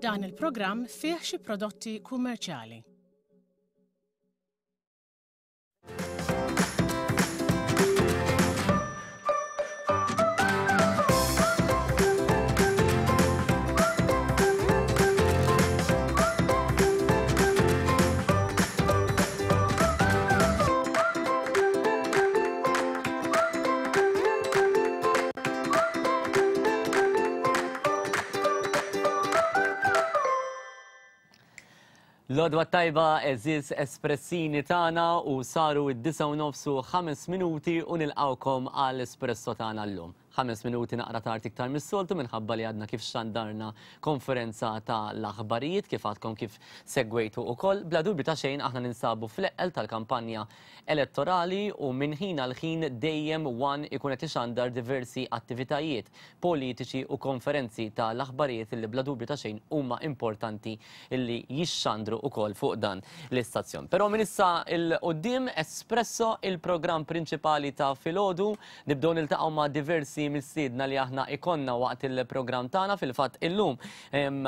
Dan il-programm fih xi prodotti kummerċjali. L-għodwa tajba eżiz espressini tagħna u saru id-disa u nofsu ħames minuti u nilqawkom għal espresso tagħna llum. Ħames minuti naqra tard iktar mis-soltu minħabba li għadna kif xandarna konferenza ta' l-aħbarijiet kif għadkom kif segwejtu ukoll. Bla dubju ta' xejn aħna ninsabu fl-eqqel tal-kampanja elettorali u minn ħin għal ħin dejjem one ikun qed ixandar diversi attivitajiet politiċi u konferenzi ta' l-aħbarijiet li bla dubju ta' xejn huma importanti li jixxandru ukoll fuq dan l-istazzjon. Però minn issa 'l quddiem Espresso il-programm prinċipali ta' filgħodu nibdew niltaqgħu ma' diversi mistiedna li aħna ikollna waqt il-programm tagħna fil-fatt illum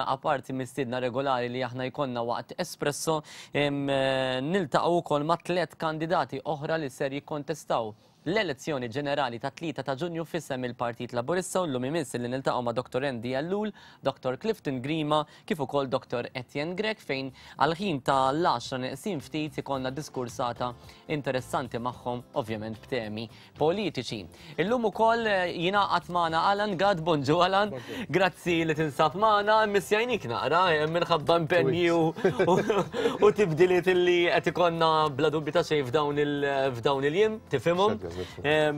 Apparti mistiedna regolari li aħna jkollna waqt Espresso, niltaqgħu wkoll ma' tlett kandidati oħra li ser jikkontestaw l-elezzjoni ġenerali tat-3 ta' Ġunju f'isem il-Partit Laburista u llum imiss li niltaqgħu ma' Dottor Andy Ellul, Dottor Clifton Grima kif ukoll Dottor Etienne Grech fejn għall-ħin ta' l-għaxra neqsin ftit ikollna diskursata interessanti magħhom ovvjament b'temi politiċi. Illum ukoll eh, jingħaqad magħna Alan Gad, bonġu Alan, grazzi li tinsab magħna, missjajnik naqra eh, minħabba impenji u tibdiliet li qed ikollna bla dubju ta' xejn f'dawn il-jiem, tifhimhom. Eh,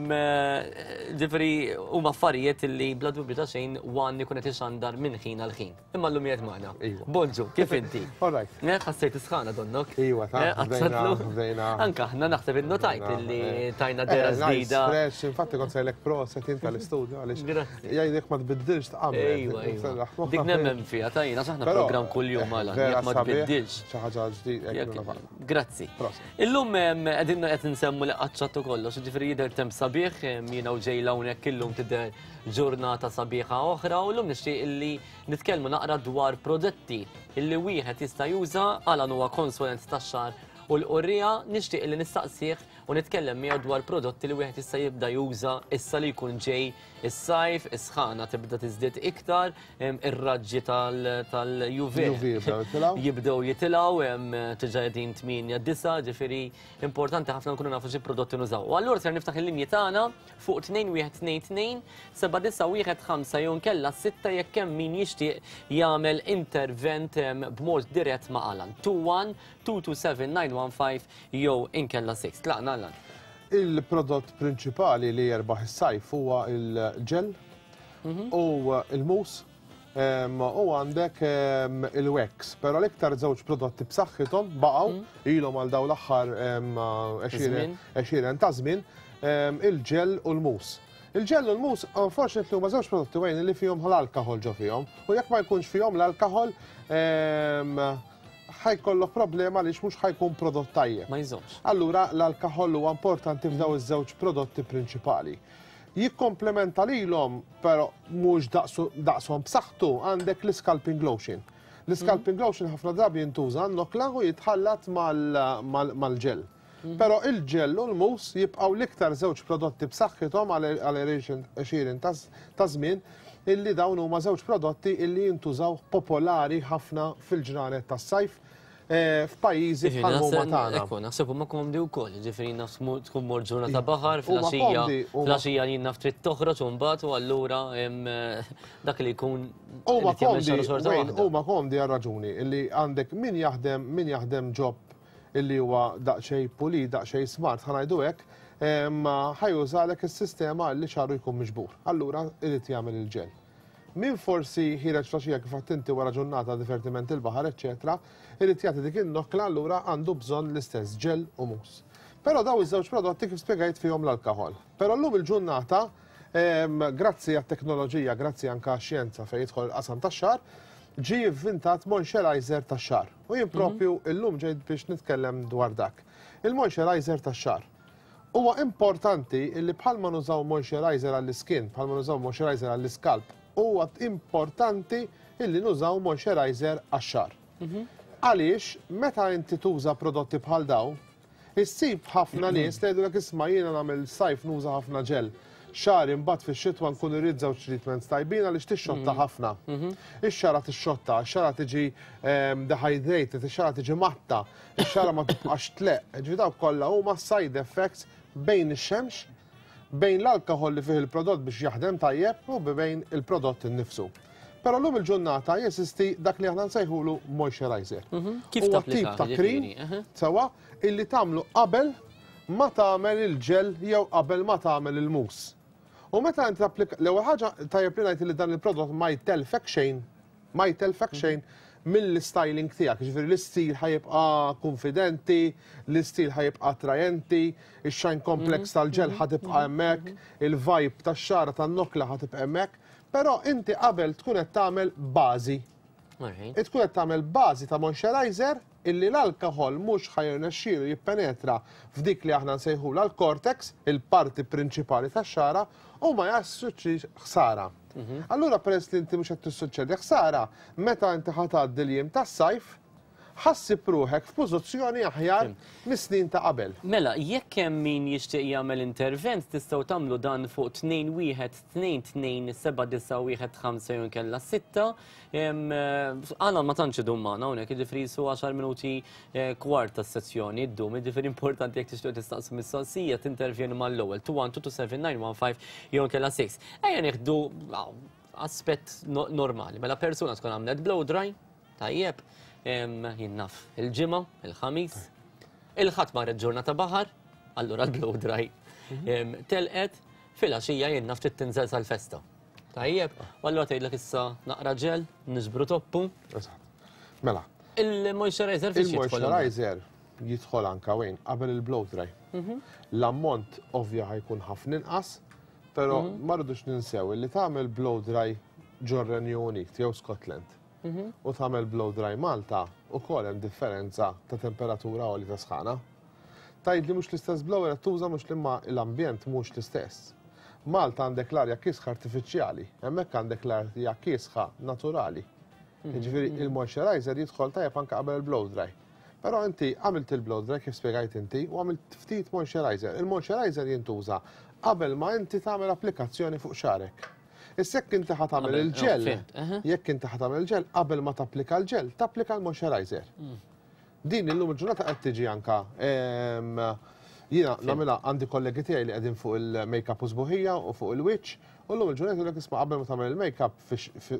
ġifieri huma affarijiet li bla dubju ta' xejn wan ikun qed ixandar minn ħin għal ħin. Imma llum qiegħed magħna. Iva. Bonġu, kif inti? All right. Eh, ħassejt isħana donnok. Iva, ta' eh, bdejna. Anka aħna naħseb innotajt illi eh. tajna dera ġdida. Fresh, infatti kont sejlek proset inta l-istudio għaliex. Jgħidek ma tbiddilx tqabbel. Iva, iva. Dik nemmen fiha tajna aħna program kuljum għala, jekk ma tbiddilx. Xi ħaġa ġdida. Grazzi. Illum qegħdin qed nsemmu li qaċċattu kollox, ġifieri jidher temp sabiħ, jiena u ġejla hawnhekk illum tidher ġurnata sabiħa oħra u llum nixtieq illi nitkellmu naqra dwar prodotti illi wieħed jista' juża għalan huwa konsulent tax-xagħar u l-qurriegħa nixtieq illi nistaqsih u nitkellem miegħu dwar prodotti li wieħed jista' jibda juża issa li jkun ġej is-sajf, is-sħana tibda tiżdied iktar, ir-raġġi tal-UV jibdew jitilgħu, diġà qegħdin 8 9, ġifieri importanti ħafna nkunu nafu xi prodotti nużaw. U allura ser niftaħ il-linji tagħna fuq 2122 7915 jew inkella 6 jekk hemm min jixtieq jagħmel intervent b'mod dirett ma' Alan. 21 227 915 jew inkella 6. Tlaqna Alan. Il-prodott prinċipali li jerbaħ is-sajf huwa il-ġel mhm. u il-mus U għandek il-wax, pero l-iktar żewġ prodotti b'saħħithom baqgħu mm. ilhom għal dawn l-aħħar għexieren ta' żmien il-ġel u l-mus. Il-ġel u l-mus, unfortunately, huma żewġ prodotti wejn li fihom l-alkohol ġo fihom. U jekk ma jkunx fihom l-alkohol, ħajkollok problema għaliex mhux ħajkun prodott tajjeb. Ma jżommx. Allura l-alkohol huwa importanti f'daw iż-żewġ prodotti prinċipali. Jikkomplementa lilhom, però mhux daqshom b'saħħtu, għandek l-iscalping lotion. L-iscalping mhm. lotion ħafna drabi jintuża nokla u jitħallat mal-ġel. Mhm. Però il-ġell u l-mus jibqgħu l-iktar żewġ prodotti b'saħħithom għal għexieren ta' żmien illi dawn huma żewġ prodotti illi jintużaw popolari ħafna fil-ġranet tas-sajf Eh, f'pajjiżi bħal huma tagħna. Ekku, naħseb huma komdi wkoll, ġifieri naf tkun mor ġurnata baħar fl-għaxija, fl-għaxija jien naf trid toħroġ u mbagħad u allura eh, dak li jkun Huma komdi, huma komdi għal raġuni illi għandek min jaħdem min jaħdem ġob illi huwa daqsxejn pulit, daqsxejn smart, ħanajdu hekk, ħajużalek is-sistema li xaru jkun miġbur. Allura irid jagħmel il-ġel. Min forsi ħiereġ flaxija kif għedt inti wara ġurnata divertiment il-baħar eċċetera, irid jagħti dik in-nokla allura għandu bżonn l-istess ġel u mousse. Però dawn iż-żewġ prodotti kif spjegajt fihom l-alkoħol. Però llum il-ġurnata grazzi għat-teknoloġija, grazzi anke għax-xjenza fejn jidħol il-qasam tax-xagħar, ġie ivvintat moisturizer tax-xagħar. U jien propju illum ġejt biex nitkellem dwar dak. Il-moisturizer tax-xagħar. Huwa importanti li bħalma nużaw moisturizer għall-iskin, bħalma nużaw moisturizer għall-iskalp, huwa importanti illi nużaw moisturizer għax-xagħar. Għaliex meta inti tuża prodotti bħal dawn, issib ħafna nies li jgħidulek isma' jiena nagħmel sajf nuża ħafna ġel. Xagħri mbagħad fix-xitwa nkun irrid żewġ treatments tajbin għaliex tixxotta ħafna. Ix-xagħra tixxotta, ix-xagħra tiġi dehydrated, ix-xagħra tiġi matta, ix-xagħra ma tibqax tleqq. Ġifieri dawk kollha huma side effects bejn ix-xemx, bejn l-alkoħol li fih il-prodott biex jaħdem tajjeb u bejn il-prodott innifsu. Però llum il-ġurnata jeżisti dak li aħna nsejħulu moisturizer. Kif Huwa tip tapplika, ta' cream, ġifieri, aha. sewwa, illi tagħmlu qabel ma tagħmel il-ġel jew qabel ma tagħmel il-mousse. U meta inti tapplika, l-ewwel ħaġa tajjeb li ngħid li dan il-prodott ma jtelfek xejn, ma jtelfek xejn mill-styling tiegħek, ġifieri l-istil ħa jibqa' konfidenti, l-istil ħa jibqa' attrajenti, ix-shine complex tal-ġel ħa tibqa' hemmhekk, il-vibe tax-xagħra tan-nokla ħa tibqa' hemmhekk, però inti qabel tkun qed tagħmel bażi. Tkun qed tagħmel bażi ta' moisturizer illi l-alkohol mhux ħa jirnexxielu jippenetra f'dik li aħna nsejħulha l-cortex, il-parti prinċipali tax-xagħra, u ma jassuċċi ħsara. Allura peress li inti mhux qed tissuċċedi ħsara, meta inti ħa tgħaddi l-jiem tas-sajf, ħa ssib ruħek f'pożizzjoni aħjar mis-snin ta' qabel. Mela, jekk hemm min jixtieq jagħmel intervent, tistgħu tagħmlu dan fuq tnejn wieħed tnejn tnejn seba' disa' wieħed ħamsa jew inkella sitta. Għana ma tantx idum magħna hawnhekk, jiġifieri su 10 minuti kwart tas-sessjoni ddum, jiġifieri importanti jekk tixtieq tistaqsu mistoqsija tintervjenu mal-ewwel 2 1 2 2 7 9 1 5 jew inkella 6. Ejja nieħdu aspett normali, mela persuna tkun għamlet blow dry, tajjeb, jien naf il-ġimgħa, il-ħamis, il-ħadd marret ġurnata baħar, allura l-blow dry telqet, filgħaxija jien naf trid tinżel sal-festa. Tajjeb, u allura tgħidlek issa naqra ġel, niġbru toppu. Eżatt. Mela. Il-moisturizer fiex jidħol? Il-moisturizer jidħol anka wejn qabel il-blow dry. L-ammont ovvja ħa jkun ħafna inqas, però ma rridux ninsew li tagħmel blow dry ġor-Renju Unit jew Scotland. U tagħmel blow dry Malta ukoll hemm differenza ta' temperatura għoli ta' sħana. Tgħid li mhux l-istess blower qed tuża mhux li ma l-ambjent mhux l-istess. Malta għandek l-arja kiesħa artifiċjali, hemmhekk għandek l-arja kiesħa naturali. Jiġifieri il-moisturizer jidħol tajjeb anke qabel il-blow dry. Però inti għamilt il-blow dry kif spjegajt inti u għamilt ftit moisturizer. Il-moisturizer jintuża qabel ma inti tagħmel applikazzjoni fuq xagħrek. Issa jekk inti ħa tagħmel Qabel, il-ġel, oh, fhimt, aha. jekk inti ħa tagħmel il-ġel, qabel ma tapplika l-ġel, tapplika l-moisturizer. Din illum il-ġurnata qed tiġi anka, jiena nagħmilha għandi kollegi tiegħi li qegħdin fuq il-make-up u sbuħija u fuq il-wiċċ, u llum il-ġurnata jgħidulek isma' qabel ma tagħmel il-make-up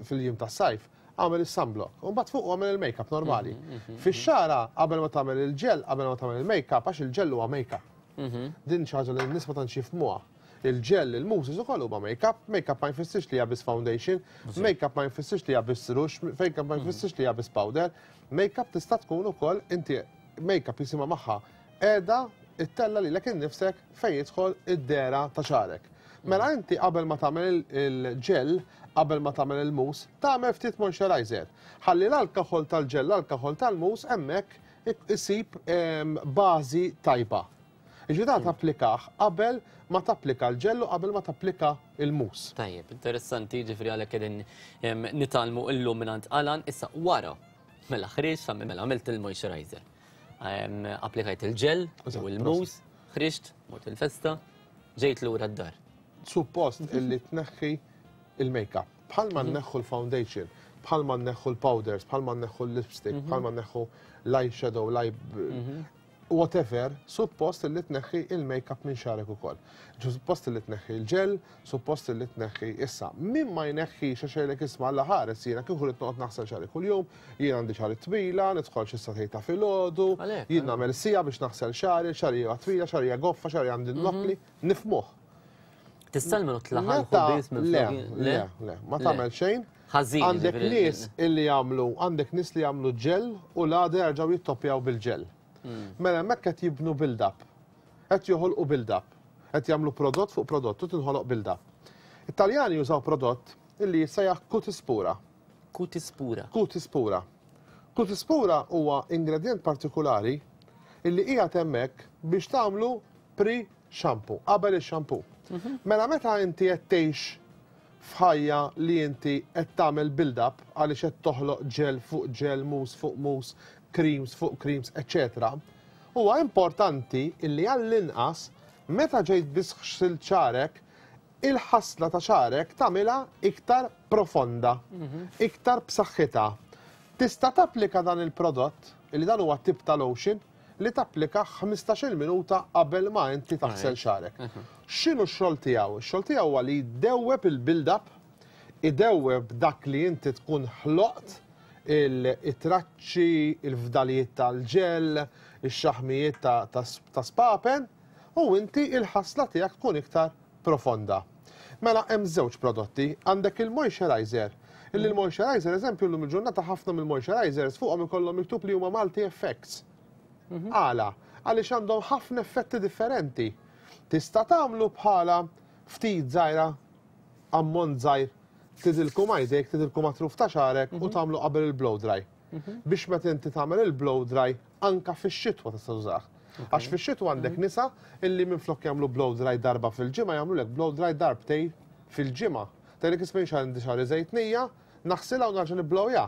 fil-jiem tas-sajf, għamel is-sunblock. U mbagħad fuq għamel il-make-up normali. Fix-xagħra qabel ma tagħmel il-ġel, qabel ma tagħmel il-make-up, għax il-ġel huwa make-up. Din xi ħaġa li n-nies ma tantx jifhmuha. Il-ġel, il-mousses ukoll huma make-up, make-up ma jfissirx li hija biss foundation, make-up ma jfissirx li hija biss rouge, make-up ma jfissirx li hija biss powder. Make-up tista' tkun ukoll inti make-up jisimha magħha qiegħda ittella lilek innifsek fejn jidħol id-dehra ta' xagħrek. Mela inti qabel ma tagħmel il-ġel, qabel ma tagħmel il-mousse, tagħmel ftit moisturizer. Ħalli l-alkohol tal-ġel, l-alkohol tal-mousse hemmhekk isib bażi tajba. Ġifieri dan tapplikah qabel ma tapplika l-ġel u qabel ma tapplika il-mousse. Tajjeb, interessanti, ġifieri għalhekk qegħdin nitgħallmu illum mingħand Alan, issa wara mela ħriġt, mela għamilt il-moisturizer. Applikajt il-ġel u il-mousse, ħriġt, mort il-festa, ġejt lura d-dar. Suppost illi tneħħi il-make-up. Bħalma nneħħu l-foundation, bħalma nneħħu l-powders, bħalma nneħħu l-lipstick, bħalma nneħħu l-eyeshadow, l-eye whatever, suppost li tneħħi il-make-up minn xagħrek ukoll. Suppost li tneħħi il-ġel, suppost li tneħħi issa. Min ma jneħħi xejlek isma' alla ħares jiena kieku rrid noqgħod naħsel xagħri kuljum, jien għandi xagħri twila, nidħol xi sagħtejn ta' filgħodu, jien nagħmel siegħa biex naħsel xagħri, xagħri hija twila, xagħri hija goffa, xagħri għandi nokkli, nifhmuh. Tista' l-menu tlaħal biss minn Le, le, le, ma tagħmel xejn. Ħażin, Għandek ġifieri. nies illi jagħmlu, għandek nies li jagħmlu ġel u l-għada jerġgħu jittoppjaw bil-ġel. Mela hemmhekk qed jibnu build-up. Qed joħolqu build-up. Qed jagħmlu prodott fuq prodott u tinħoloq build-up. It-Taljani jużaw prodott illi jissejjaħ Cutispura. Cutispura. Cutispura. Cutispura huwa ingredient partikolari illi qiegħed hemmhekk biex tagħmlu pre-shampoo, qabel ix-shampoo. Mela meta inti qed tgħix f'ħajja li inti qed tagħmel build-up għaliex qed toħloq gel fuq gel, mousse fuq mousse, creams fuq creams, eċċetera, huwa importanti illi għall-inqas meta ġejt biss ħsilt xagħrek, il-ħasla ta' xagħrek tagħmilha iktar profonda, iktar b'saħħitha. Tista' tapplika dan il-prodott, illi dan huwa tip ta' lotion, li tapplika 15-il minuta qabel ma inti taħsel xagħrek. X'inhu x-xogħol tiegħu? Ix-xogħol tiegħu huwa li jdewweb il-build-up, idewweb dak li inti tkun ħloqt, il-traċċi, il-fdalijiet tal-ġel, ix-xaħmijiet ta' spapen, u inti il-ħasla tiegħek tkun iktar profonda. Mela hemm żewġ prodotti, għandek il-moisturizer. Illi l-moisturizer, eżempju, llum il-ġurnata ħafna mill-moisturizers fuqhom ikollhom miktub li huma multi effects. Għala? Għaliex għandhom ħafna effetti differenti. Tista' tagħmlu bħala ftit żgħira, ammont żgħir, tidilku ma' jdejk, tidilku ma' truf ta' xagħrek u tagħmlu qabel il-blow dry. Biex meta inti tagħmel il-blow dry anka fix-xitwa tista' tużah. Għax fix-xitwa għandek nisa illi minflok jagħmlu blow dry darba fil-ġimgħa jagħmlulek blow dry darbtejn fil-ġimgħa. Tgħidlek isma' jien għandi xagħri żejtnija, naħsilha u nerġa' nibblowja.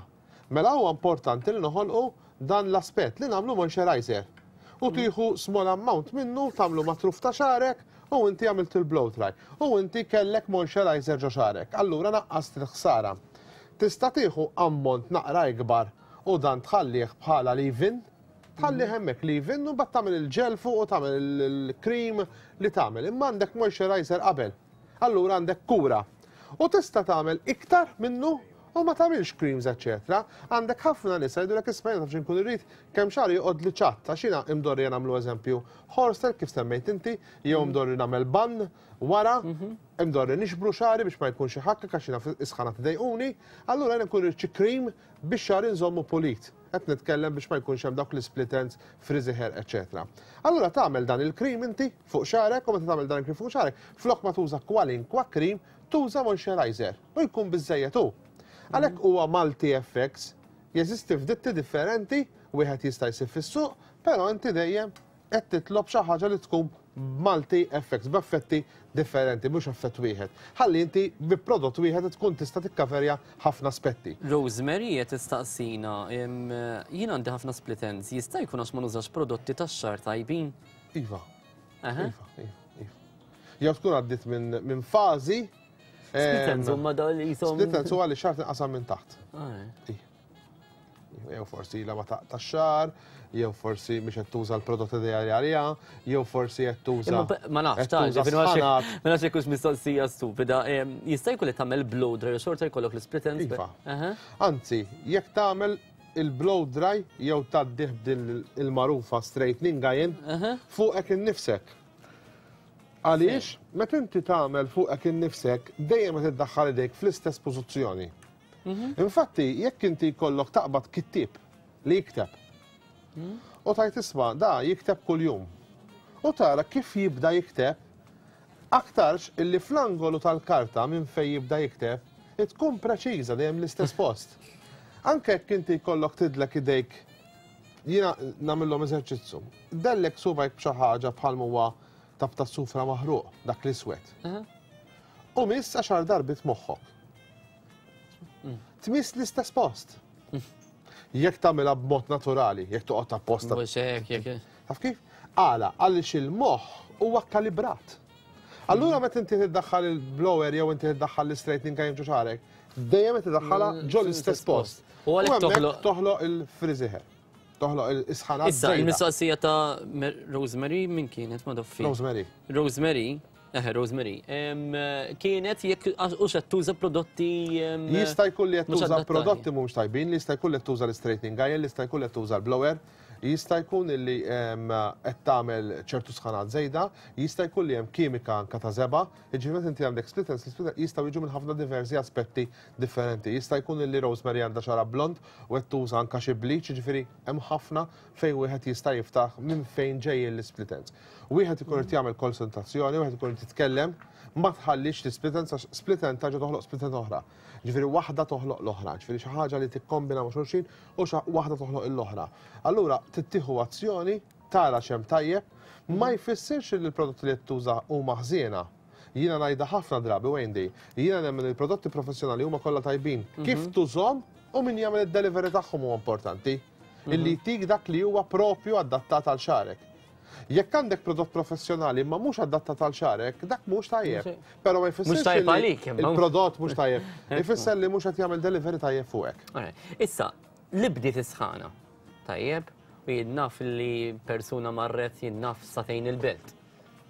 Mela huwa importanti li noħolqu dan l-aspett li nagħmlu moisturizer. U tieħu small amount minnu, tagħmlu ma' truf ta' xagħrek u inti għamilt il-blow dry. U inti kellek moisturizer ġo xagħrek. Allura naqqast il-ħsara. Tista' tieħu ammont naqra ikbar u dan tħallih bħala leave-in, tħallih hemmhekk leave-in u mbagħad tagħmel il-gel fuq u tagħmel il-cream li tagħmel. Imma għandek moisturizer qabel. Allura għandek kura. U tista' tagħmel iktar minnu u ma tagħmilx creams, eċċetera. Għandek ħafna nisa jgħidulek isma' jiena taf x'inkun irrid kemm xagħri joqgħod li ċatt, għax jiena imdorri nagħmlu eżempju horse kif semmejt inti, jew imdorri nagħmel bun wara, imdorri nixbru xagħri biex ma jkunx iħakkek għax jiena isħana tidejquni, allura jiena nkun irrid xi cream biex xagħri nżommu pulit. Qed nitkellem biex ma jkunx hemm dawk l-split ends, frizzy hair, eċċetera. Allura tagħmel dan il-cream inti fuq xagħrek u meta tagħmel dan il-cream fuq xagħrek, flok ma tuża kwalinkwa cream, tuża moisturizer u jkun biżejjed hu. Għalhekk huwa multi effects, jeżisti f'ditti differenti, wieħed jista' jsib fis-suq, però inti dejjem qed titlob xi ħaġa li tkun multi effects, b'effetti differenti, mhux effett wieħed. Ħalli inti bi prodott wieħed tkun tista' tikkaverja ħafna aspetti. Rosemary qed tistaqsina, jien għandi ħafna split ends, jista' jkun għax ma nużax prodotti tax-xagħar tajbin? Iva. Iva, iva, iva. Jew tkun għaddit minn fażi. Split ends huma dawn li jisom. Split ends huwa li xagħar tinqasam minn taħt. Jew forsi ilha ma taqta' xagħar, jew forsi mhix qed tuża l-prodotti ideali għaliha, jew forsi qed tuża. Ma nafx, ta' ma nafx jekk hux mistoqsija stupida. Jista' jkun li tagħmel blow dry u xorta jkollok l-split ends. Iva. Anzi, jekk tagħmel il-blow dry jew tgħaddih b'din il-magħrufa straightening iron fuqek innifsek. Għaliex, meta inti tagħmel fuqek innifsek, dejjem qed iddaħħal idejk fl-istess pożizzjoni. Infatti, jekk inti jkollok taqbad kittieb li jikteb u tajt isma' da jikteb kuljum u tara kif jibda jikteb, aktarx illi fl-angolu tal-karta minn fejn jibda jikteb tkun preċiża dejjem l-istess post. Anke jekk inti jkollok tidlek idejk, jiena nagħmilhom eżerċizzju. Dellek subgħajk b'xi ħaġa bħal huwa tab ta' sufra maħruq, dak l-iswed. U miss għaxar darbit moħħok. Tmiss l-istess post. Jekk tagħmilha b'mod naturali, jekk toqgħod apposta. Mhux hekk, jekk. Taf kif? Għala, għaliex il-moħħ huwa kalibrat. Allura meta inti tiddaħħal il-blower jew inti tiddaħħal l-straightening iron ġo xagħrek, dejjem qed tiddaħħalha ġo l-istess post. U għalhekk hemmhekk toħloq toħloq il-frizzy hair. Toħloq il-isħana. Issa, il-mistoqsija ta' Rosemary min kienet ma doffi? Rosemary. Rosemary, eħe, Rosemary, kienet jekk u qed tuża prodotti. Jista' jkun li qed mhux tuża adattati. prodotti mhux tajbin, li jista' jkun li qed tuża l-straightening iron, li jista' jkun li qed tuża l-blower, jista' jkun li qed tagħmel ċertu sħanat żejda, jista' jkun li hemm kimika anka ta' żebgħa, jiġifieri meta inti għandek split ends, l-split ends jistgħu jiġu minn ħafna diversi aspetti differenti. Jista' jkun li Rosemary għandha xagħarha blond u qed tuża anka xi bleach, jiġifieri hemm ħafna fejn wieħed jista' jiftaħ minn fejn ġejjin l-split ends. Wieħed ikun irid jagħmel konsultazzjoni, wieħed ikun irid jitkellem, ma tħallix l-split ends għax split end tarġa' toħloq split end oħra. Ġifieri waħda toħloq l-oħra, ġifieri xi ħaġa li tikkombina ma' xulxin u waħda toħloq l-oħra. Allura tittieħu azzjoni, tara x'hemm tajjeb, ma jfissirx li l-prodotti li qed tuża huma ħżiena. Jiena ngħidha ħafna drabi, Wendy, jiena nemmen il-prodotti professjonali huma kollha tajbin. Kif tużhom u min jagħmel id-delivery tagħhom huwa importanti. Illi jtik dak li huwa propju adattat għal xagħrek. Jekk għandek prodott professjonali ma mhux adattat għal xagħrek, dak mhux tajjeb. Però ma jfissirx tajjeb għalik, il-prodott mhux tajjeb. Ifisser li mhux qed jagħmel delivery tajjeb fuqek. Issa, li bdiet is-sħana. Tajjeb, u jien naf li persuna marret jien naf sagħtejn il-belt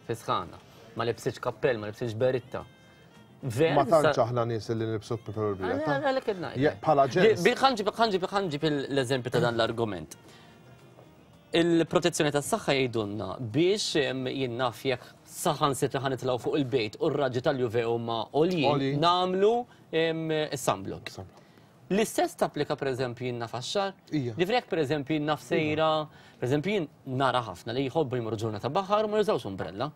fi sħana. Ma libsitx kappell, ma libsitx beritta. Ma tantx aħna nies li nilbsu kappell u beritta. Għalhekk qed ngħid. Bħala ġens. Ħanġib l-eżempju ta' dan l-argument. Il-protezzjoni tas-saħħa jgħidulna biex jien naf jekk saħansitra ħa nitilgħu fuq il-bejt u r-raġġi tal-UV huma għoljin, nagħmlu sunblock. L-istess tapplika pereżempju jien naf għax-xagħar? Ġifieri jekk pereżempju jien naf sejra, pereżempju jien nara ħafna li jħobbu jmorru ġurnata baħar u ma jużawx umbrella.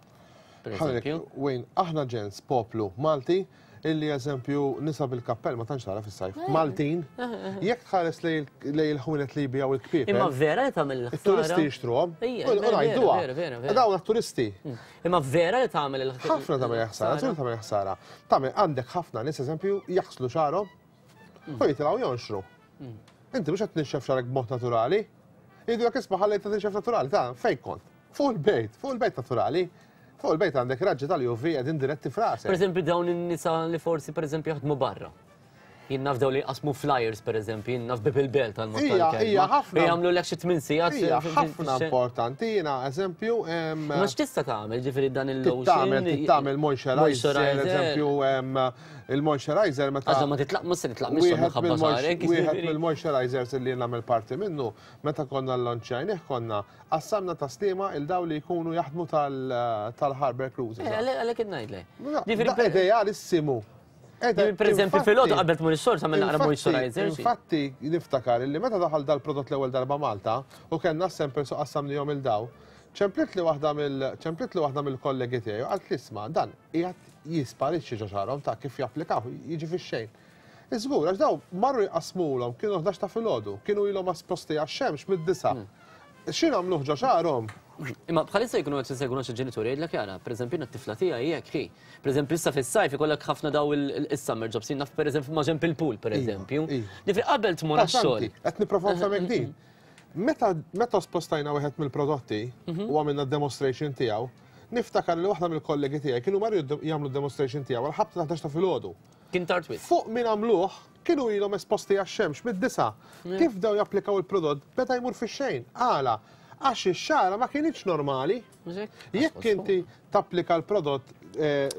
Pereżempju. Wayne, aħna ġens poplu Malti illi eżempju nisa bil-kappell ma tantx tara fis-sajf. Maltin, jekk tħares lej il-ħwienet li jbijaw il-kpiepel. Imma vera li tagħmel il-ħsara. It-turisti jixtruhom. U ngħiduha. Dawn turisti. Imma vera li tagħmel il-ħsara. Ħafna tagħmel ħsara, żgur tagħmel ħsara. Tagħmel għandek ħafna nies eżempju jaħslu xagħarhom u jitilgħu jonxru. Inti mhux qed tnixxef xagħrek b'mod naturali. Jgħidulek isma' ħallejtha tinxef naturali, ta' fejn kont? Fuq il-bejt, fuq il-bejt naturali. Fuq il-bejt għandek raġġi tal-UV qegħdin diretti f'rasek. Per eżempju dawn in-nisa li forsi per eżempju jaħdmu barra. Jien naf dawn li jqassmu flyers per eżempju, jien naf bib il-belt għal mod tal-kelma. Hija ħafna. Jagħmlu lek xi tmien sigħat. Hija ħafna importanti jiena eżempju. Ma x'tista' tagħmel ġifieri dan il-lotion? Tagħmel tagħmel moisturizer, eżempju il-moisturizer meta. Għax ma titlaq mhux se titlaq mhux minħabba xagħrek. Wieħed mill-moisturizers li nagħmel parti minnu, meta konna llonċjajnih konna qassamna taslima il daw li jkunu jaħdmu tal-Harbour Cruises. Għalhekk qed ngħidlek. Ġifieri idealissimu. Per eżempju, fil-għodu qabel tmur ix-xogħol tagħmel naqra moisturizer. Infatti, niftakar illi meta daħal dal-prodott l-ewwel darba Malta u kellna s-samples u qassamnihom il daw, ċemplitli waħda mill ċemplitli waħda mill-kollegi tiegħi u qaltli isma' dan qiegħed jisparixxi ġo xagħarhom ta' kif japplikaw jiġi fix-xejn. Iżgur, għax daw marru jqassmulhom kienu 11 ta' filgħodu, kienu ilhom esposti għax-xemx mid-disgħa. Xi nagħmluh ġo xagħarhom? Imma bħalissa jkunu qed isegwuna xi ġenituri jgħidlek jara, pereżempju jiena t-tifla tiegħi hekk hi. Pereżempju issa fis-sajf ikollok ħafna daw is-summer jobs, jien naf pereżempju ma' ġenb il-pool pereżempju. Ġifieri qabel tmur għax-xogħol. Qed nipprova nfehmek din. Meta meta spostajna wieħed mill-prodotti u għamilna demonstration tiegħu, niftakar li waħda mill-kollegi tiegħi kienu marru jagħmlu demonstration tiegħu għal ħabta ta' 11 ta' filgħodu. Kien tard wisq. Fuq min għamluh, kienu ilhom esposti għax-xemx mid-disgħa. Kif bdew japplikaw il-prodott, beda jmur fix-xejn. Għala? Għax ix-xagħra ma kinitx normali. Jekk inti tapplika l-prodott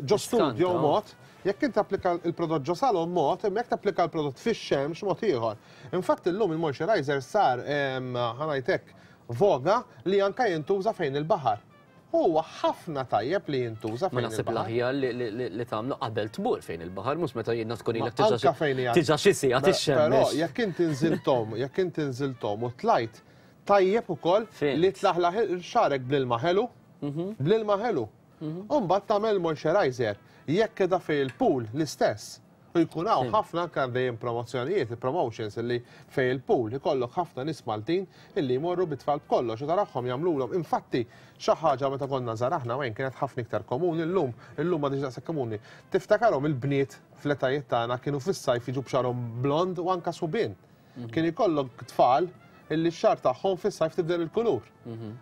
ġo studio mod, jekk inti tapplika l-prodott ġo salon mod, imma jekk tapplika l-prodott fix-xemx mod ieħor. Infatti llum il-moisturizer sar, ħa ngħid hekk, voga li anke jintuża fejn il-baħar. Huwa ħafna tajjeb li jintuża fejn il-baħar. Ma naħseb l-aħjar li tagħmlu qabel tmur fejn il-baħar, mhux meta jiena tkun ilek tiġa xi siegħa tixxemmex. Però jekk inti nżilthom, jekk inti nżilthom u tlajt, tajjeb ukoll li tlaħlaħ xagħrek bl-ilma ħelu, bl-ilma ħelu. U mbagħad tagħmel moisturizer. Jekk qiegħda fejn il-pool l-istess. U jkun hawn ħafna anke dejjem promozzjonijiet, promotions illi fejn il-pool ikollok ħafna nies Maltin illi jmorru bit-tfal b'kollox u tarahom jagħmlulhom. Infatti xi ħaġa meta konna żgħar aħna wejn kienet ħafna iktar komuni llum, illum m'għadhiex daqshekk komuni. Tiftakarhom il-bniet fl-etajiet tagħna kienu fis-sajf jiġu b'xagħarhom blond u anke subien. Kien ikollok tfal illi x-xagħar tagħhom fis-sajf tibdel il-kulur.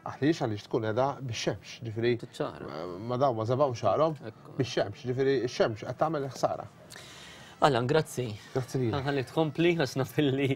Għaliex għaliex tkun qiegħda bix-xemx, ġifieri ma dawn ma żebgħux xagħarhom bix-xemx, ġifieri x-xemx qed tagħmel ħsara. Alan, grazzi. Grazzi lilek. Ħalli tkompli għax naf illi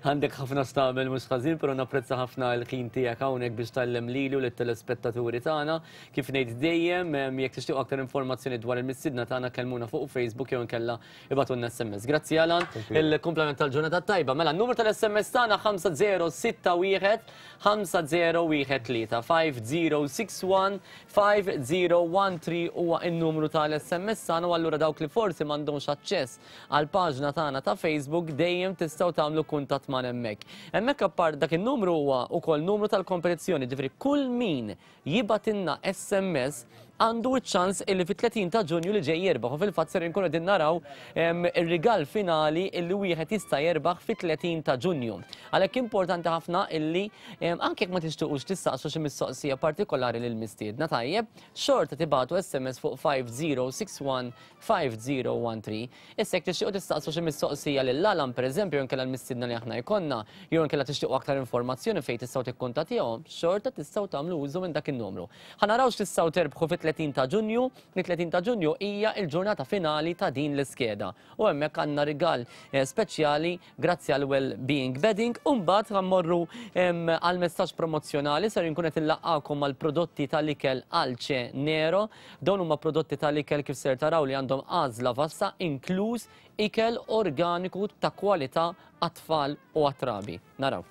għandek ħafna x'tagħmel mhux ħażin, però napprezza ħafna l-ħin tiegħek hawnhekk biex tgħallem lili u lit-telespettaturi tagħna. Kif ngħid dejjem, jekk tixtiequ aktar informazzjoni dwar il-mistiedna tagħna kellmuna fuq Facebook jew inkella Ibgħatulna SMS. Grazzi Alan. Il-kumplament tal-ġurnata tajba. Mela, n-numru tal-SMS tagħna 5061 5013 5061 5013 huwa n-numru tal-SMS tagħna u allura dawk li forsi m'għandhomx aċċess għal paġna tagħna ta' Facebook dejjem tistgħu tagħmlu kuntatt magħna hemmhekk. Hemmhekk appart dak in-numru huwa wkoll numru tal-kompetizzjoni, ġifieri kull min jibgħatilna SMS għandu ċ-ċans illi fit-30 ta' Ġunju li ġej jirbaħ u fil-fatt ser inkunu qegħdin naraw ir-rigal finali illi wieħed jista' jerbaħ fit-30 ta' Ġunju. Għalhekk importanti ħafna illi anke jekk ma tixtuqux tistaqsu xi mistoqsija partikolari lil mistiedna tajjeb, xorta tibagħtu SMS fuq 5061 5013. Issa jekk tixtiequ tistaqsu xi mistoqsija lil Alan pereżempju jew inkella l-mistiedna li aħna jkollna, jew inkella tixtiequ aktar informazzjoni fejn tistgħu tikkuntattjahom, xorta tistgħu tagħmlu użu minn dak in-numru. Ħa naraw x'tistgħu terbħu fit-30 ta' Ġunju. It-30 ta' Ġunju hija l-ġurnata finali ta' din l-iskeda. U hemmhekk għandna rigal eh, speċjali grazzi għal Well Being Bedding. U mbagħad mmorru għal messaġġ promozzjonali ser inkun qed inlaqqakom mal prodotti tal-ikel Alce Nero. Dawn huma prodotti tal-ikel kif ser taraw li għandhom għażla vasta inkluż ikel organiku ta' kwalità għat-tfal u għat-trabi. Naraw.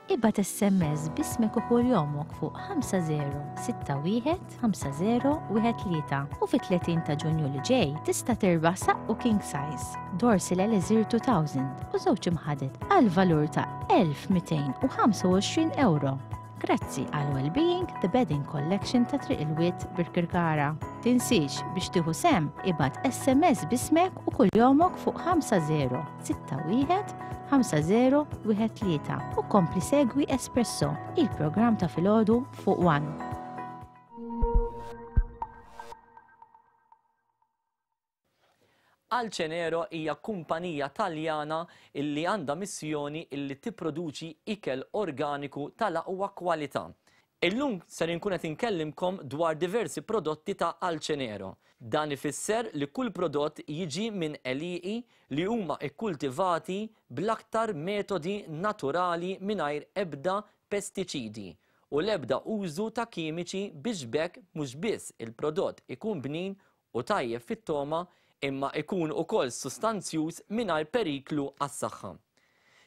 Ibgħat SMS b'ismek u kuljomok fuq 5061 5013 u fit-30 ta' Ġunju li ġej tista' tirbaħ saqqu king size, Dorsil Elixir 2000 u żewġ imħaded għal valur ta' 1225 ewro. Grazzi għal Wellbeing The Bedding Collection ta' Triq il-Wied Birkirkara. Tinsiex biex tieħu sehem ibgħat SMS b'ismek u kuljomok fuq 50 61 5013 u kompli segwi Espresso, il-programm ta' filgħodu fuq One. Alcenero hija kumpanija Taljana illi għandha missjoni illi tipproduċi ikel organiku tal-aqwa kwalità. Illum ser inkun qed inkellimkom dwar diversi prodotti ta' Alcenero. Dan ifisser li kull prodott jiġi minn għelieqi li huma kkultivati bl-aktar metodi naturali mingħajr ebda pestiċidi u l-ebda użu ta' kimiċi biex b'hekk mhux biss il-prodott ikun bnin u tajjeb fit-togħma imma ikun ukoll sustanzjuż mingħajr periklu għas-saħħa.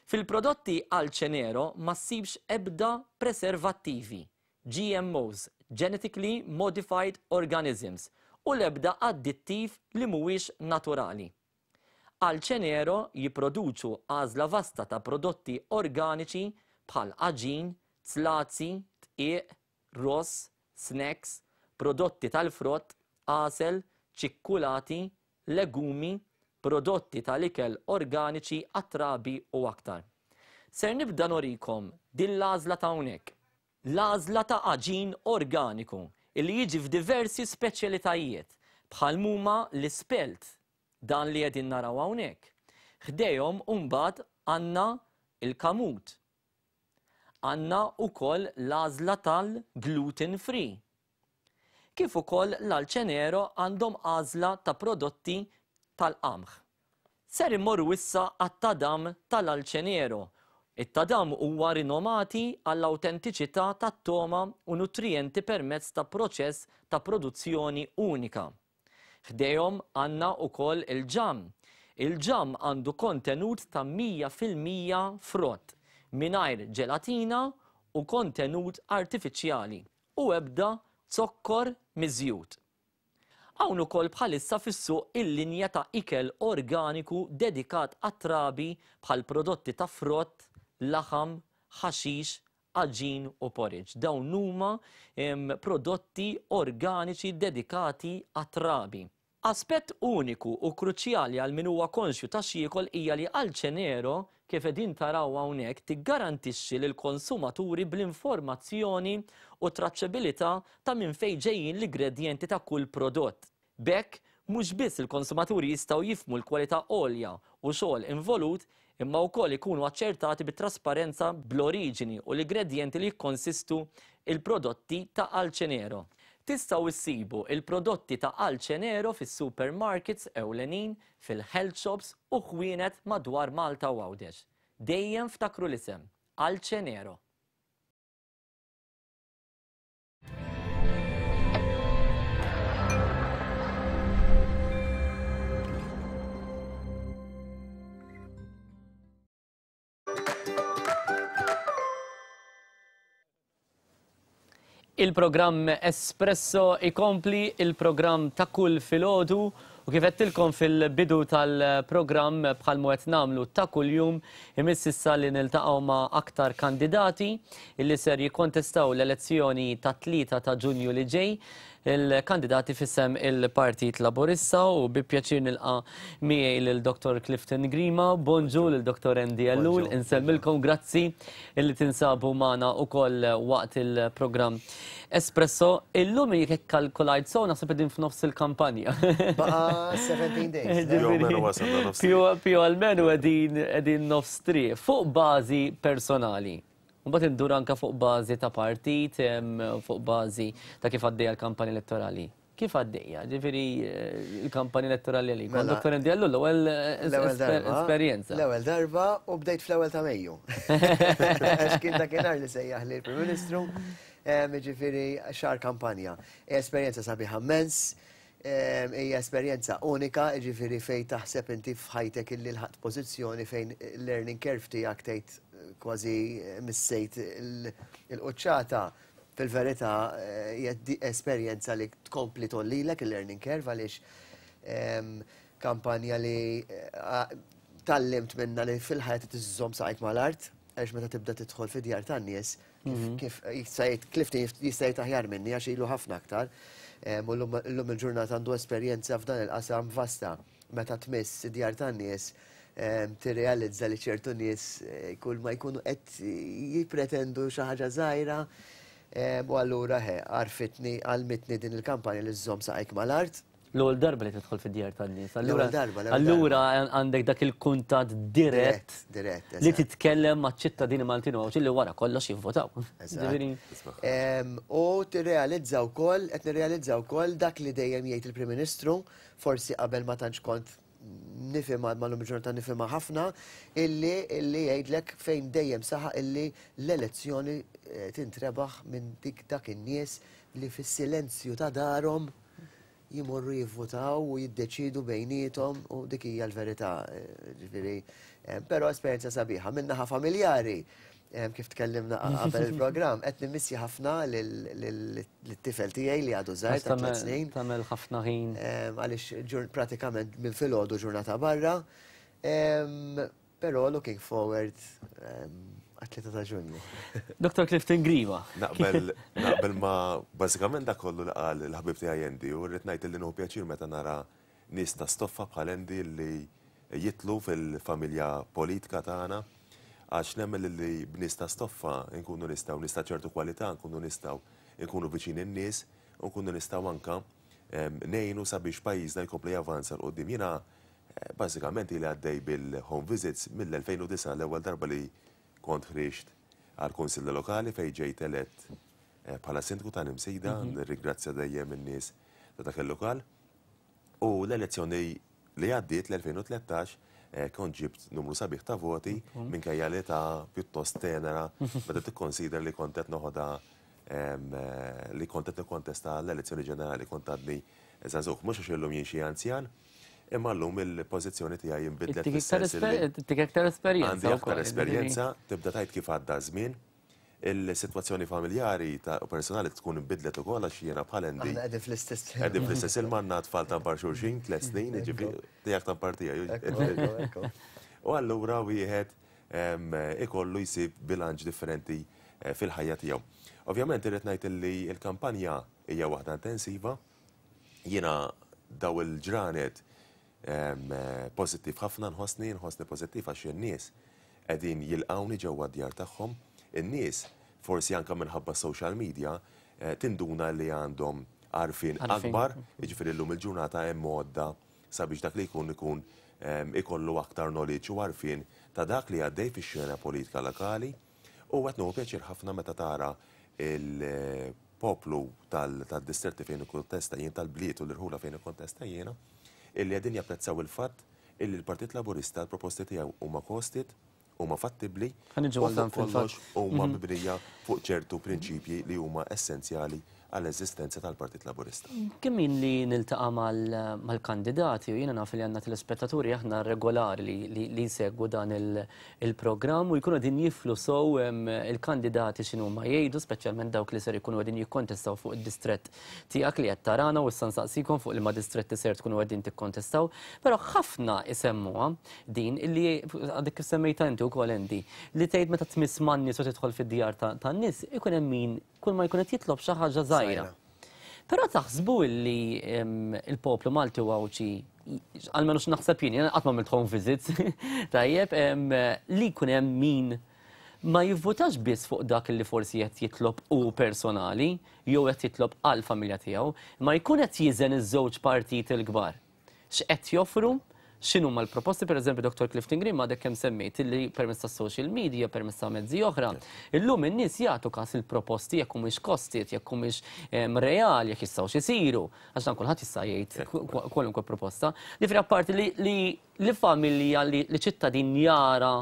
Fil-prodotti Alcenero ma ssibx ebda preservattivi, GMOs, Genetically Modified Organisms, u l-ebda addittiv li mhuwiex naturali. Alcenero jipproduċu għażla vasta ta' prodotti organiċi bħal għaġin, zlazi, dqiq, ross, snacks, prodotti tal-frott, għasel, ċikkulati, legumi, prodotti tal-ikel organiċi għat-trabi u aktar. Ser nibda nurikom din l-għażla ta' hawnhekk. L-għażla ta' għaġin organiku illi jiġi f'diversi speċjalitajiet bħal m'huma l-ispelt, dan li qegħdin naraw hawnhekk. Ħdejhom imbagħad għandna l-kamut. Għandna wkoll l-għażla tal-gluten free. Kif ukoll l-Alcenero għandhom għażla ta' prodotti tal-qamħ. Ser immorru issa għat-tadam tal-Alcenero. It-tadam huwa rinomati għall-awtentiċità tat-togħma u nutrijenti permezz ta' proċess ta' produzzjoni unika. Ħdejhom għandna wkoll il-ġamm. Il-ġamm għandu kontenut ta' 100% frott, mingħajr ġelatina u kontenut artifiċjali u ebda zokkor miżjud. Hawn ukoll bħalissa fis-suq il-linja ta' ikel organiku dedikat għat-trabi bħal prodotti ta' frott, laħam, ħaxix, għaġin u porridge. Dawn huma prodotti organiċi dedikati għat-trabi. Aspett uniku u kruċjali għal min huwa konxju ta' x'jiekol hija li Alcenero, kif qegħdin taraw hawnhekk, tiggarantixxi lill-konsumaturi bl-informazzjoni u t-traċċebilità ta' minn fejn ġejjin l-igredjenti ta' kull prodott. B'hekk, mhux biss il-konsumaturi jistgħu jifhmu l-kwalità għolja u xogħol involut, imma wkoll ikunu aċċertati bit-trasparenza bl-oriġini u l-igredjenti li jikkonsistu l-prodotti ta' Alcenero. Tistgħu issibu l-prodotti ta' Alcenero fis-supermarkets ewlenin, fil-health shops u ħwienet madwar Malta u Għawdex. Dejjem ftakru l-isem, Alcenero. Il-programm Espresso ikompli il-programm ta' kull filgħodu. U kif għedtilkom fil-bidu tal-programm bħal mu qed nagħmlu ta' kuljum imiss issa li niltaqgħu ma' aktar kandidati illi ser jikkontestaw l-elezzjoni tat-3 ta' Ġunju li ġej il-kandidati f'isem il-Partit Laburista u bi pjaċir nilqa' miegħi lil Dr. Clifton Grima, bonġu lil Dr. Andy Ellul, insellmilkom grazzi illi tinsabu magħna ukoll waqt il-programm Espresso. Illum jekk ikkalkulajt sew naħseb qegħdin f'nofs il-kampanja. Baqa' 17 days. Più almenu qegħdin nofs triq fuq bażi personali. Mbagħad indur anke fuq bażi ta' partit, fuq bażi ta' kif għaddejja l-kampanja elettorali. Kif għaddejja? Ġifieri l-kampanja elettorali għalik. Mela, Dr. Andy Ellul l-ewwel esperjenza. L-ewwel darba u bdejt fl-ewwel ta' Mejju. Għax kien dakinhar li sejjaħ li l-Prim Ministru, ġifieri xahar kampanja. Esperjenza sabiħa immens, hija esperjenza unika, jiġifieri fejn taħseb inti f'ħajtek illi lħaqt pożizzjoni fejn il-learning curve tiegħek tgħid kważi missejt il-quċċata, fil-verità hija esperjenza li tkompli tgħollilek il-learning curve għaliex kampanja li tgħallimt minnha li fil-ħajja trid iżżomm saqajk mal-art għaliex meta tibda tidħol fid-djar tan-nies Kif jista' jgħid Clifton jista' jgħid aħjar minni għax ilu ħafna aktar. U llum il-ġurnata għandu esperjenza f'dan il-qasam vasta. Meta tmiss id-djar tan-nies tirrealizza li ċertu nies kull ma jkunu qed jippretendu xi ħaġa żgħira u allura għarfitni, għallmitni din il-kampanja li żżomm saqajk mal-art. L-ewwel darba li tidħol fid-djar tan-nies. L-ewwel darba. Allura għandek dak il-kuntatt dirett. Dirett. Li titkellem maċ-ċittadini Maltin u Għawdxin li wara kollox jivvotaw. U tirrealizza wkoll, qed nirrealizza wkoll dak li dejjem jgħid il-Prim Ministru, forsi qabel ma tantx kont nifhimha, ma llum il-ġurnata nifhimha ħafna, illi illi jgħidlek fejn dejjem saħaq illi l-elezzjoni tintrebaħ minn dik dak in-nies li fis-silenzju ta' darhom jmorru jivvutaw u jiddeċiedu bejniethom u dik hija l-verità, ġifieri, però esperjenza sabiħa. Min-naħa familjari, kif tkellimna qabel il-programm, qed nimmissja ħafna lit-tifel tiegħi li għadu żgħir ta' tliet snin. Tagħmel ħafna ħin. Għaliex pratikament minn filgħodu ġurnata barra. Però looking forward għat-3 ta' Ġunju. Dr. Clifton Grima. Naqbel naqbel ma bażikament dak kollu li qal il-ħabib tiegħi Andy u rrid ngħid li nieħu pjaċir meta nara nies ta' stoffa bħal Andy li jidħlu fil-familja politika tagħna għax nemmen li b'nies ta' stoffa nkunu nistgħu nies ta' ċertu kwalità nkunu nistgħu nkunu viċin in-nies u nkunu nistgħu anke ngħinu sabiex pajjiżna jkompli javanza 'l quddiem. Jiena Bażikament ili għaddej bil-home visits mill-2009 l-ewwel darba li kont ħriġt għall-Kunsill Lokali fejn ġejt elett bħala Sindku tal-Imsida, nirringrazzja dejjem in-nies ta' dak il-lokal. U l-elezzjoni li għaddiet l-2013 kont ġibt numru sabiħ ta' voti minkejja l-età pjuttost tenera meta tikkonsidra li kont qed noħodha li kont qed nikkontesta l-elezzjoni ġenerali kont għadni żagħżugħ. Mhux għax illum jien xi anzjan, Imma llum il-pożizzjoni tiegħi inbidlet fis-sens li. Ittik aktar esperjenza. Għandi aktar esperjenza, tibda tgħid kif għadda ż-żmien. Il-sitwazzjoni familjari u personali tkun inbidlet ukoll għax jiena bħal Andy. Aħna qegħdin fl-istess. Qegħdin fl-istess ilma għandna tfal tampar xulxin, tliet snin, jiġifieri tiegħek tampar tiegħi. U allura wieħed ikollu jsib bilanċ differenti fil-ħajja tiegħu. Ovvjament irrid ngħid li l-kampanja hija waħda intensiva. Jiena daw il-ġranet pożittiv ħafna nħossni, nħossni pożittiv għax in-nies qegħdin jilqgħuni ġewwa d-djar tagħhom. In-nies, forsi anke minħabba s-social media, tinduna li għandhom għarfien akbar, jiġifieri llum il-ġurnata hemm għodda sabiex dak li jkun ikun ikollu aktar knowledge u għarfien ta' dak li għaddej fix-xena politika lokali. U qed nieħu pjaċir ħafna meta tara l-poplu tad-distretti fejn ikkontesta jien, tal-bliet u l-irħula fejn ikkontesta jiena, illi qegħdin japprezzaw il-fatt illi l-Partit Laburista l-proposti tiegħu huma costed, huma fattibbli u fuq kollox huma mibnija fuq ċertu prinċipji li huma essenzjali. għall-eżistenza tal-Partit Laburista. Kemm jien li niltaqa' mal-kandidati u jiena naf li għandna telespettaturi aħna regolari li jsegwu dan il-programm u jkunu qegħdin jiflu sew il-kandidati x'inhuma jgħidu, speċjalment dawk li ser ikunu qegħdin jikkontestaw fuq id-distrett tiegħek li qed tarana u issa nsaqsikom fuq liema distretti ser tkunu qegħdin tikkontestaw. Però ħafna isemmuha din illi għadek kif semmejtha inti wkoll Andy, li tgħid meta tmiss man-nies u tidħol fid-djar tan-nies ikun hemm min kull ma jkun qed jitlob xi ħaġa żgħira. Però taħsbu illi il-poplu Malti u Għawdxi, almenu x'naħseb jien, jiena qatt ma għamilt home visits, tajjeb, li jkun hemm min ma jivvutax biss fuq dak li forsi qed jitlob hu personali jew qed jitlob għall-familja tiegħu, imma jkun qed jiżen iż-żewġ partiti l-kbar. x'qed joffru, x'inhuma l-proposti, pereżempju Dottor Clifton Grima għadek kemm semmejt illi permezz tas-social media, permezz ta' mezzi oħra, illum in-nies jagħtu każ il-proposti jekk humiex costed, jekk humiex reali, jekk jistgħux isiru, għax dan kulħadd jista' jgħid kwalunkwe proposta. Jiġifieri apparti li familja li ċittadin jara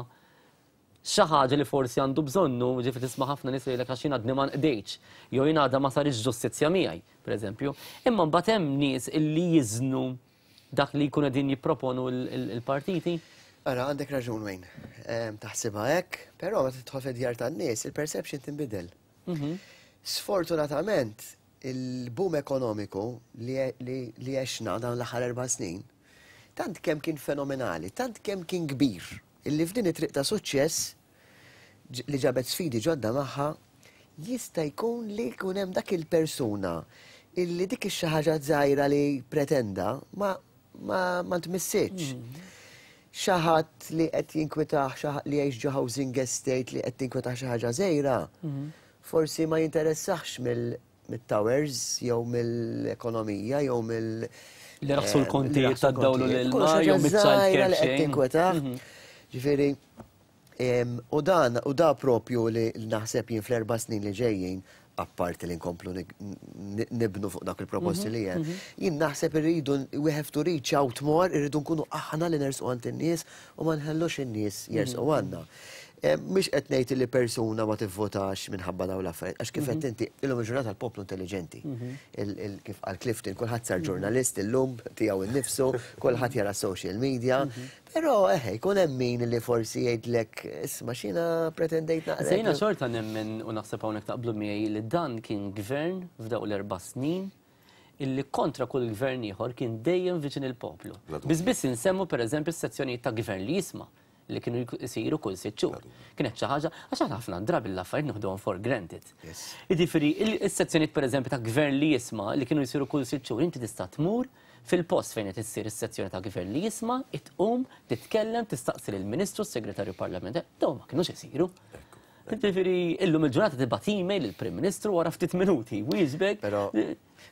xi ħaġa li forsi għandu bżonnu, ġifieri tisma' ħafna nies li jgħidlek għax jien għadni ma nqdejtx, jew jien għadha ma saritx ġustizzja miegħi, pereżempju. Imma mbagħad hemm nies illi jiżnu dak li jkunu qegħdin jipproponu l-partiti. Ara, għandek raġun Wayne, taħsibha hekk, però meta tidħol fid-djar tan-nies, il-perception tinbidel. Sfortunatament, il-boom ekonomiku li għexna dawn l-aħħar 4 snin, tant kemm kien fenomenali, tant kemm kien kbir, Illi f'din it-triq ta' suċċess li ġabet sfidi ġodda magħha, jista' jkun li jkun hemm dak il-persuna illi dik ix-xi ħaġa żgħira li pretenda ma ma ma ntmissitx. Xi ħadd li qed jinkwitah xi li jgħix ġo housing estate li qed tinkwitah xi ħaġa żgħira, forsi ma jinteressaħx mill mit-towers jew mill-ekonomija jew mill Li raħsu l-kontijiet tad-dawl u l-ilma jew mit-child care li qed tinkwetah. Ġifieri, u dan u da propju li naħseb jien fl-erba' snin li ġejjin, apparti li nkomplu nibnu fuq dak il-proposti li hemm, jien naħseb irridu we have to reach out more, irridu nkunu aħna li nersqu għand in-nies u ma nħallux in-nies jersqu għandna. Mhix qed ngħid li persuna ma tivvotax minħabba dawn l-affarijiet, għax kif qed inti illum il-ġurnata l-poplu intelliġenti. Kif qal Clifton, kulħadd sar ġurnalist illum tiegħu innifsu, kulħadd jara social media, però eħe jkun hemm min li forsi jgħidlek isma' x'jiena pretendejt naqra. Jiena xorta nemmen u naħseb hawnhekk taqblu miegħi li dan kien gvern f'dawk l-erba' snin illi kontra kull gvern ieħor kien dejjem viċin il-poplu. Biss biss insemmu pereżempju s-sezzjonijiet ta' gvern li jisma' li kienu jsiru kull sitt xhur. Kienet xi ħaġa, għax aħna ħafna drabi l-affarijiet nieħduhom for granted. Jiġifieri, is-sezzjonijiet pereżempju ta' gvern li jisma' li kienu jsiru kull sitt xhur, inti tista' tmur fil-post fejn qed issir is-sezzjoni ta' gvern li jisma', tqum, titkellem, tistaqsi lill-Ministru, s-Segretarju Parlamentari, dawn ma kinux isiru. Jiġifieri, illum il-ġurnata tibgħat email lill-Prim Ministru wara ftit minuti, wieġbek.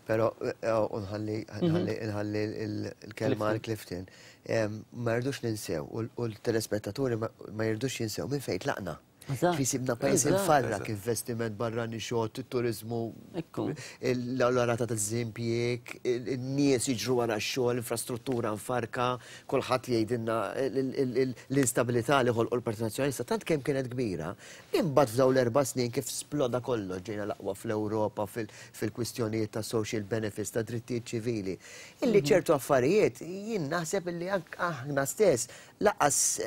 Però, u nħalli nħalli l-kelma għal Clifton, ma rridux ninsew u l-telespettaturi ma jridux jinsew minn fejn tlaqna. Fi sibna pajjiż imfarrak, investiment barrani xott, it-turiżmu, l-rata ta' żimpjieg, in-nies jiġru wara x-xogħol, infrastruttura mfarrka, kulħadd jgħidilna l-instabilità li ħolqu l-Partit Nazzjonalista tant kemm kienet kbira Imbagħad f'dawn l-erba' snin kif sploda kollox, ġejna l-aqwa fl-Ewropa fil-kwistjonijiet ta' social benefits, ta' drittijiet ċivili, illi ċertu affarijiet jien naħseb illi anke aħna stess lanqas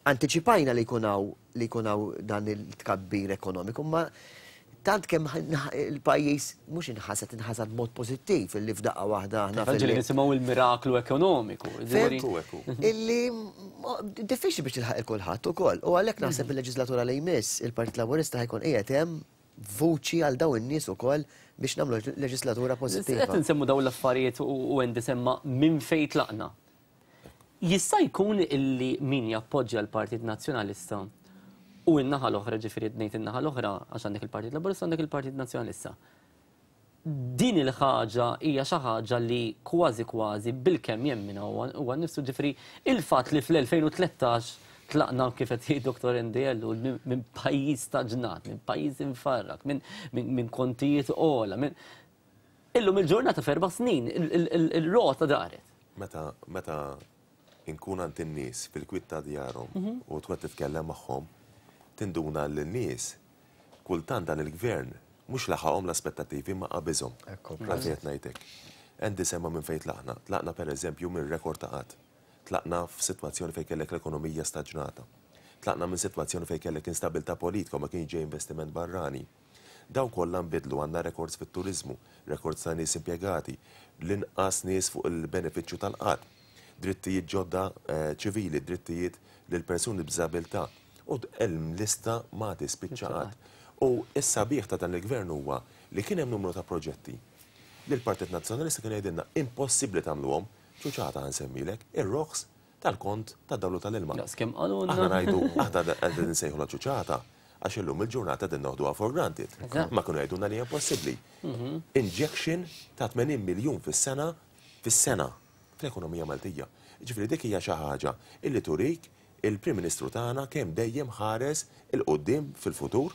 antiċipajna li jkun hawn li jkun hawn dan it-tkabbir ekonomiku, imma tant kemm il-pajjiż mhux inħasad, inħasad b'mod pożittiv illi f'daqqa waħda aħna. Ġieli nisimgħu il-miraklu ekonomiku. Illi diffiċli biex tilħaq il-kulħadd ukoll. U għalhekk naħseb il-leġislatura li jmiss il-Partit Laburista ħajkun qiegħed hemm vuċi għal dawn in-nies ukoll biex nagħmlu leġislatura pożittiva. Qed insemmu dawn l-affarijiet u Andy semma minn fejn tlaqna. Jista' jkun illi min jappoġġja l-Partit Nazzjonalista u n-naħa l-oħra, ġifieri ngħid in-naħa l-oħra għax għandek il-Partit Laburista għandek il-Partit Nazzjonalista. Din il-ħaġa hija xi ħaġa li kważi kważi bilkemm jemminha huwa nnifsu, ġifieri il-fatt li fl-2013 tlaqna kif qed jgħid Dottor Andy Ellul minn pajjiż staġnat, minn pajjiż imfarrak, minn kontijiet ogħla, minn Illum il-ġurnata f'erba' snin il-rota daret. Meta meta inkun għand in-nies fil-kwiet ta' djarhom u tkun qed titkellem magħhom, tinduna li n-nies kultant dan il-gvern Mhux laħaqhom l-aspettattivi imma qabiżhom. Għalfejn qed ngħid hekk? Andy semma minn fejn tlaqna. Tlaqna pereżempju minn rekord ta' qgħad. Tlaqna f'sitwazzjoni fejn kellek l-ekonomija staġnata. Tlaqna minn sitwazzjoni fejn kellek instabilità politika u ma kienx ġej investiment barrani. Dawn kollha nbidlu, għandna rekords fit-turiżmu, rekords ta' nies impjegati, l-inqas nies fuq il-benefiċċju tal-qgħad, drittijiet ġodda ċivili, drittijiet lil persuni b'diżabilità u l-lista ma tispiċċa qatt. U s-sabiħ ta' dan il-Gvern huwa li kien hemm numru ta' proġetti li l-Partit Nazzjonalista kien jgħidilna impossibbli tagħmluhom, ċuċata ħa nsemmilek, ir-roħs tal-kont tad-dawl u tal-ilma. Daqs kemm qalulna. Aħna ngħidu, aħna qegħdin insejħulha ċuċata għax illum il-ġurnata qegħdin noħduha for granted. Ma kienu jgħidulna li hija impossibbli. Injection ta' 80 miljun fis-sena fis-sena fl-ekonomija Maltija. Jiġifieri dik hija xi ħaġa illi turik il-Prim Ministru tagħna kemm dejjem ħares 'il quddiem fil-futur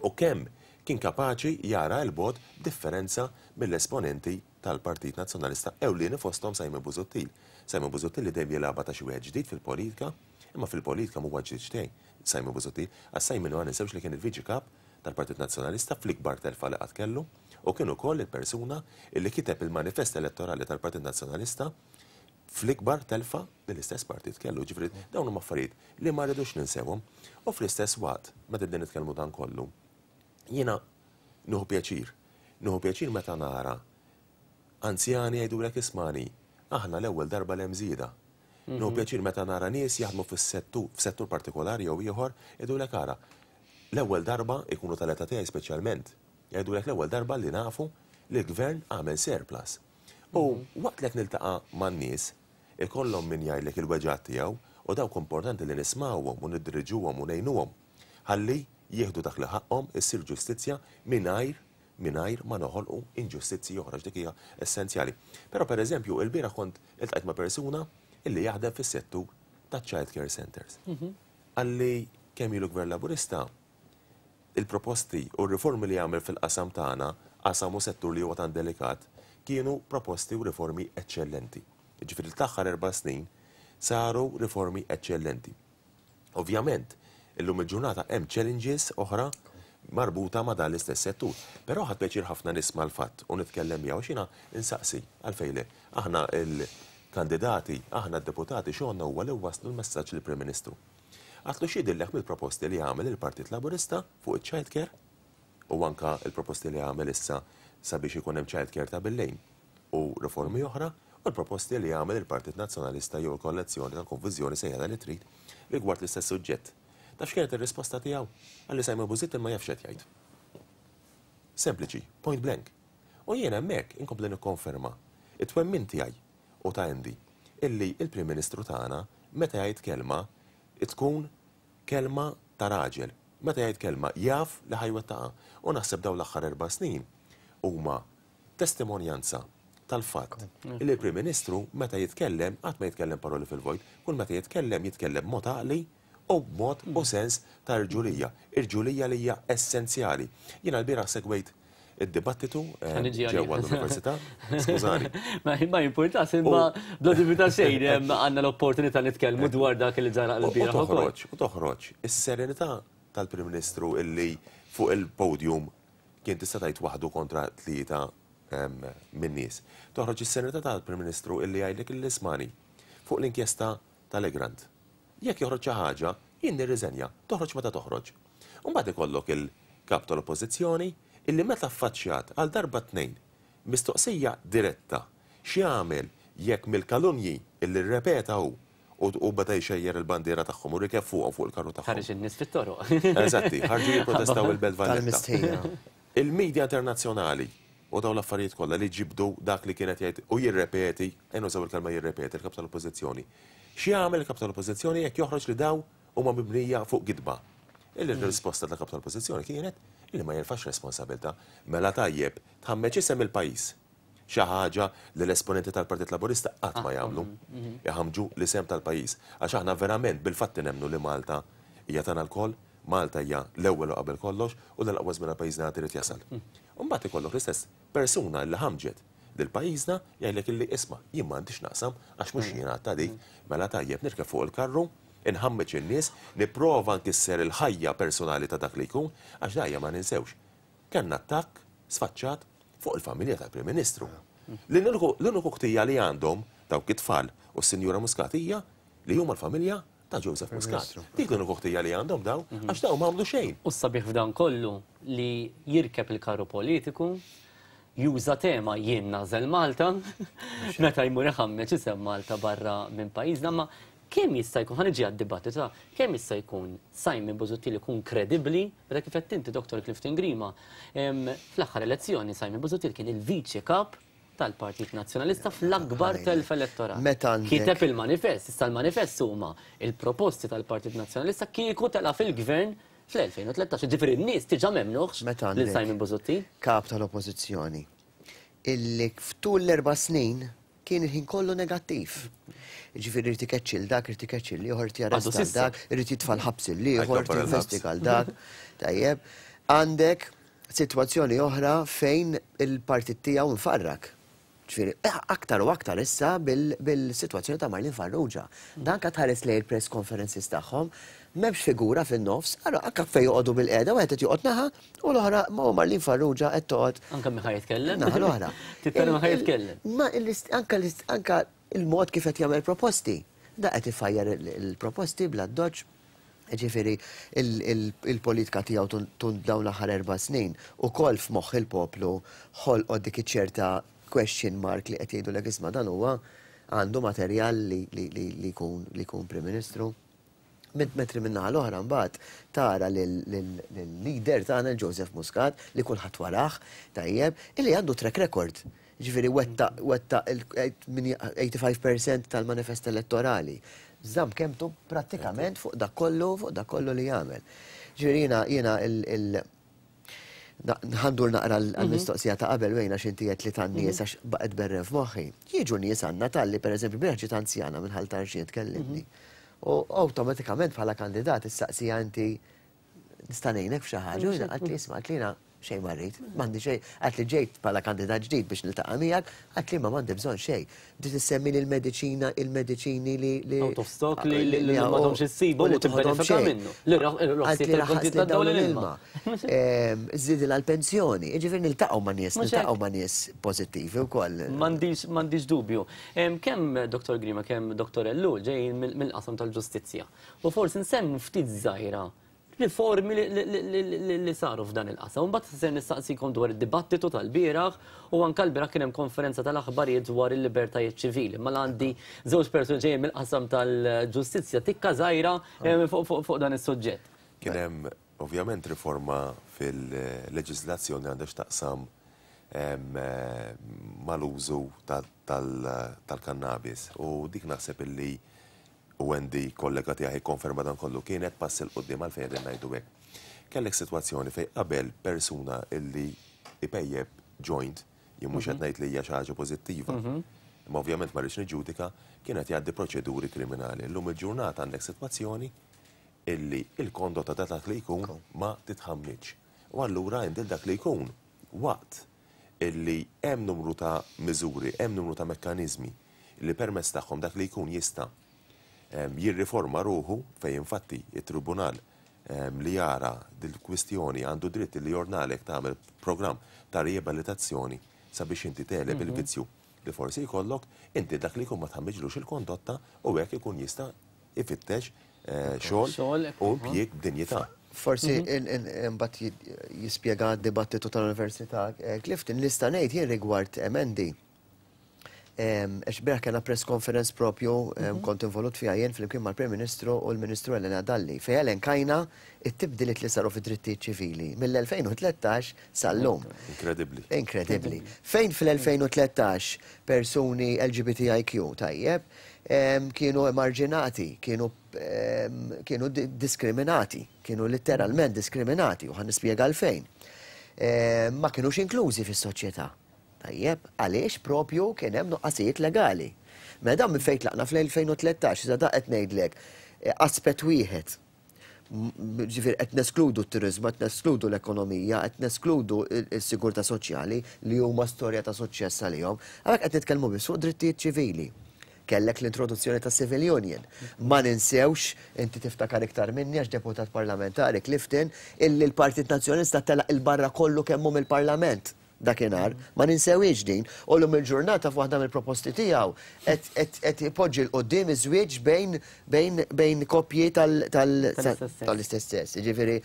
u kemm kien kapaċi jara 'l bogħod b'differenza mill-esponenti tal-Partit Nazzjonalista ewlieni fosthom Simon Busuttil. Simon Busuttil li dejjem jilgħabha ta' xi wieħed ġdid fil-politika, imma fil-politika m'huwa ġdid xejn Simon Busuttil, għax Simon ma ninsewx li kien il-Viċi Kap tal-Partit Nazzjonalista fl-ikbar telfa li qatt kellu u kien ukoll il-persuna li kiteb il-manifest elettorali tal-Partit Nazzjonalista fl-ikbar telfa li l-istess partit kellu. Jiġifieri dawn huma affarijiet li ma rridux ninsewhom. U fl-istess waqt, meta qegħdin nitkellmu dan kollu, jiena nieħu pjaċir. Nieħu pjaċir meta nara anzjani jgħidulek ismani, aħna l-ewwel darba li hemm żieda. Nieħu pjaċir meta nara nies jaħdmu fis-settur, f'settur partikolari jew ieħor, jgħidulek ara, l-ewwel darba jkunu tal-età tiegħi speċjalment, jgħidulek l-ewwel darba li nafu li l-gvern għamel surplus. U waqt li qed niltaqa' man-nies, ikollhom min jgħidlek il-weġgħat tiegħu u dawk importanti li nismgħuhom u niddiriġuhom u ngħinuhom ħalli jieħdu dak li ħaqqhom, issir ġustizzja mingħajr mingħajr ma noħolqu inġustizzji oħra għax dik hija essenzjali. Però pereżempju ilbieraħ kont iltqajt ma' persuna illi jaħdem fis-settur taċ-child care centres. Qalli kemm ilu Gvern Laburista il-proposti u r-riformi li għamel fil-qasam tagħna, qasam u settur li huwa tant delikat, kienu proposti u riformi eċċellenti. Jiġifieri l-aħħar erba' snin saru riformi eċċellenti. Ovvjament, illum il-ġurnata hemm challenges oħra marbuta ma' dan l-istess settur. Però ħadt pjaċir ħafna nisma' l-fatt u nitkellem miegħu għax jiena insaqsi għalfejn le. Aħna l-kandidati, aħna d-deputati xogħolna huwa li nwasslu l-messaġġ lill-Prim Ministru. Għadtlu x'jidhirlek mill-proposti li għamel il-Partit Laburista fuq iċ-child care u anke l-proposti li għamel issa sabiex ikun hemm child care ta' bil-lejl u riformi oħra u l-proposti li għamel il-Partit Nazzjonalista jew il-kollezzjoni tal-konfużjoni sejħilha li trid rigward l-istess suġġett. Taf x'kienet ir-risposta tiegħu? Qalli Simon Busuttil ma jafx x'qed jgħid. Sempliċi, point blank. U jien hemmhekk inkompli nikkonferma t-twemmin tiegħi u ta' Andy illi l-Prim Ministru tagħna meta jgħid kelma tkun kelma ta' raġel. Meta jgħid kelma jaf li ħa jwettaqha. U naħseb dawn l-aħħar erba' snin huma testimonjanza tal-fatt illi l-Prim Ministru meta jitkellem qatt ma jitkellem paroli fil-vojt. Kull meta jitkellem jitkellem b'mod għaqli u b'mod u sens ta' irġulija. Irġulija li hija essenzjali. Jiena lbieraħ segwejt id-dibattitu ġewwa l-università. Skużani. Ma jimpurtax, imma bla dubju ta' xejn għandna l-opportunità nitkellmu dwar dak li ġara l-bieraħ. U toħroġ, u toħroġ is-serenità tal-Prim Ministru illi fuq il-podium kien tista' tgħid waħdu kontra tlieta min-nies. Toħroġ is-serenità tal-Prim Ministru illi jgħidlek illi ismani fuq l-inkjesta tal-Egrant. Jekk joħroġ xi ħaġa, jien nirriżenja, toħroġ meta toħroġ. U mbagħad ikollok il-Kap tal-Oppożizzjoni illi meta affaċċjat għal darba tnejn mistoqsija diretta x'jagħmel jekk mill-kalunji illi rrepeta hu u beda jxejjer il-bandiera tagħhom u rikeb fuqhom fuq il-karru tagħhom. Ħareġ in-nies fit-toroq. Eżatti, ħarġu jipprotestaw il-Belt Valletta. Tal-mistħija. Il-media internazzjonali u dawn l-affarijiet kollha li ġibdu dak li kien qed jgħid u jirrepeti, ejja nużaw il-kelma jirrepeti, il-Kap tal-Oppożizzjoni. X'jagħmel il-Kap tal-Oppożizzjoni jekk joħroġ li dawn huma mibnija fuq gidba? Il-risposta tal-Kap tal-Oppożizzjoni kienet li ma jerfax responsabilità. Mela tajjeb, tħammeġ isem il-pajjiż. Xi ħaġa li l-esponenti tal-Partit Laburista qatt ma jagħmlu. Iħammġu l-isem tal-pajjiż. Għax aħna verament bil-fatti nemmnu li Malta hija tagħna lkoll, Malta hija l-ewwel u qabel kollox u li l-aqwa żmien għal pajjiżna għad irid jasal. U mbagħad ikollok l-istess persuna li ħammġet lil pajjiżna jgħidlek illi isma' jien m'għandix x'naqsam għax mhux jien għadtha dik, mela tajjeb nirkeb fuq il-karru, inħammeġ in-nies, nipprova nkisser il-ħajja personali ta' dak li jkun, għax da ejja ma ninsewx. Kellna attakk sfaċċat fuq il-familja tal-Prim Ministru. L-uniku ħtija li għandhom dawk it-tfal u s-Sinjura Muscat hija li huma l-familja ta' Joseph Muscat. Dik l-uniku ħtija li għandhom dawn, għax dawn ma għamlu xejn. U s-sabiħ f'dan kollu li jirkeb il-karru politiku, juża tema jien nagħżel Malta, meta jmur iħammeġ isem Malta barra minn pajjiżna, ma kemm jista' jkun, ħa niġi għad-dibattitu, kemm jista' jkun Simon Busuttil ikun kredibbli, meta kif qed inti Dr. Clifton Grima, fl-aħħar elezzjoni Simon Busuttil kien il-viċi kap tal-Partit Nazzjonalista fl-akbar telf elettorali. Meta għandek Kiteb il-manifest, issa l-manifest huma il-proposti tal-Partit Nazzjonalista kieku tela' fil-gvern fl-2013. Ġifieri n-nies diġà m'emmnuhx Meta lil għandek Simon Busuttil. Kap tal-Oppożizzjoni illi ftul l-4 snin kien il-ħin kollu negattiv. Ġifieri irid ikeċċi l dak, irid ikeċċi l-ieħor, irid jarresta Għadu s'issa. dak, irid jitfa' l-ħabs l-ieħor, irid Għajkopper il-ħabs. jinvestiga l dak. Tajjeb, għandek sitwazzjoni oħra fejn il-partit tiegħu nfarrak. Ġifieri, aktar u aktar issa bil-sitwazzjoni ta' Marlene Farrugia. Dan ka tħares lejn il-press conferences tagħhom, m'hemmx figura fin-nofs, allora anke fejn joqogħdu bil-qiegħda, wieħed qed joqgħod naħa u l-oħra ma Marlene Farrugia qed toqgħod Anke min ħa jitkellem. Naħa l-oħra. Titkellem min ħa jitkellem. Ma anka il-mod kif qed jagħmel proposti. Da qed ifajjar il-proposti bla doċ. Ġifieri il-politika tiegħu tun dawn l-aħħar 4 snin ukoll f'moħħ il-poplu ħolqot dik iċ-ċerta question mark li qed jgħidu isma' dan huwa għandu materjal li jkun Prim Ministru. Metri minna l-oħra mbagħad tara lill-leader tagħna Joseph Muscat li kulħadd warah tajjeb illi għandu track record. Ġifieri wetta il-85% tal-manifest elettorali. Żamm kemtu prattikament fuq dak kollu, fuq dak kollu li jagħmel. Ġifieri jiena ħa ndur naqra l-mistoqsija ta' qabel wejna x'inti qed li tan-nies għax baqgħet berren f'moħħi. Jiġu nies għandna talli pereżempju bieraħ ġiet anzjana minn Ħal Tarxien tkellimni. U awtomatikament bħala kandidat issaqsija inti nista' ngħinek f'xi ħaġa, u jiena qalt li isma' qalt li jiena xejn ma rrid, m'għandi xejn, qalt li ġejt bħala kandidat ġdid biex niltaqa' miegħek, qalt li ma m'għandi bżonn xejn. Bdiet issemmi li l-mediċina, il-mediċini li Out of stock li m'għadhomx issibu u li u tibbenefika toħodhom xejn. minnu. Li Qalt li roħsiet raħas il-kontijiet li tad-dawl dawn l-ilma. l-ilma. Żidilha l-pensjoni, jiġifieri niltaqgħu ma' nies, Mhux hekk. niltaqgħu ma' nies pożittivi wkoll. M'għandix dubju. Kemm Dr. Grima, kemm Dr. Ellul ġejjin mill-qasam tal-ġustizzja. U forsi nsemmu ftit żgħira riformi li saru f'dan il-qasam. Mbagħad se nistaqsikom dwar id-dibattitu tal-bieraħ u anke l-bieraħ kien hemm konferenza tal-aħbarijiet dwar il-libertajiet ċivili. Ma għandi żewġ persuni ġejjin mill-qasam tal-ġustizzja tikka żgħira fuq dan is-suġġett. Kien hemm ovvjament riforma fil-leġiżlazzjoni għandha x'taqsam mal-użu tal-kannabis u dik naħseb illi u Andy kollega tiegħi konferma dan kollu kienet pass 'il quddiem. Għalfejn qegħdin ngħidu hekk? Kellek sitwazzjoni fejn qabel persuna illi ipejjeb joint, jien mhux qed ngħid li hija xi ħaġa pożittiva. Imma ovvjament ma rridx niġġudika, kienet jgħaddi proċeduri kriminali. Illum il-ġurnata għandek sitwazzjoni illi il-kondotta ta' dak li jkun ma titħammiġ. U allura inti dak li jkun waqt illi hemm numru ta' miżuri, hemm numru ta' mekkaniżmi li permezz tagħhom dak li jkun jista' jirriforma ruħu, fejn infatti it-tribunal li jara dil-kwistjoni għandu dritt li jordnalek tagħmel programm ta' riabilitazzjoni sabiex inti tegħleb il-vizzju li forsi jkollok, inti dak li jkun ma tħammiġlux il-kondotta u hekk ikun jista' ifittex xogħol Xogħol, u impjieg b'dinjità. Forsi imbagħad jispjega d-dibattitu tal-Università Clifton, nista' ngħid jien rigward emendi. Għax bieraħ kellna press conference propju, kont involut fiha jien flimkien mal-Prim Ministru u l-Ministru Helena Dalli, fejn elenkajna it-tibdiliet li saru fid-drittijiet ċivili mill-2013 sal-lum. Inkredibbli. Inkredibbli. Fejn fil-2013 persuni LGBTIQ tajjeb kienu emarġinati, kienu diskriminati, kienu letteralment diskriminati, u ħa nispjega għalfejn. Ma kienux inklużi fis-soċjetà. Tajjeb, għaliex propju kien hemm nuqqasijiet legali. Mela dan minn fejn tlaqna fl-2013, iżda da qed ngħidlek aspett wieħed. Ġifieri qed neskludu t-turizmu, qed neskludu l-ekonomija, qed neskludu s-sigurtà soċjali li huma storja ta' suċċess għalihom. Għalhekk qed nitkellmu biss fuq drittijiet ċivili. Kellek l-introduzzjoni ta' Civil Union. Ma ninsewx, inti tiftakar iktar minni għax deputat parlamentari Clifton, illi l-Partit Nazzjonalista telaq 'il barra kollu kemm hu mill-Parlament dakinhar. Ma ninsewhiex din. U llum il-ġurnata f'waħda mill-proposti tiegħu qed qed ipoġġi 'l quddiem iż-żwieġ bejn bejn bejn koppji tal tal tal-istess sess. Jiġifieri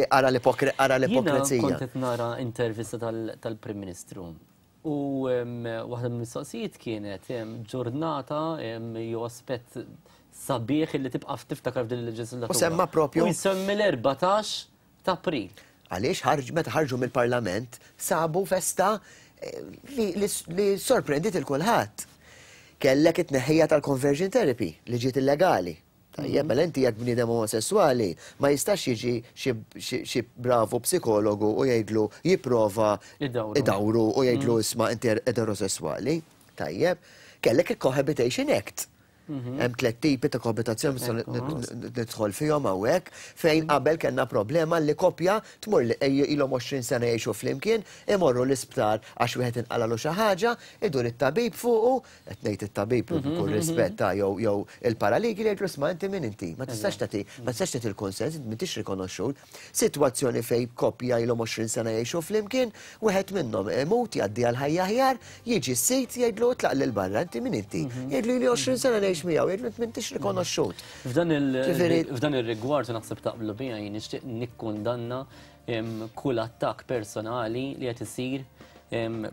ara l-ipokri ara l-ipokrezija. Jiena kont qed nara intervista tal-Prim Ministru U waħda mill-mistoqsijiet kienet ġurnata jew aspett sabiħ li tibqa' tiftakar f'din il-leġislatura. U semma propju. U jsemmi l-14 ta' April. Għaliex ħarġ meta ħarġu mill-Parlament sabu festa li, li, li sorprendiet il kulħadd. Kellek it-tneħħija tal-conversion therapy li ġiet illegali. Tajjeb, mela inti jekk bniedem omosesswali ma jistax jiġi xi bravu psikologu u jgħidlu jipprova idawru u jgħidlu isma' inti eterosesswali. Tajjeb, kellek il-Cohabitation Act. Hemm tliet tipi ta' koabitazzjoni nidħol fihom hawnhekk fejn qabel kellna problema li koppja tmur li ilhom 20 sena jgħixu flimkien, imorru l-isptar għax wieħed inqalalu xi ħaġa, idur it-tabib fuqu, qed ngħid it-tabib b'kull rispett ta' jew jew il-paraligi li jgħidlu isma' inti min inti, ma tistax tagħti ma tistax tagħti l-kunsens, inti m'intix rikonoxxut. Sitwazzjoni fejn koppja ilhom 20 sena jgħixu flimkien, wieħed minnhom imut jgħaddi għal ħajja aħjar, jiġi s-sid jgħidlu itlaq 'l barra, inti min inti? Jgħidlu ili 20 sena ngħix miegħu, jgħidlu int m'intix rikonoxxut. F'dan ir-rigward u naħseb taqblu bija jien nixtieq nikkundanna kull attakk personali li qed isir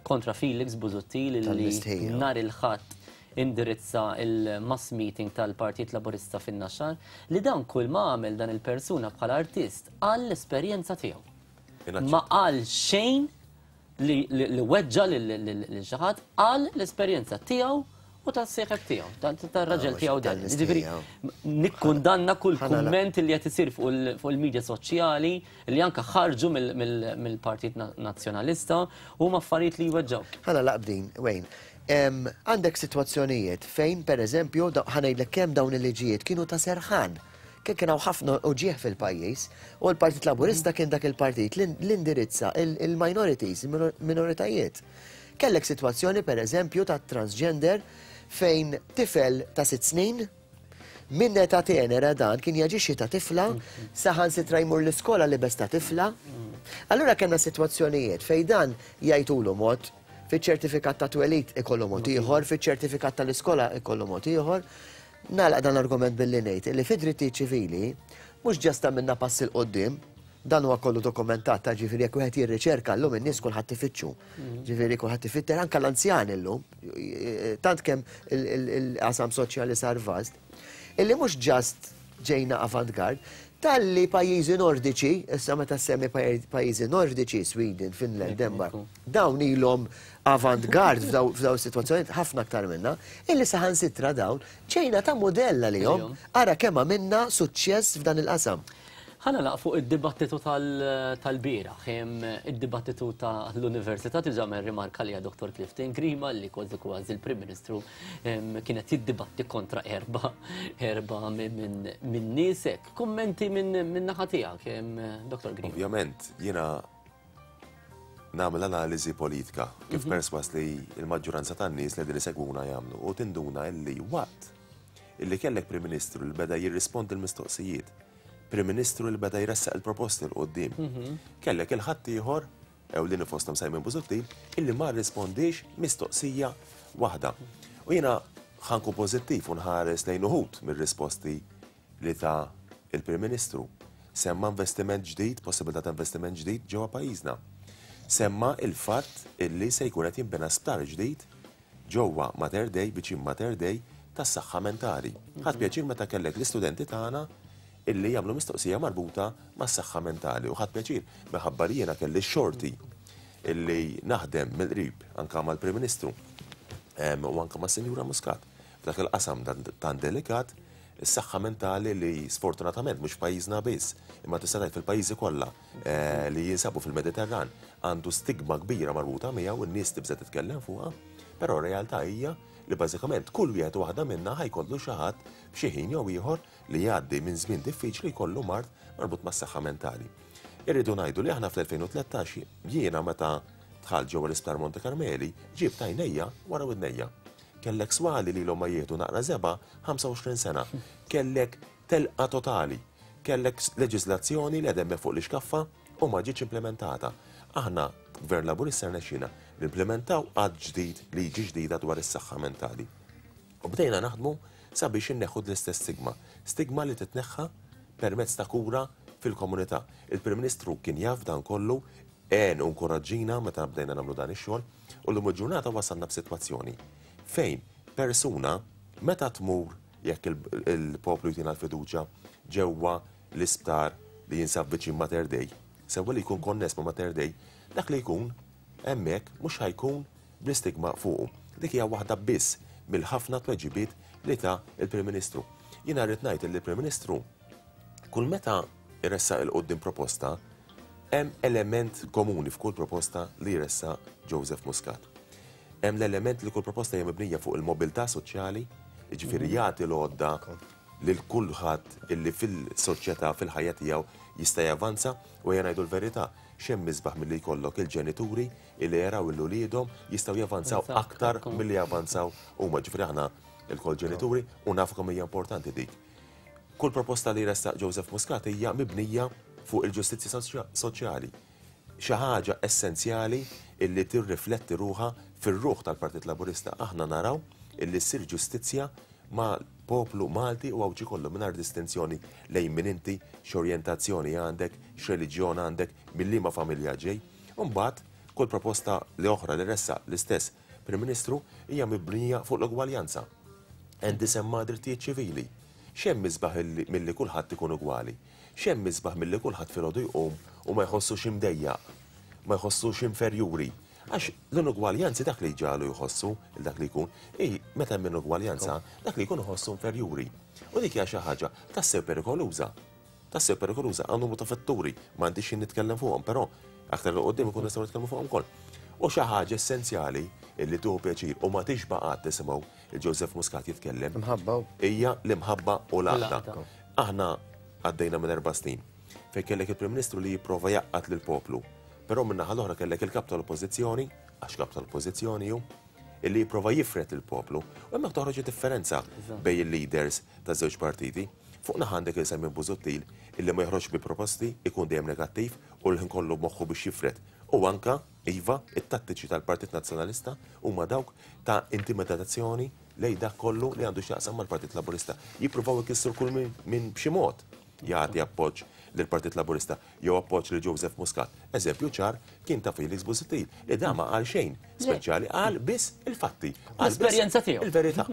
kontra Felix Busuttil li nhar il-Ħadd indirizza il-mass meeting tal-Partit Laburista fin-Naxxar li dan kull ma għamel dan il-persuna bħala artist qal l-esperjenza tiegħu. Ma qal xejn li weġġa lil xi ħadd qal l-esperjenza tiegħu u tas-sieħeb tiegħu, tar-raġel tiegħu dan. Jiġifieri nikkundanna kull kumment li qed isir fuq il-medja soċjali li anke ħarġu mill-Partit Nazzjonalista huma affarijiet li jweġġgħu. Ħa nagħlaq b'din, Wayne. Għandek sitwazzjonijiet fejn pereżempju, ħa ngħidlek kemm dawn il-liġijiet kienu ta' serħan. Kien kien hawn ħafna uġigħ fil-pajjiż u l-Partit Laburista kien dak il-partit li indirizza il-minorities, il-minoritajiet. Kellek sitwazzjoni per eżempju ta' transgender fejn tifel ta' 6 snin minn età tenera dan kien jaġixxi ta' tifla, saħansitra jmur l-iskola libes ta' tifla. Allura kellna sitwazzjonijiet fejn dan jgħidulu mod, fiċ-ċertifikat ta' twelid ikollu mod ieħor, fiċ-ċertifikat tal-iskola ikollu mod ieħor. Nagħlaq dan l-argument billi ngħid li fid-drittijiet ċivili mhux ġast għamilna pass 'il quddiem, Dan huwa kollu dokumentat, ta' ġifieri jekk wieħed jirriċerka llum in-nies kulħadd ifittxu. Ġifieri kulħadd ifitter anke l-anzjani llum, tant kemm il-qasam soċjali sar vast, illi mhux ġast ġejna avant-garde, talli pajjiżi nordiċi, issa meta ssemmi pajjiżi nordiċi, Sweden, Finland, Denmark, dawn ilhom avant-garde f'daw is-sitwazzjonijiet ħafna aktar minna, illi saħansitra dawn ġejna ta' mudell għalihom, ara kemm għamilna suċċess f'dan il-qasam. Ħa nagħlaq fuq id-dibattitu tal-bieraħ, id-dibattitu ta' l-Università diġà għamel rimarka għaliha Dottor Clifton Grima li kważi kważi l-Prim Ministru kien qed jiddibatti kontra erba' erba' minn niesek. Kummenti minn naħa tiegħek, Dottor Grima. Ovvjament, jiena nagħmel analiżi politika kif perswas li l-maġġuranza tan-nies li qegħdin isegwuna jagħmlu u tinduna illi waqt illi kellek Prim Ministru li beda jirrispondi l-mistoqsijiet Prim Ministru li beda jressaq il-proposti 'l quddiem. Kellek il-ħaddieħor, ewlieni fosthom Simon Busuttil, illi ma rrispondiex mistoqsija waħda. U jiena ħa nkun pożittiv u nħares lejn uħud mir-risposti li ta l-Prim Ministru. Semma investiment ġdid, possibilità ta' investiment ġdid ġewwa pajjiżna. Semma il-fatt illi se jkun qed jinbena sptar ġdid ġewwa Mater Dei, viċin Mater Dei, tas-saħħa mentali. Ħadt pjaċir meta kellek l-istudenti tagħna illi jagħmlu mistoqsija marbuta mas-saħħa mentali u ħadt pjaċir minħabba li jiena kelli x-xorti illi naħdem mill-qrib anke mal-Prim Ministru u anke mas-Sinjura Muscat f'dak il-qasam tant delikat, is-saħħa mentali li sfortunatament mhux f'pajjiżna biss, imma tista' tgħid fil-pajjiżi kollha li jinsabu fil-Mediterran għandu stigma kbira marbuta miegħu, in-nies tibża' titkellem fuqha, però r-realtà hija li bażikament kull wieħed u waħda minna ħa jkollu xi ħadd f'xi ħin jew ieħor li jgħaddi minn żmien diffiċli jkollu mard marbut mas-saħħa mentali. Irridu ngħidu li aħna fl-2013 jiena meta dħalt ġewwa l-Isptar Monte Carmeli ġibt għajnejja wara widnejja. Kellek swali li ilhom ma jieħdu naqra żebgħa 25 sena. Kellek telqa totali. Kellek leġiżlazzjoni li għadha hemmhekk fuq l-ixkaffa u ma ġietx implimentata. Aħna, Gvern Laburista rnexxielna nimplimentaw att ġdid, liġi ġdida dwar is-saħħa mentali. U bdejna naħdmu sabiex inneħħu l-istess stigma. Stigma li titneħħa permezz ta' kura fil-komunità. Il-Prim Ministru kien jaf dan kollu, għen u nkoraġġina meta bdejna nagħmlu dan ix-xogħol u llum il-ġurnata wasalna f'sitwazzjoni fejn persuna meta tmur jekk il-poplu jtina l-fiduċja ġewwa l-isptar li jinsab viċin Mater Dei, sewwa li jkun konness ma' Mater Dei, dak li jkun hemmhekk mhux ħa jkun bl-istigma fuqu. Dik hija waħda biss mill-ħafna tweġibiet li ta l-Prim Ministru. Jiena rrid ngħid li l-Prim Ministru kull meta jressaq 'il quddiem proposta, hemm element komuni f'kull proposta li jressaq Joseph Muscat. Hemm l-element li kull proposta hija mibnija fuq il-mobilità soċjali, jiġifieri jagħti l-għodda lil kulħadd illi fil-soċjetà, fil-ħajja tiegħu jista' javanza u ejja ngħidu l-verità, x'hemm isbaħ milli jkollok il-ġenituri illi jaraw lil uliedhom jistgħu javanzaw aktar milli javanzaw huma. Ġifieri aħna lkoll ġenituri u nafu kemm hija importanti dik. Kull proposta li jressaq Joseph Muscat hija mibnija fuq il-ġustizzja soċjali. Xi ħaġa essenzjali illi tirrifletti ruħha fir-ruħ tal-Partit Laburista. Aħna naraw illi ssir ġustizzja mal-poplu Malti u Għawdxi kollu mingħajr distinzjoni lejn min inti, x'orjentazzjoni għandek, x'reliġjon għandek, minn liema familja ġej. U mbagħad kull proposta li oħra li ressaq l-istess Prim Ministru hija mibnija fuq l-ugwaljanza. Andy semma drittijiet ċivili. X'hemm isbaħ milli kulħadd ikun ugwali? X'hemm isbaħ milli kulħadd filgħodu jqum u ma jħossux imdejjaq, ma jħossux inferjuri? Għax l-inugwaljanzi dak li jġagħlu jħossu lil dak li jkun, hi meta hemm inugwaljanza, dak li jkun iħossu inferjuri. U dik hija xi ħaġa tassew perikoluża. Tassew perikoluża għal numru ta' fatturi, m'għandix xi nitkellem fuqhom, però aktar 'il quddiem ikun nistgħu nitkellmu fuqhom ukoll. U xi ħaġa essenzjali li tieħu pjaċir u ma tixba' qatt tisimgħu lil Joseph Muscat jitkellem hija l-imħabba u l-għaqda. Aħna għaddejna minn erba' snin fejn kellek il-Prim Ministru li jipprova jgħaqqad lill-poplu, però min-naħa l-oħra kellek il-Kap tal-Oppożizzjoni, għax Kap tal-Oppożizzjoni hu, illi jipprova jifred lill-poplu. U hemmhekk toħroġ id-differenza bejn il-leaders taż-żewġ partiti. Fuq naħa għandek lil Simon Busuttil illi ma joħroġx bi proposti, ikun dejjem negattiv u l-ħin kollu moħħu biex jifred. U anke, iva, it-tattiċi tal-Partit Nazzjonalista huma dawk ta' intimidazzjoni lejn dak kollu li għandu x'jaqsam mal-Partit Laburista. Jippruvaw ikissru kull min b'xi mod jagħti appoġġ lill-Partit Laburista jew appoġġ lil Joseph Muscat. Eżempju ċar kien ta' Felix Busuttil li dan ma qal xejn speċjali, qal biss il-fatti. L-esperjenza tiegħu. Il-verità.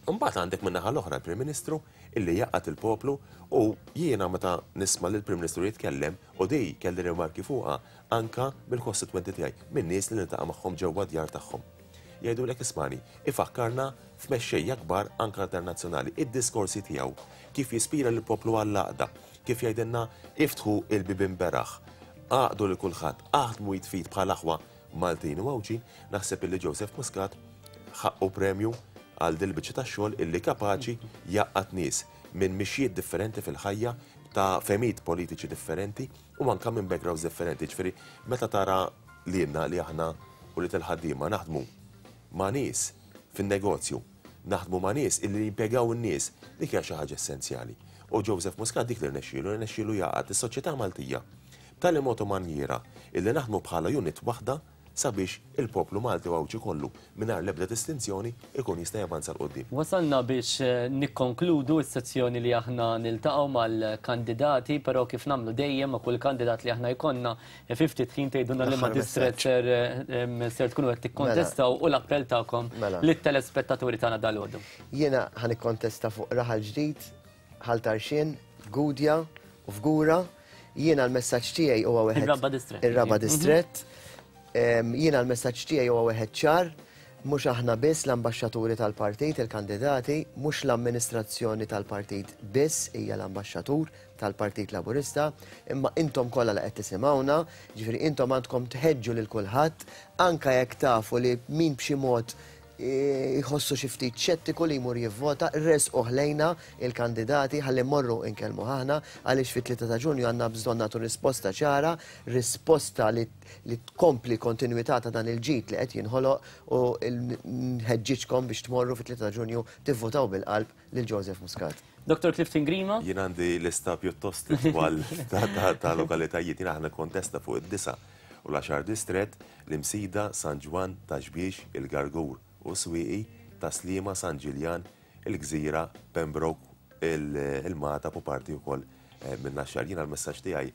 Imbagħad għandek min-naħa l-oħra l-Prim Ministru illi jgħaqqad il-poplu u jiena meta nisma' lill-Prim Ministru jitkellem, u di kelli rimarki fuqha anke mill-kostitwenti tiegħi, minn nies li niltaqa' magħhom ġewwa d-djar tagħhom. Jgħidulek ismagħni, ifakkarna f'mexxejja kbar anke internazzjonali, id-diskorsi tiegħu, kif jispira lill-poplu għall-għaqda, kif jgħidilna iftħu l-bibien beraħ, għaqdu lil kulħadd, aħdmu id f'id bħal aħwa Maltin u Għawdxin, naħseb illi Joseph Muscat ħaqqu premju għal dil-biċċa tax-xogħol illi kapaċi jgħaqqad nies minn mixjiet differenti fil-ħajja, ta' fehmiet politiċi differenti u anke minn backgrounds differenti. Jiġifieri meta tara lilna li aħna ulied il-ħaddiema naħdmu ma' nies fin-negozju, naħdmu ma' nies illi jimpjegaw in-nies, dik hija xi ħaġa essenzjali. U Joseph Muscat dik li rnexxielu, rnexxielu jgħaqqad is-soċjetà Maltija b'tali mod u manjiera illi naħdmu bħala unit waħda sabiex il-poplu Malti u Għawdxi kollu, mingħajr l-ebda distinzjoni, ikun jista' javanza 'l quddiem. Wasalna biex nikkonkludu s-sezzjoni li aħna niltaqgħu mal-kandidati, però kif nagħmlu dejjem ma' kull kandidat li aħna jkollna, fi ftit ħin tgħidulna liema distrett ser ser tkunu qed tikkontestaw u l-appell tagħkom lit-telespettaturi tagħna dalgħodu. Jiena ħa nikkontesta fuq Raħal Ġdid, Ħal Tarxien, Gudja u Fgura. Jiena l-messaġġ tiegħi huwa wieħed. Ir-raba' distrett. Ir-raba' distrett. Jiena l-messaġġ tiegħi huwa wieħed ċar, mhux aħna biss l-ambaxxaturi tal-partit, il-kandidati, mhux l-amministrazzjoni tal-partit biss hija l-ambaxxatur tal-Partit Laburista, imma intom kollha li qed tisimgħuna, ġifieri intom għandkom tħeġġu lil kulħadd, anke jekk tafu li min b'xi mod Jħossu xi ftit xettiku li jmur jivvota, resquh lejna il-kandidati ħalli mmorru nkellmuh aħna għaliex fit-3 ta' Ġunju għandna bżonn nagħtu risposta ċara, risposta li li tkompli kontinwità ta' dan il-ġid li qed jinħoloq u nħeġġiġkom biex tmorru fit-3 ta' Ġunju tivvotaw bil-qalb lil Joseph Muscat. Dottor Clifton Grima. Jien għandi lista pjuttost itwal ta' lokalitajiet. Jien aħna kontesta fuq id-disa' u l-għaxar distrett, l-Imsida, San Ġwann, Ta' Xbiex, il-Gargur u s-Swieqi, Tas-Sliema, San Ġiljan, il-Gżira, Pembroke, il-Magħtab u parti wkoll min-Naxxar. Jiena l-messaġġ tiegħi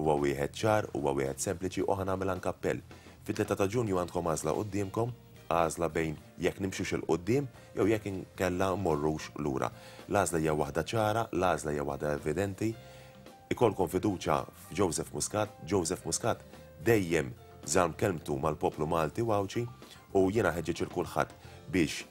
huwa wieħed ċar, huwa wieħed sempliċi u ħa nagħmel anke appell. Fit-3 ta' Ġunju għandkom għażla quddiemkom, għażla bejn jekk nimxux 'il quddiem jew jekk inkella mmorrux lura. L-għażla hija waħda ċara, l-għażla hija waħda evidenti. Ikollkom fiduċja f'Joseph Muscat, Joseph Muscat dejjem żamm kelmtu mal-poplu Malti u Għawdxi u jiena nħeġġeġ 'il kulħadd biex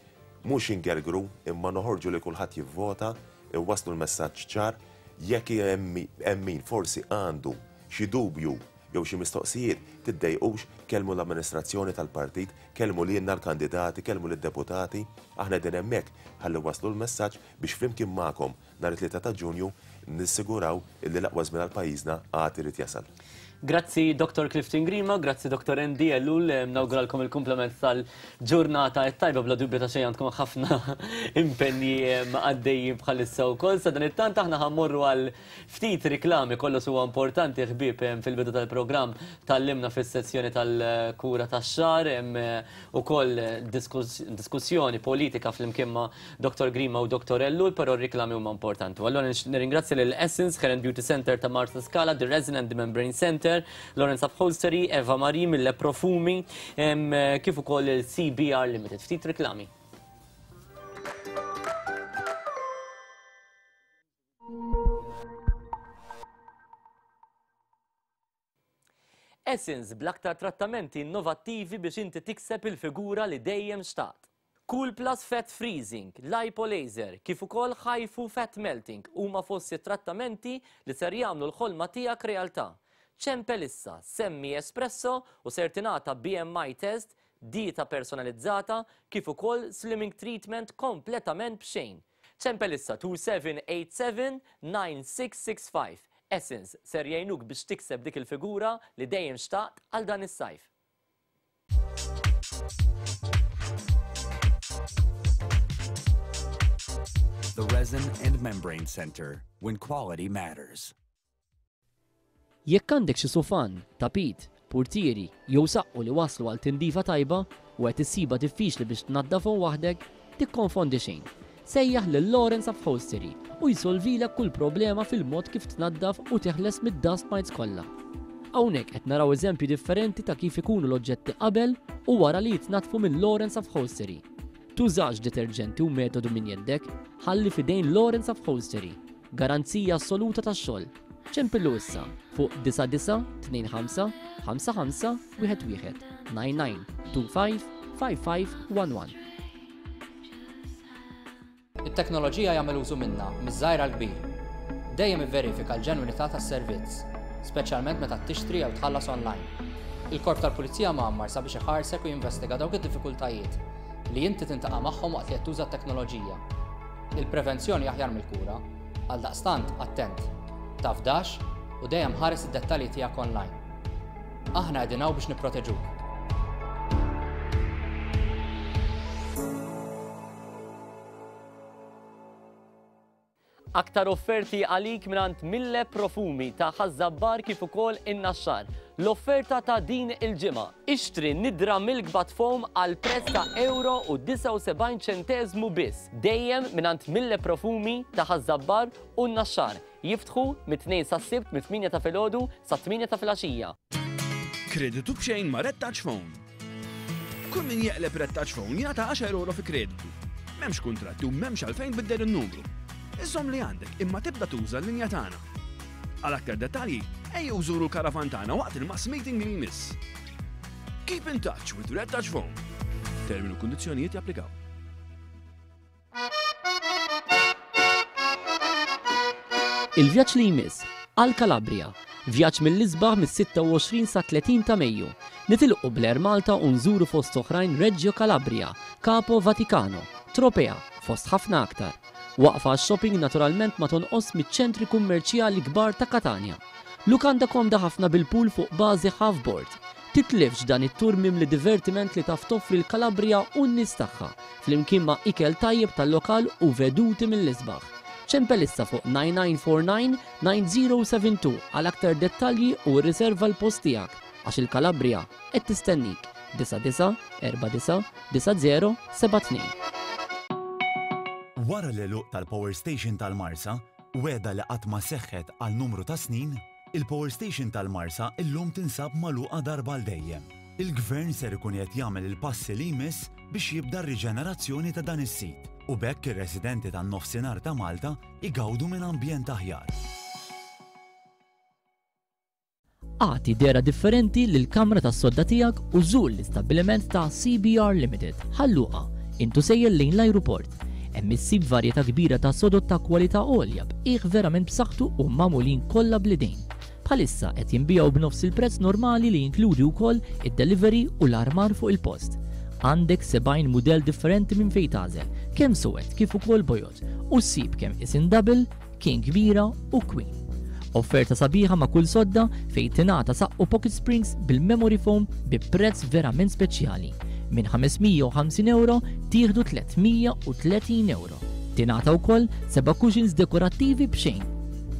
mhux ingergru imma noħorġu li kulħadd jivvota, inwasslu l-messaġġ ċar, jekk hemm min forsi għandu xi dubju jew xi mistoqsijiet, tiddejqux, kellmu l-amministrazzjoni tal-partit, kellmu lilna l-kandidati, kellmu lid-deputati, aħna qegħdin hemmhekk ħalli nwasslu l-messaġġ biex flimkien magħkom Nhar it-Tlieta ta' Ġunju nissiguraw illi l-aqwa żmien għal pajjiżna għad irid jasal. Grazzi Dottor Clifton Grima, grazzi Dottor Andy Ellul, nawguralkom il-kumplament tal-ġurnata t-tajba bla dubju ta' xejn għandkom ħafna impenji għaddejjin bħalissa wkoll. Sadanittant aħna ħa mmorru għal ftit riklami, kollox huwa importanti ħbieb fil-bidu tal-programm tgħallimna fis-sezzjoni tal-kura tax-xagħar, hemm ukoll diskussjoni politika flimkien ma' Dottor Grima u Dottor Ellul, però r-riklami huma importanti. U allura nirringrazzja lil Essence Hair and Beauty Center ta' Marsa Scala, The Resin and the Membrane Center, Lawrence Upholstery, Eva Marie mill Profumi, kif ukoll il-CBR Limited. Ftit riklami. Essence bl-aktar trattamenti innovattivi biex inti tikseb il-figura li dejjem xtaqt. Cool Plus Fat Freezing, Lipo Laser, kif ukoll HIFU Fat Melting huma fost it-trattamenti li ser jagħmlu l-ħolma tiegħek realtà. Ċempel issa, semmi Espresso u ser tingħata BMI test, dieta personalizzata kif ukoll slimming treatment kompletament b'xejn. Ċempel issa 2787 9665. Essence ser jgħinuk biex tikseb dik il-figura li dejjem xtaqt għal dan is-sajf. The Resin and Membrane Center, when quality matters. Jekk għandek xi sufan, tapit, purtieri jew saqqu li waslu għal tindifa tajba u qed issibha diffiċli biex tnaddafhom waħdek, tikkonfondi xejn. Sejjaħ lil Lawrence Upholstery u jsolvilek kull problema fil-mod kif tnaddaf u teħles mid-dust mites kollha. Hawnhekk qed naraw eżempji differenti ta' kif ikunu l-oġġetti qabel u wara li jitnaddfu minn Lawrence Upholstery. Tużax deterġenti u metodu minn jeddek, ħalli f'idejn Lawrence Upholstery. Garanzija assoluta tax-xogħol. Ċempillu issa fuq 9925 55 11 99 25 55 11. It-teknoloġija jagħmel użu minnha miż-żgħir għall-kbir. Dejjem ivverifika l-ġenwinità tas-servizz, speċjalment meta tixtri jew tħallas online. Il-Korp tal-Pulizija mgħammar sabiex iħarsek u jinvestiga dawk id-diffikultajiet li inti tintaqa' magħhom waqt li qed tuża t-teknoloġija. Il-prevenzjoni aħjar mill-kura, għaldaqstant attent, tafdax u dejjem ħares id-dettalji tiegħek online. Aħna qegħdin hawn biex nipproteġuk. Aktar offerti għalik mingħand Mille Profumi ta' Ħaż-Żabbar kif ukoll in-Naxxar. L-offerta ta' din il-ġimgħa. Ixtri nidra Milk Bath Foam għal prezz ta' ewro u 79 ċenteżmu biss. Dejjem mingħand Mille Profumi ta' Ħaż-Żabbar u n-Naxxar. Jiftħu mit-Tnejn sas-Sibt mit-tmienja ta' filgħodu sat-tmienja ta' filgħaxija. Kreditu b'xejn ma' Red Touch Phone. Kull min jeqleb Red Touch Phone jingħata għaxar ewro fi kreditu. M'hemmx kuntratti u m'hemmx għalfejn tbiddel in-numru. Iżomm li għandek imma tibda tuża l-linja tagħna. Għal aktar dettalji, ejjew żuru l-karavan tagħna waqt il-mass meeting li jmiss. Keep in touch with Red Touch Phone. Termini u kundizzjonijiet japplikaw. Il-vjaġġ li jmiss għal Calabria. Vjaġġ mill-isbaħ mis-26 sat-30 ta' Mejju. Nitilqu bl-Air Malta u nżuru fost oħrajn Reggio Calabria, Capo Vaticano, Tropea, fost ħafna aktar. Waqfa għax-shopping naturalment ma tonqosx miċ-ċentri kummerċjali kbar ta' Katanja. Lukanda komda ħafna bil-pool fuq bażi half board. Titlifx dan it-tour mimli divertiment li taf toffri l-Calabria u n-nies tagħha, flimkien ma' ikel tajjeb tal-lokal u veduti mill-isbaħ. Ċempel issa fuq 9949 9072 għal aktar dettalji u rriserva l-post tiegħek għax il-Calabria qed tistennik. 99 49 90 72. Wara l-għeluq tal-Power Station tal-Marsa, wegħda li qatt ma seħħet għal numru ta' snin, il-Power Station tal-Marsa illum tinsab magħluqa darba għal dejjem. Il-Gvern ser ikun qiegħed jagħmel il-passi li jmiss biex jibda r-riġenerazzjoni ta' dan is-sit u b'hekk ir-residenti tan-Nofsinhar ta' Malta jgawdu minn ambjent aħjar. Agħti dehra differenti lill-kamra tas-sodda tiegħek u żur l-istabbiliment ta' CBR Limited, Ħal Luqa, int u sejjer lejn l-ajruport. Hemm issib varjetà kbira ta' sodod ta' kwalità għolja b'qiegħ verament b'saħħtu u magħmulin kollha bl-idejn. Bħalissa qed jinbiegħu b'nofs il-prezz normali li jinkludi wkoll id-delivery u l-armar fuq il-post. Għandek 70 mudell differenti minn fejn tagħżel, kemm suwed kif ukoll bojod, u ssib kemm isin double, King kbira u Queen. Offerta sabiħa ma' kull sodda fejn tingħata saqqu pocket springs bil-memory foam bi prezz verament speċjali. Minn 550 ewro tieħdu 330 ewro. Tingħata wkoll seba' cushions dekorattivi b'xejn.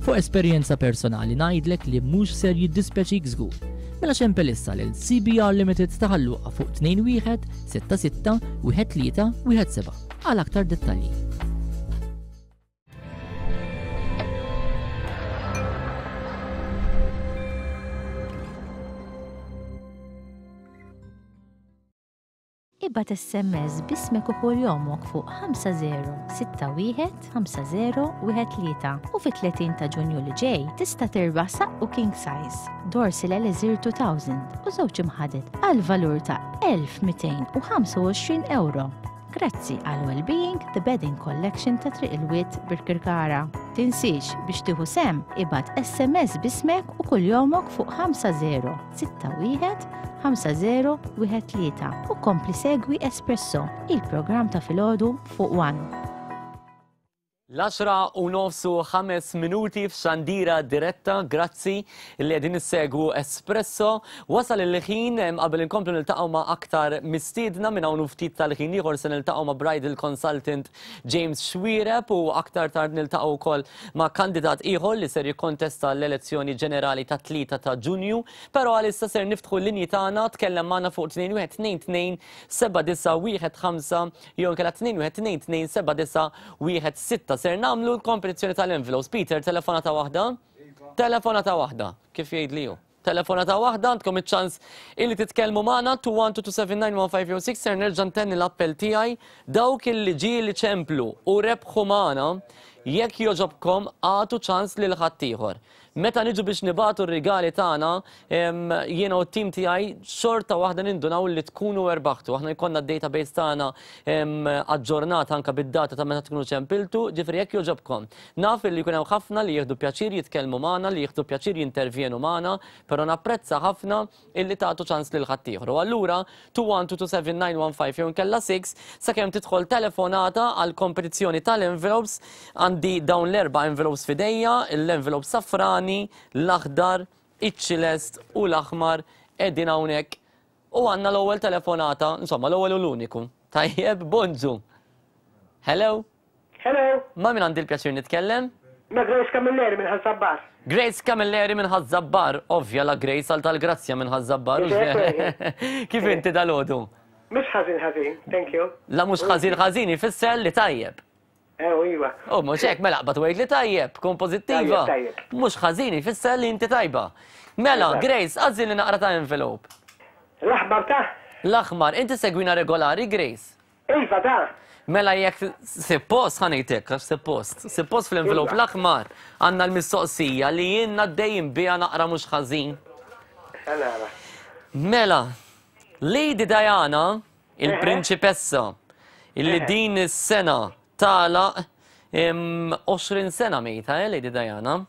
Fuq esperjenza personali ngħidlek li mhux ser jiddispjaċik żgur. Mela xempel issa lil CBR Limited ta' Ħal Luqa fuq 21 66 13 17 għal aktar dettalji. Ibgħat SMS b'ismek u kuljomok fuq 5061 5013 u fit-30 ta' Ġunju li ġej tista' tirbaħ saqqu king size, Dorsil Elixir 2000 u żewġ imħaded għal valur ta' 1225 ewro. Grazzi għal Wellbeing The Bedding Collection ta' Triq il-Wied Birkirkara. Tinsiex biex tieħu sehem ibgħat SMS b'ismek u kuljomok fuq 5061 5013 u kompli segwi Espresso, il-programm ta' filgħodu fuq One. L-għaxra u nofs u ħames minuti f'xandira diretta, grazzi li qegħdin issegwu Espresso. Wasal il-ħin qabel inkomplu niltaqgħu ma' aktar mistiedna minn hawn u ftit tal-ħin ieħor se niltaqgħu ma' bridal consultant James Xuereb u aktar tard niltaqgħu wkoll ma' kandidat ieħor li ser jikkontesta l-elezzjoni ġenerali tat-3 ta' Ġunju. Però għalissa ser niftħu l-linji tagħna, tkellem magħna fuq 2122 7915 jew inkella 21227916. Ser nagħmlu l-kompetizzjoni tal-envelopes. Peter, telefonata waħda? Telefonata waħda, kif jgħidli hu. Telefonata waħda, għandkom iċ-ċans illi titkellmu magħna 212279156 ser nerġa' ntenni l-appell tiegħi dawk illi ġieli ċemplu u rebħu magħna jekk jogħġobkom agħtu ċans lil ħaddieħor. Meta niġu biex nibagħtu r-rigali tagħna, jiena u t-tim tiegħi xorta waħda nindunaw li tkunu erbaħtu. Aħna jkollna d-database tagħna aġġornata anke bid-data ta' meta tkunu ċempiltu, ġifieri jekk jogħġobkom. Naf li jkun hemm ħafna li jieħdu pjaċir jitkellmu magħna, li jieħdu pjaċir jintervjenu magħna, però napprezza ħafna illi tagħtu ċans lil ħaddieħor. U allura 2122791 jew inkella 6 sakemm tidħol telefonata għal kompetizzjoni tal-envelopes għandi dawn l-erba' envelopes f'idejja, l-envelope safrani, l-aħdar, iċ-ċilest u l-aħmar qegħdin hawnhekk u għandna l-ewwel telefonata, insomma l-ewwel u l-uniku. Tajjeb, bonġu. Hello. Hello. Ma' min għandi l-pjaċir nitkellem? Ma' Grace Camilleri minn Ħaż-Żabbar. Grace Camilleri minn Ħaż-Żabbar, ovvja la Grace għal tal-Grazzja minn Ħaż-Żabbar. Kif inti dalgħodu? Mhux ħażin ħażin, thank you. La mhux ħażin ħażin ifisser li tajjeb. Eh, iva. U mhux hekk mela qbad u għid li tajjeb, kun pożittiva. Tajjeb, tajjeb. Mhux ħażin ifisser li inti tajba. Mela, Grace, għażilni naqra ta' envelope. L-aħmar ta'? L-aħmar, inti segwina regolari, Grace? Iva da! Mela jekk sippost ħa ngħid hekk għax sippost. Sippost fl-envelope Iva. l-aħmar għandna l-mistoqsija li jien għaddejjin biha naqra mhux ħażin. Ħa nara. Mela, Lady Diana, il-prinċipessa, illi din is-sena tagħlaq 20 sena mejta, eh, Lady Diana.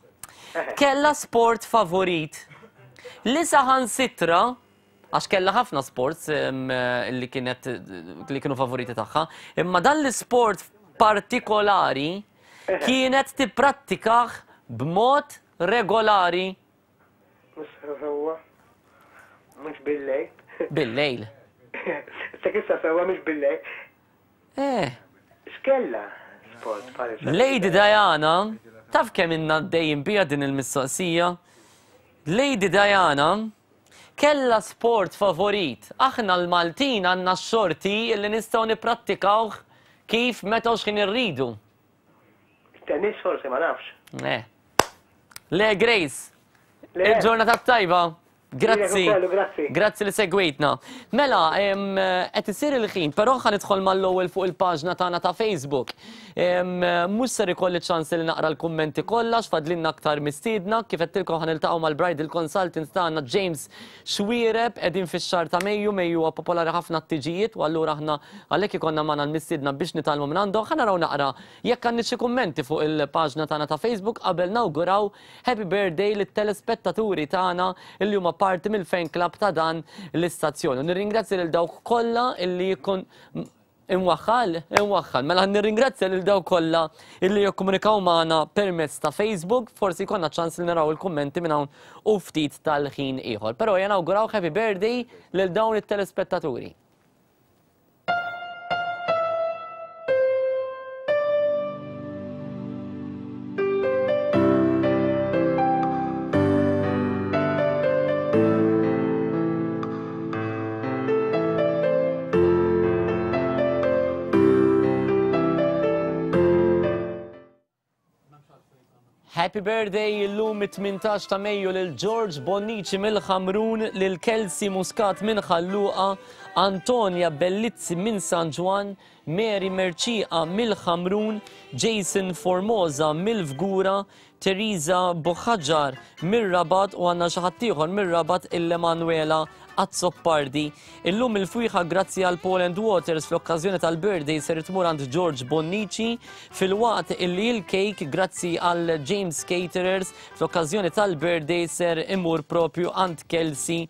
Kellha sport favorit li saħansitra għax kellha ħafna sports li kienet li kienu favoriti tagħha, imma dan l-isport partikolari kienet tipprattikah b'mod regolari. Mhux sewwa. Mhux bil-lejl. Bil-lejl. Issa issa sewwa mhux bil-lejl. Eh. X'kellha sport bħalissa? Lady Diana, taf kemm ilna għaddejjin biha din il-mistoqsija? Lady Diana kellha sport favorit. Aħna l-Maltin għandna x-xorti li nistgħu nipprattikawh kif, meta u x'ħin irridu. Tennis forsi ma nafx. Le. Le Grace. Il-ġurnata tajba. Grazzi. Grazzi li segwejtna. Mela, qed isir il-ħin, però ħa nidħol mal-ewwel fuq il-paġna tagħna ta' Facebook. Mhux ser ikolli ċans li naqra l-kummenti kollha x'fadlinna aktar mistiedna, kif għedtilkom ħa niltaqgħu mal-bridal consultant tagħna James Xuereb, qegħdin fix-xahar ta' Mejju, Mejju huwa popolari ħafna t-tiġijiet u allura aħna għalhekk ikollna magħna l-mistiedna biex nitgħallmu minn għandhom. Ħa naraw naqra jekk għandniex xi kummenti fuq il-paġna tagħna ta' Facebook qabel nawguraw Happy birthday lit-telespettaturi tagħna li huma parti mill-fan club ta' dan l-istazzjon. U nirringrazzja lil dawk kollha illi jikkun Imwaħħal, imwaħħal. Mela nirringrazzja lil dawk kollha illi jikkomunikaw magħna permezz ta' Facebook, forsi jkollna ċans li naraw il-kummenti minn hawn u ftit tal-ħin ieħor. Però ejja nawguraw happy birthday lil dawn it-telespettaturi. Happy birthday illum it-18 ta' Mejju lil George Bonnici mill-Ħamrun, lil Kelsey Muscat minn Ħal Luqa, Antonia Bellizzi minn San Ġwann, Mary Mercieqa mill-Ħamrun, Jason Formosa mill-Fgura, Theresa Buhagiar mir-Rabat u għandna xi ħadd ieħor mir-Rabat il-Emanuela Azzopardi. Illum il-fwieħa grazzi għal Paul and Waters fl-okkażjoni tal-birthday ser tmur għand George Bonnici filwaqt illi l-cake grazzi għal James Caterers fl-okkażjoni tal-birthday ser imur propju għand Kelsey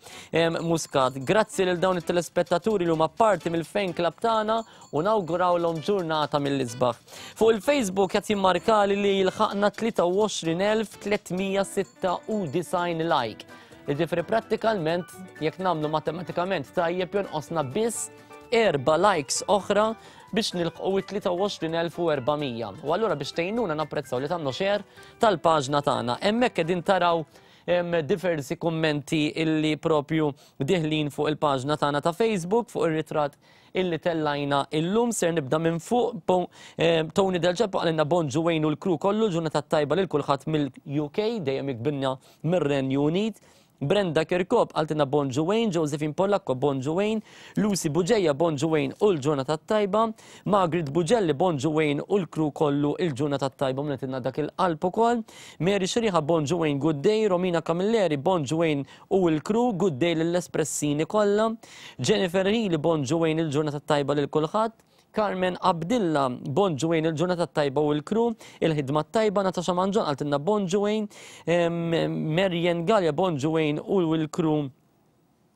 Muscat. Grazzi lil dawn it-telespettaturi li huma parti mill-fan club tagħna u nawgurawlhom ġurnata mill-isbaħ. Fuq il-Facebook qed jimmarkali li jilħaqna 23,396 like. Jiġifieri prattikalment jekk nagħmlu matematikament tajjeb jonqosna biss erba' likes oħra biex nilħqu it-23,400. U allura biex tgħinuna napprezzaw li tagħmlu share tal-paġna tagħna. Hemmhekk qegħdin taraw diversi kummenti illi propju diħlin fuq il-paġna tagħna ta' Facebook fuq ir-ritratt illi tellajna illum. Ser nibda minn fuq. Tony Del Ceppo qalilna bonġu Wayne u l-crew kollu, ġurnata tajba lil kulħadd mill-UK, dejjem jikbinna mir-Renju Unit. Brenda Kirkop qaltilna bonġu Wayne, Josephine Polacco bonġu Wayne, Lucy Bugeja bonġu Wayne u l-ġurnata tajba, Margaret Bugelli bonġu Wayne u l-crew kollu il-ġurnata tajba mnetilna dak il-qalb ukoll, Mary Xriħa bonġu Wayne good day, Romina Camilleri bonġu Wayne u l-crew, good day lill-Espressini kollha, Jennifer Healy bonġu Wayne il-ġurnata tajba lil kulħadd, Carmen Abdilla, bonġu Wayne il-ġurnata tajba u l-crew, il-ħidma tajba, Natasha Mangion qaltilna bonġu Wayne, Marian Gallia bonġu Wayne u l-crew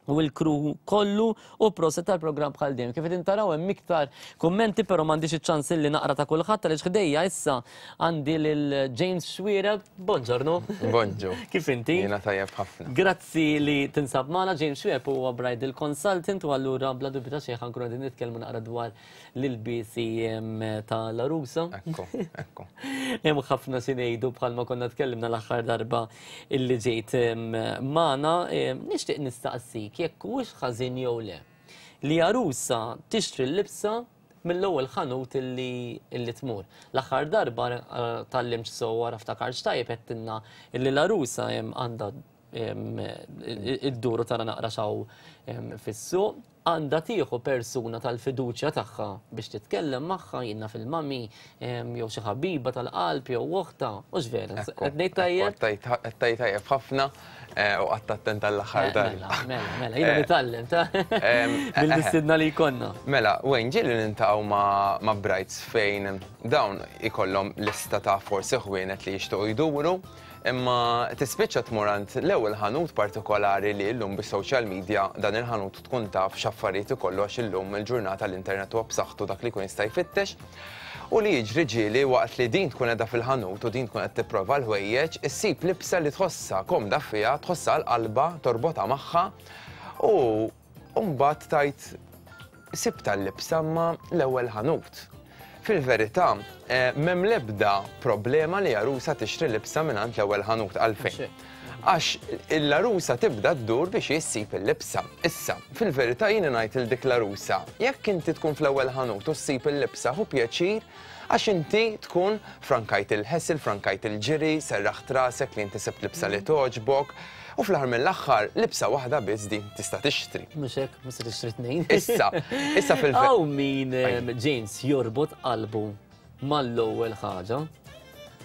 u l-crew kollu u proset tal-programm bħal dejjem. Kif qegħdin taraw hemm iktar kummenti però m'għandix iċ-ċans li naqra ta' kulħadd għaliex ħdejja issa għandi lil James Xuereb. Bonġornu. Bonġu. Kif inti? Jiena tajjeb ħafna. Grazzi li tinsab magħna. James Xuereb huwa bridal consultant u allura bla dubju ta' xejn ħankunu qegħdin nitkellmu naqra dwar l-ilbiesi ta' l-għarusa. Ekku, ekku. Hemm ħafna xi ngħidu bħalma konna tkellimna l-aħħar darba illi ġejt magħna. Nixtieq nistaqsik jekk huwiex ħażin jew le li għarusa tixtri l-libsa mill-ewwel ħanut illi tmur. L-aħħar darba tgħallimtx sew wara ftakartx tajjeb għedtilna illi l-għarusa għandha iddur u tara naqra x'hawn fis-suq. Għandha tieħu persuna tal-fiduċja tagħha biex titkellem magħha, jien naf il-mami, jew xi ħabiba tal-qalb jew oħtha, hux vera? Qed ngħid tajjeb? Qed tgħid tajjeb ħafna u qatt attent għall-aħħar darba. Mela, mela, mela, jiena nitgħallem ta' mill-mistiedna li jkollna. Mela, Wayne, ġieli niltaqgħu ma' brides fejn dawn ikollhom lista ta' forsi ħwienet li jixtiequ jduru. Imma tispiċċa tmur għand l-ewwel ħanut partikolari li llum bis-social media dan il-ħanut tkun taf x'affarijiet ikollu għax illum il-ġurnata l-internet huwa b'saħħtu dak li jkun jista' jfittex. U li jiġri ġieli waqt li din tkun qiegħda fil-ħanut u din tkun qed tipprova l-ħwejjeġ, issib libsa li tħossha komda fiha, tħossha għal qalbha, torbotha magħha u mbagħad tgħid sibtha l-libsa imma l-ewwel ħanut. Fil-verità, m'hemm l-ebda problema li għarusa tixtri libsa mingħand l-ewwel ħanut. Għalfejn? Għax l-għarusa tibda ddur biex hi ssib il-libsa. Issa, fil-verità jiena ngħid lil dik l-għarusa, jekk inti tkun fl-ewwel ħanut u ssib il-libsa ħu pjaċir għax inti tkun frankajt il-hassle, frankajt il-ġiri, serraħt rasek li inti sibt libsa li togħġbok u fl-aħħar mill-aħħar libsa waħda biss din tista' tixtri. Mhux hekk, mhux se tixtri tnejn. Issa, issa fil Hawn min James jorbot qalbu mal-ewwel ħaġa.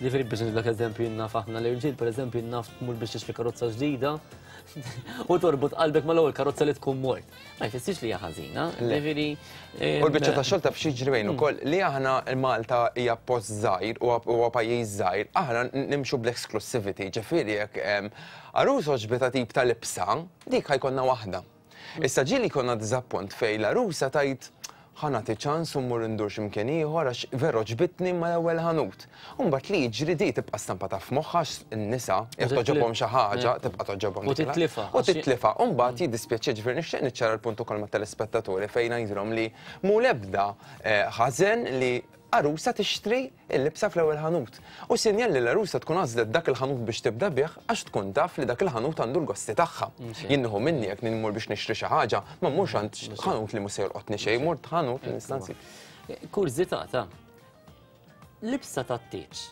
Ġifieri biex nidlek eżempju naf aħna l-irġiel, pereżempju naf tmur biex tixtri karozza ġdida u torbot qalbek mal-ewwel karozza li tkun mort. Ma jfissirx li hija ħażina, ġifieri. U l-biċċa ta' xogħol taf x'jiġri bejn ukoll li aħna Malta hija post żgħir u huwa pajjiż żgħir, aħna nimxu bl-exclusivity, ġifieri jekk għarus għoġbitha tip ta' libsa, dik ħa jkollna waħda. Issa ġieli jkollna diżappunt fejn l-għarusa tgħid ħa nagħti ċans u mmur indur xi mkien ieħor għax vera għoġbitni imma l-ewwel ħanut. U mbagħad li jiġri di tibqa' stampata f'moħħha għax in-nisa jekk togħġobhom xi ħaġa tibqa' togħġobhom. U titlifha. U titlifha. U mbagħad jiddispjaċiha ġifieri nixtieq niċċara l-punt ukoll mat-telespettaturi fejn ngħidilhom li mhu l-ebda ħażen li għarusa tixtri l-libsa fl-ewwel ħanut. U sinjal li l-għarusa tkun għażlet dak il-ħanut biex tibda bih għax tkun taf li dak il-ħanut għandu l-gosti tagħha. Jien nieħu minni jekk nmur biex nixtri xi ħaġa, ma mmurx għand ħanut li mhux se jolqotni xejn, mort ħanut li nista' nsib. Kurżità ta' libsa tat-tieġ.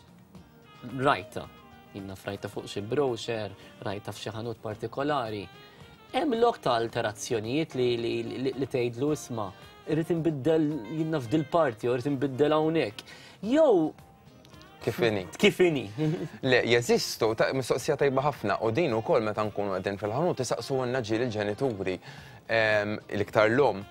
Rajtha. Jien naf rajtha fuq xi brochure, rajtha f'xi ħanut partikolari. Hemm lok ta' alterazzjonijiet li li tgħidlu isma' irrid inbiddel jien naf dil-parti jew irrid inbiddel hawnhekk. Jew Kif inhi? Kif inhi? Le, jeżistu, mistoqsija tajba ħafna u din ukoll meta nkunu qegħdin fil-ħanut isaqsuhulna ġieli l-ġenituri l-iktar l-omm.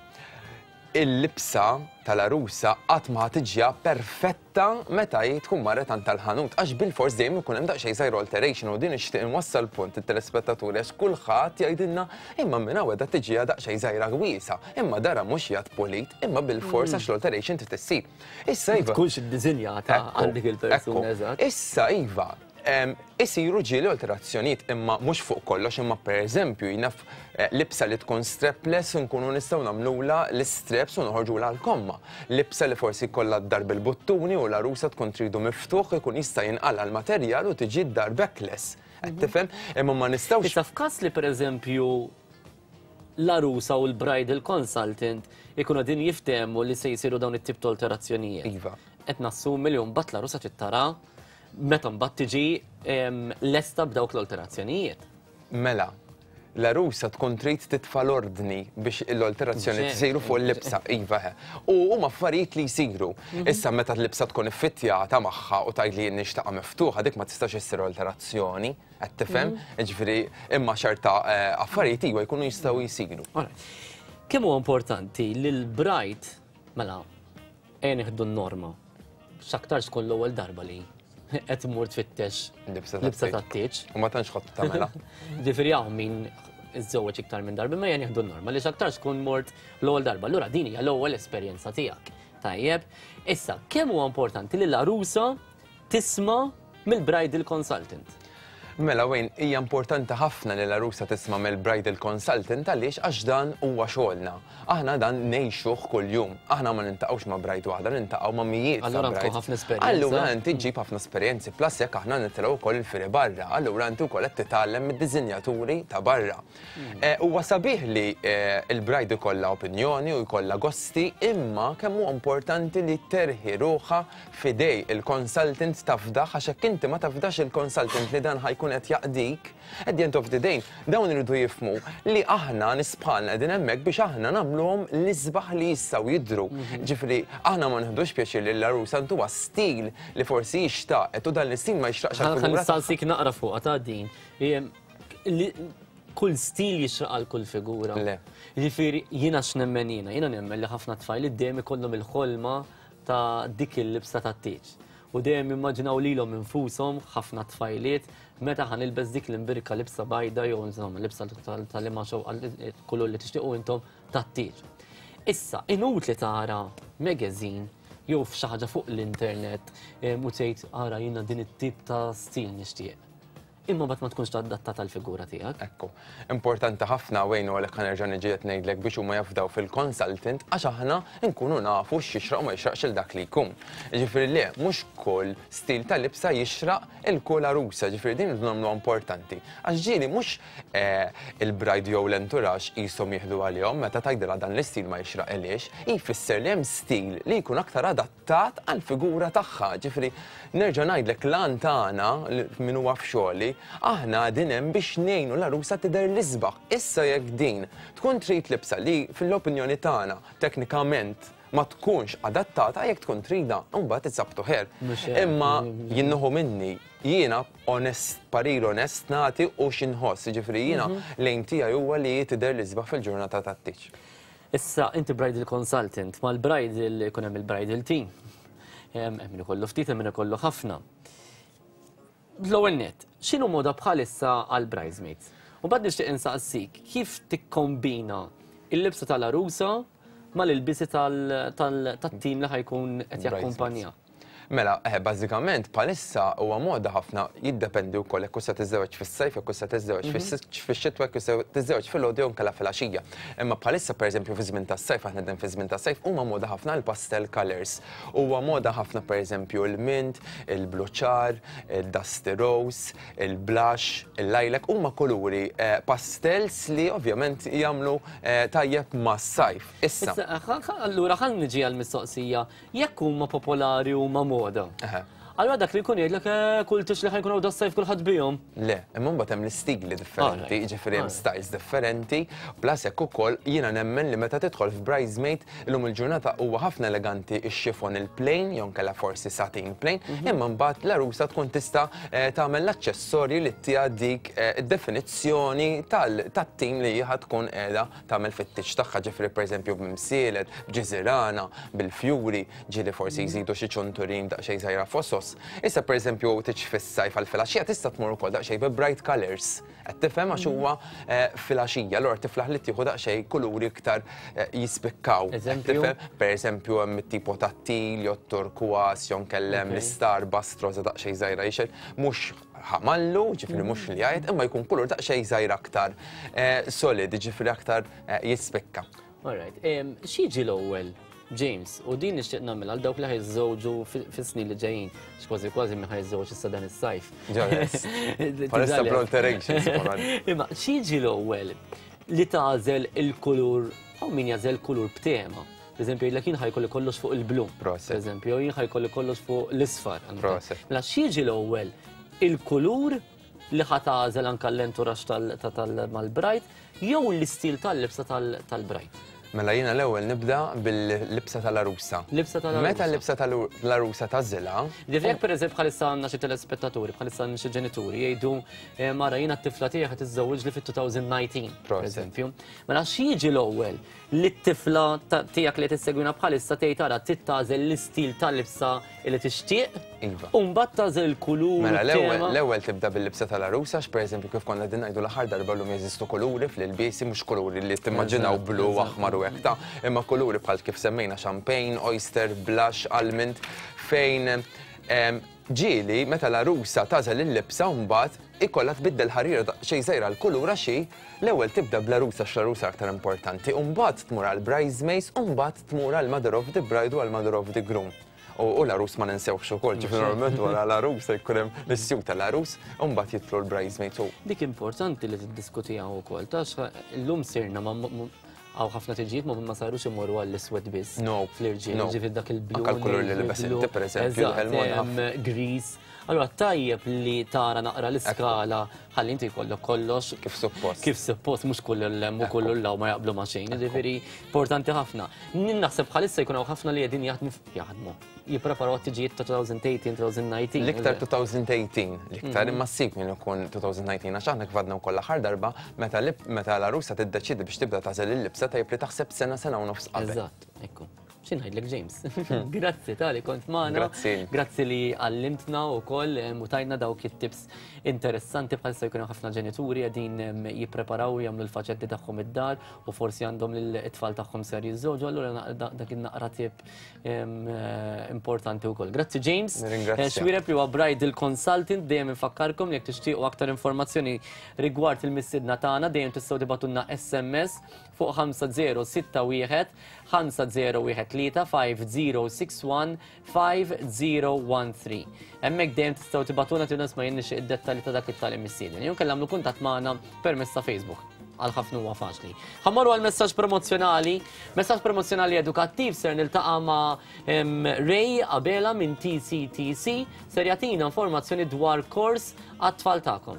Il-libsa tal-għarusa qatt ma ħa tiġiha perfetta meta hi tkun marret għand tal-ħanut għax bilfors dejjem ikun hemm daqsxejn żgħir alteration u din nixtieq inwassal punt it-telespettaturi għax kulħadd jgħidilna imma minn hawn qiegħda tiġiha daqsxejn żgħira wiesgħa, imma darha mhux qiegħed pulit, imma bilfors għax l-alteration trid issir. Issa iva. Tkunx iddisinjata għal dik il-persuna eżatt. Issa iva, Isiru ġieli alterazzjonijiet imma mhux fuq kollox imma pereżempju jien naf libsa li tkun strapless inkunu nistgħu nagħmlulha l-istraps u noħorġulha l-komma. Libsa li forsi jkollha d-dar bil-buttuni u l-għarusa tkun tridu miftuħ ikun jista' jinqala' l-materjal u tiġi d-dar backless. Qed tifhem? Imma ma nistgħux. Issa f'każ li pereżempju l-għarusa u l-bridal consultant ikunu qegħdin jiftehmu li se jsiru dawn it-tip ta' alterazzjonijiet. Iva. Qed nassumi li mbagħad l-għarusa trid tara Meta mbagħad tiġi lesta b'dawk l-alterazzjonijiet. Mela, l-għarusa tkun trid titfa' l-ordni biex l-alterazzjonijiet isiru fuq il-libsa, iva eħe. U huma affarijiet li jsiru. Issa meta l-libsa tkun iffittjata magħha u tgħid li jien nixtieqha miftuħa, dik ma tistax issir alterazzjoni, qed tifhem? Jiġifieri imma xorta affarijiet iva jkunu jistgħu jsiru. Kemm huwa importanti li l-bride, mela, ejja nieħdu n-norma, X'aktarx tkun l-ewwel darba li qed tmur tfittex libsa tat-tieġ. U ma tantx ħadd tagħmilha. Ġifieri hawn min iżżewweġ iktar minn darba, imma ejja nieħdu n-norma li x'aktarx tkun mort l-ewwel darba. Allura din hija l-ewwel esperjenza tiegħek. Tajjeb. Issa, kemm huwa importanti li l-għarusa tisma' mill-bridal consultant? Mela Wayne, hija importanti ħafna li l-għarusa tisma' mill-bridal consultant għaliex għax dan huwa xogħolna. Aħna dan ngħixuh kuljum. Aħna ma niltaqgħux ma' bride waħda, niltaqgħu ma' mijiet ta' Allura għandkom ħafna esperjenza. Allura inti ġġib ħafna esperjenzi, plus jekk aħna nitilgħu wkoll il-fieri barra, allura inti wkoll qed titgħallem mid-disinjaturi ta' barra. Huwa sabiħ li l-bride ikollha opinjoni u jkollha gosti, imma kemm huwa importanti li terħi ruħha f'idej il-consultant tafdah għax jekk inti ma tafdax il-consultant li dan ħa jkun qed jaqdik, at the end of the day, dawn iridu jifhmu li aħna nies bħalna qegħdin hemmhekk biex aħna nagħmluhom l-isbaħ li jistgħu jidhru. Ġifieri aħna ma nieħdux pjaċir li l-għarusa ntuha stil li forsi hi xtaqet u dan l-istil ma jixraqx għall-figura Ħa nistaqsik naqra fuqha ta' din. Kull stil jixraq għal kull figura. Le. Jiġifieri jiena x'nemmen jiena? Jiena nemmen li ħafna tfajliet dejjem ikollhom il-ħolma ta' dik il-libsa tat-tieġ. U dejjem jimmaġinaw lilhom infushom ħafna tfajliet Meta ħa nilbes dik l-imbirka libsa bajda jew insomma libsa tal-liema xewqa kulur li tixtiequ intom tat-tieġ. Issa, inutli tara magazine jew f'xi ħaġa fuq l-internet u tgħid ara jiena din it-tip ta' stil nixtieq. Imma mbagħad ma tkunx adattata għall-figura tiegħek. Ekku. Importanti ħafna Wayne u għalhekk ħa nerġa' niġi qed ngħidlek biex huma jafdaw fil-consultant għax aħna nkunu nafu x'jixraq u ma jixraqx lil dak li jkun. Jiġifieri le, mhux kull stil ta' libsa jixraq il kull għarusa, jiġifieri din irridu nagħmluha importanti. Għax ġieli mhux il-bride jew l-entourage qishom jieħdu għalihom meta tgħidilha dan l-istil ma jixraqilhiex, jfisser li hemm stil li jkun aktar adattat għall-figura tagħha. Ġifieri nerġa' ngħidlek l-għan tagħna min huwa f'xogħli, aħna qegħdin hemm biex ngħinu l-għarusa tidher l-isbaħ. Issa jekk din tkun trid libsa li fil-opinjoni tagħna teknikament ma tkunx adattata jekk tkun tridha, imbagħad it's up to her. Imma jien nieħu minni, jiena onest, parir onest nagħti u x'inħoss, jiġifieri jiena l-aim tiegħi huwa li hi tidher l-isbaħ fil-ġurnata tat-tieġ. Issa, inti bridal consultant, mal-bridal ikun hemm il-bridal team. Hemm min ikollu ftit, hemm min ikollu ħafna. L-ewwel nett, x'inhu moda bħalissa għal bridesmaids? U mbagħad nixtieq insaqsik kif tikkombina il-libsa tal-għarusa mal-ilbiesi tat-tim li ħa jkun qed jakkumpanja. Mela, eh, bażikament bħalissa huwa moda ħafna jiddependi wkoll jekk se tiżżewweġ fis-sajf, jekk se tiżżewweġ fix-xitwa, jekk se tiżżewweġ filgħodu jew inkella filgħaxija. Imma bħalissa pereżempju fi żmien tas-sajf, aħna qegħdin fi żmien tas-sajf, huma moda ħafna l-pastel colours. Huwa moda ħafna pereżempju l-mint, il-blu ċar, il-dusty rose, il-blush, il-lilac, huma kuluri eh, pastels li ovvjament jagħmlu eh, tajjeb mas-sajf. Issa. Allura ħa niġi għall-mistoqsija, jekk huma popolari huma moda. Allura dak li jkun jgħidlek eh, kull tix li ħajkun hawn das-sajf kulħadd bihom. Le, imma mbagħad hemm l-istigli differenti, jiġifieri hemm styles differenti, plus hekk ukoll jiena nemmen li meta tidħol f'bridesmaid illum il-ġurnata huwa ħafna eleganti x-chiffon il-plain jew inkella forsi satin plain, imma mbagħad l-għarusa tkun tista' eh, tagħmel l-aċċessorji li ttiha dik eh, id-definizzjoni tat-tim li hi ħa tkun qiegħda tagħmel fit-tieġ tagħha, ġifieri pereżempju b'mimsielet, b'ġiżirana, bil-fjuri, ġieli forsi jżidu xi ċunturin daqsxejn żgħira fosos. Issa pereżempju tieġ fis-sajf għal filgħaxija tista' tmur ukoll daqsxejn bi bright colours. Qed tifhem għax huwa filgħaxija, allura tiflaħ li tieħu daqsxejn kuluri iktar jispikkaw. Eżempju? Pereżempju hemm it-tipo tat-til jew t-turkwas jew nkella hemm l-istarbuxt roża daqsxejn żgħira jixgħel, mhux ħamallu, ġifieri mhux li jgħid, imma jkun kulur daqsxejn żgħir aktar eh, solid, ġifieri aktar eh, jispikka. All right, x'jiġi l-ewwel, James, u din nixtieq nagħmel għal dawk li ħajżżewġu fis-snin li ġejjin, x'kważi kważi min ħajżżewġ issa dan is-sajf. Palissa bl-alterations. Imma x'jiġi l-ewwel li tagħżel il-kulur, hawn min jagħżel kulur b'tema. Per eżempju, jgħidlek jien ħajkolli kollox fuq il-blu. Per eżempju, jien ħajkolli kollox fuq l-isfar. Mela x'jiġi l-ewwel il-kulur li ħa tagħżel anke l-entourage mal-bride jew l-istil tal-libsa tal-bride? Mela jiena l-ewwel nibda bil-libsa tal-għarusa. Libsa tal-għarusa. Meta l-libsa tal-għarusa tagħżilha. Ġifieri jekk pereżempju bħalissa għandna xi telespettaturi, bħalissa għandna xi ġenituri jgħidu eh, mara jiena t-tifla tiegħi ħa tiżżewwiġli fit-2019, pereżempju. Mela x'jiġi l-ewwel? Li t-tifla tiegħek li qed issegwina bħalissa tgħid ara trid tagħżel l-istil tal-libsa li tixtieq. Iva. U mbagħad tagħżel il-kulur. Mela l-ewwel l-ewwel tibda bil-libsa tal-għarusa għax pereżempju kif konna qegħdin ngħidu l-aħħar darba llum jeżistu kuluri fl-ilbiesi mhux kuluri li timmaġinaw blu, aħmar u hekk ta' imma kuluri bħal kif semmejna champagne, oyster, blush, almond fejn Ġieli, meta l-għarusa tagħżel il-libsa mbagħad ikollha tbiddel ħarira daqsxejn żgħira l-kulur għax hi l-ewwel tibda bl-għarusa għax l-għarusa aktar importanti u mbagħad tmur għall-bridesmaids u mbagħad tmur għall-mother of the bride u għall-mother of the groom. U l-għarus ma ninsewhx ukoll, ġifieri normalment wara l-għarusa jkun hemm l-issuit tal-għarus u mbagħad jidħlu l-bridesmaids u. Dik importanti li tiddiskutiha wkoll, taf illum sirna ma Hawn ħafna tiġijiet ma ma sarux imorru għall-iswed biss. No. Fl-irġiel, ġifieri dak il-blu. Anke l-kulur li libes inti pereżempju, Eżatt, gris. Allura tajjeb li tara naqra l-iskala ħalli inti jkollok kollox. Kif suppost. Kif suppost, mhux kull l-hemm u kull l-hawn ma jaqblu ma' xejn. Ġifieri importanti ħafna. Naħseb bħalissa jkun hawn ħafna li qegħdin jaħdmu jaħdmu. Jippreparaw għat-tiġijiet ta' 2018, 2019. L-iktar 2018, l-iktar imma ssib min ikun 2019 għax aħna kif għadna wkoll l-aħħar darba meta meta l-għarusa tiddeċiedi biex tibda tagħżel il-libsa tajjeb li taħseb sena sena u nofs qabel. Eżatt, ekku. Xi ngħidlek James? Grazzi tali kont magħna. Grazzi. Grazzi li għallimtna wkoll u tajna dawk it-tips interessanti bħalissa jkunu ħafna ġenituri qegħdin jippreparaw jagħmlu l-faċetti tagħhom id-dar u forsi għandhom lil-tfal tagħhom ser jiżżewġu, allura dak in-naqra tip importanti wkoll. Grazzi James. Nirringrazzja. Xuereb li huwa bridal consultant, dejjem infakkarkom jekk tixtiequ aktar informazzjoni rigward il-mistiedna tagħna, dejjem tistgħu tibgħatulna SMS fuq 5061 5013 5061 5013. Hemmhekk dejjem tistgħu tibgħatulna tgħidulna isma' jien nixtieq id-dettalji ta' dak it-tali mistieden. Jew inkella għamlu kuntatt magħna permezz ta' Facebook. Għal ħafna huwa faċli. Ħa mmorru għal messaġġ promozzjonali, messaġġ promozzjonali edukattiv ser niltaqa' ma' Ray Abela minn TCTC ser jagħtina informazzjoni dwar kors għat-tfal tagħkom.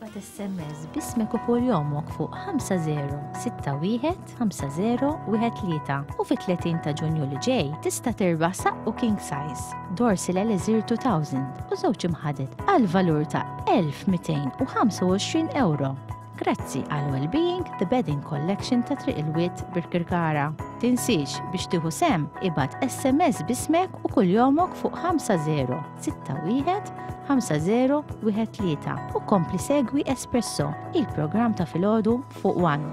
Ibgħat SMS b'ismek u kuljomok fuq 5061 5013 u fit-30 ta' Ġunju li ġej tista' tirbaħ saqqu king size, Dorsil Elixir 2000 u żewġ imħaded għal valur ta' 1225 ewro. Grazzi għal Wellbeing The Bedding Collection ta' Triq il-Wied Birkirkara. Tinsiex biex tieħu sehem ibgħat SMS b'ismek u kuljomok fuq 5061 5013 u kompli segwi Espresso, il-programm ta' filgħodu fuq One.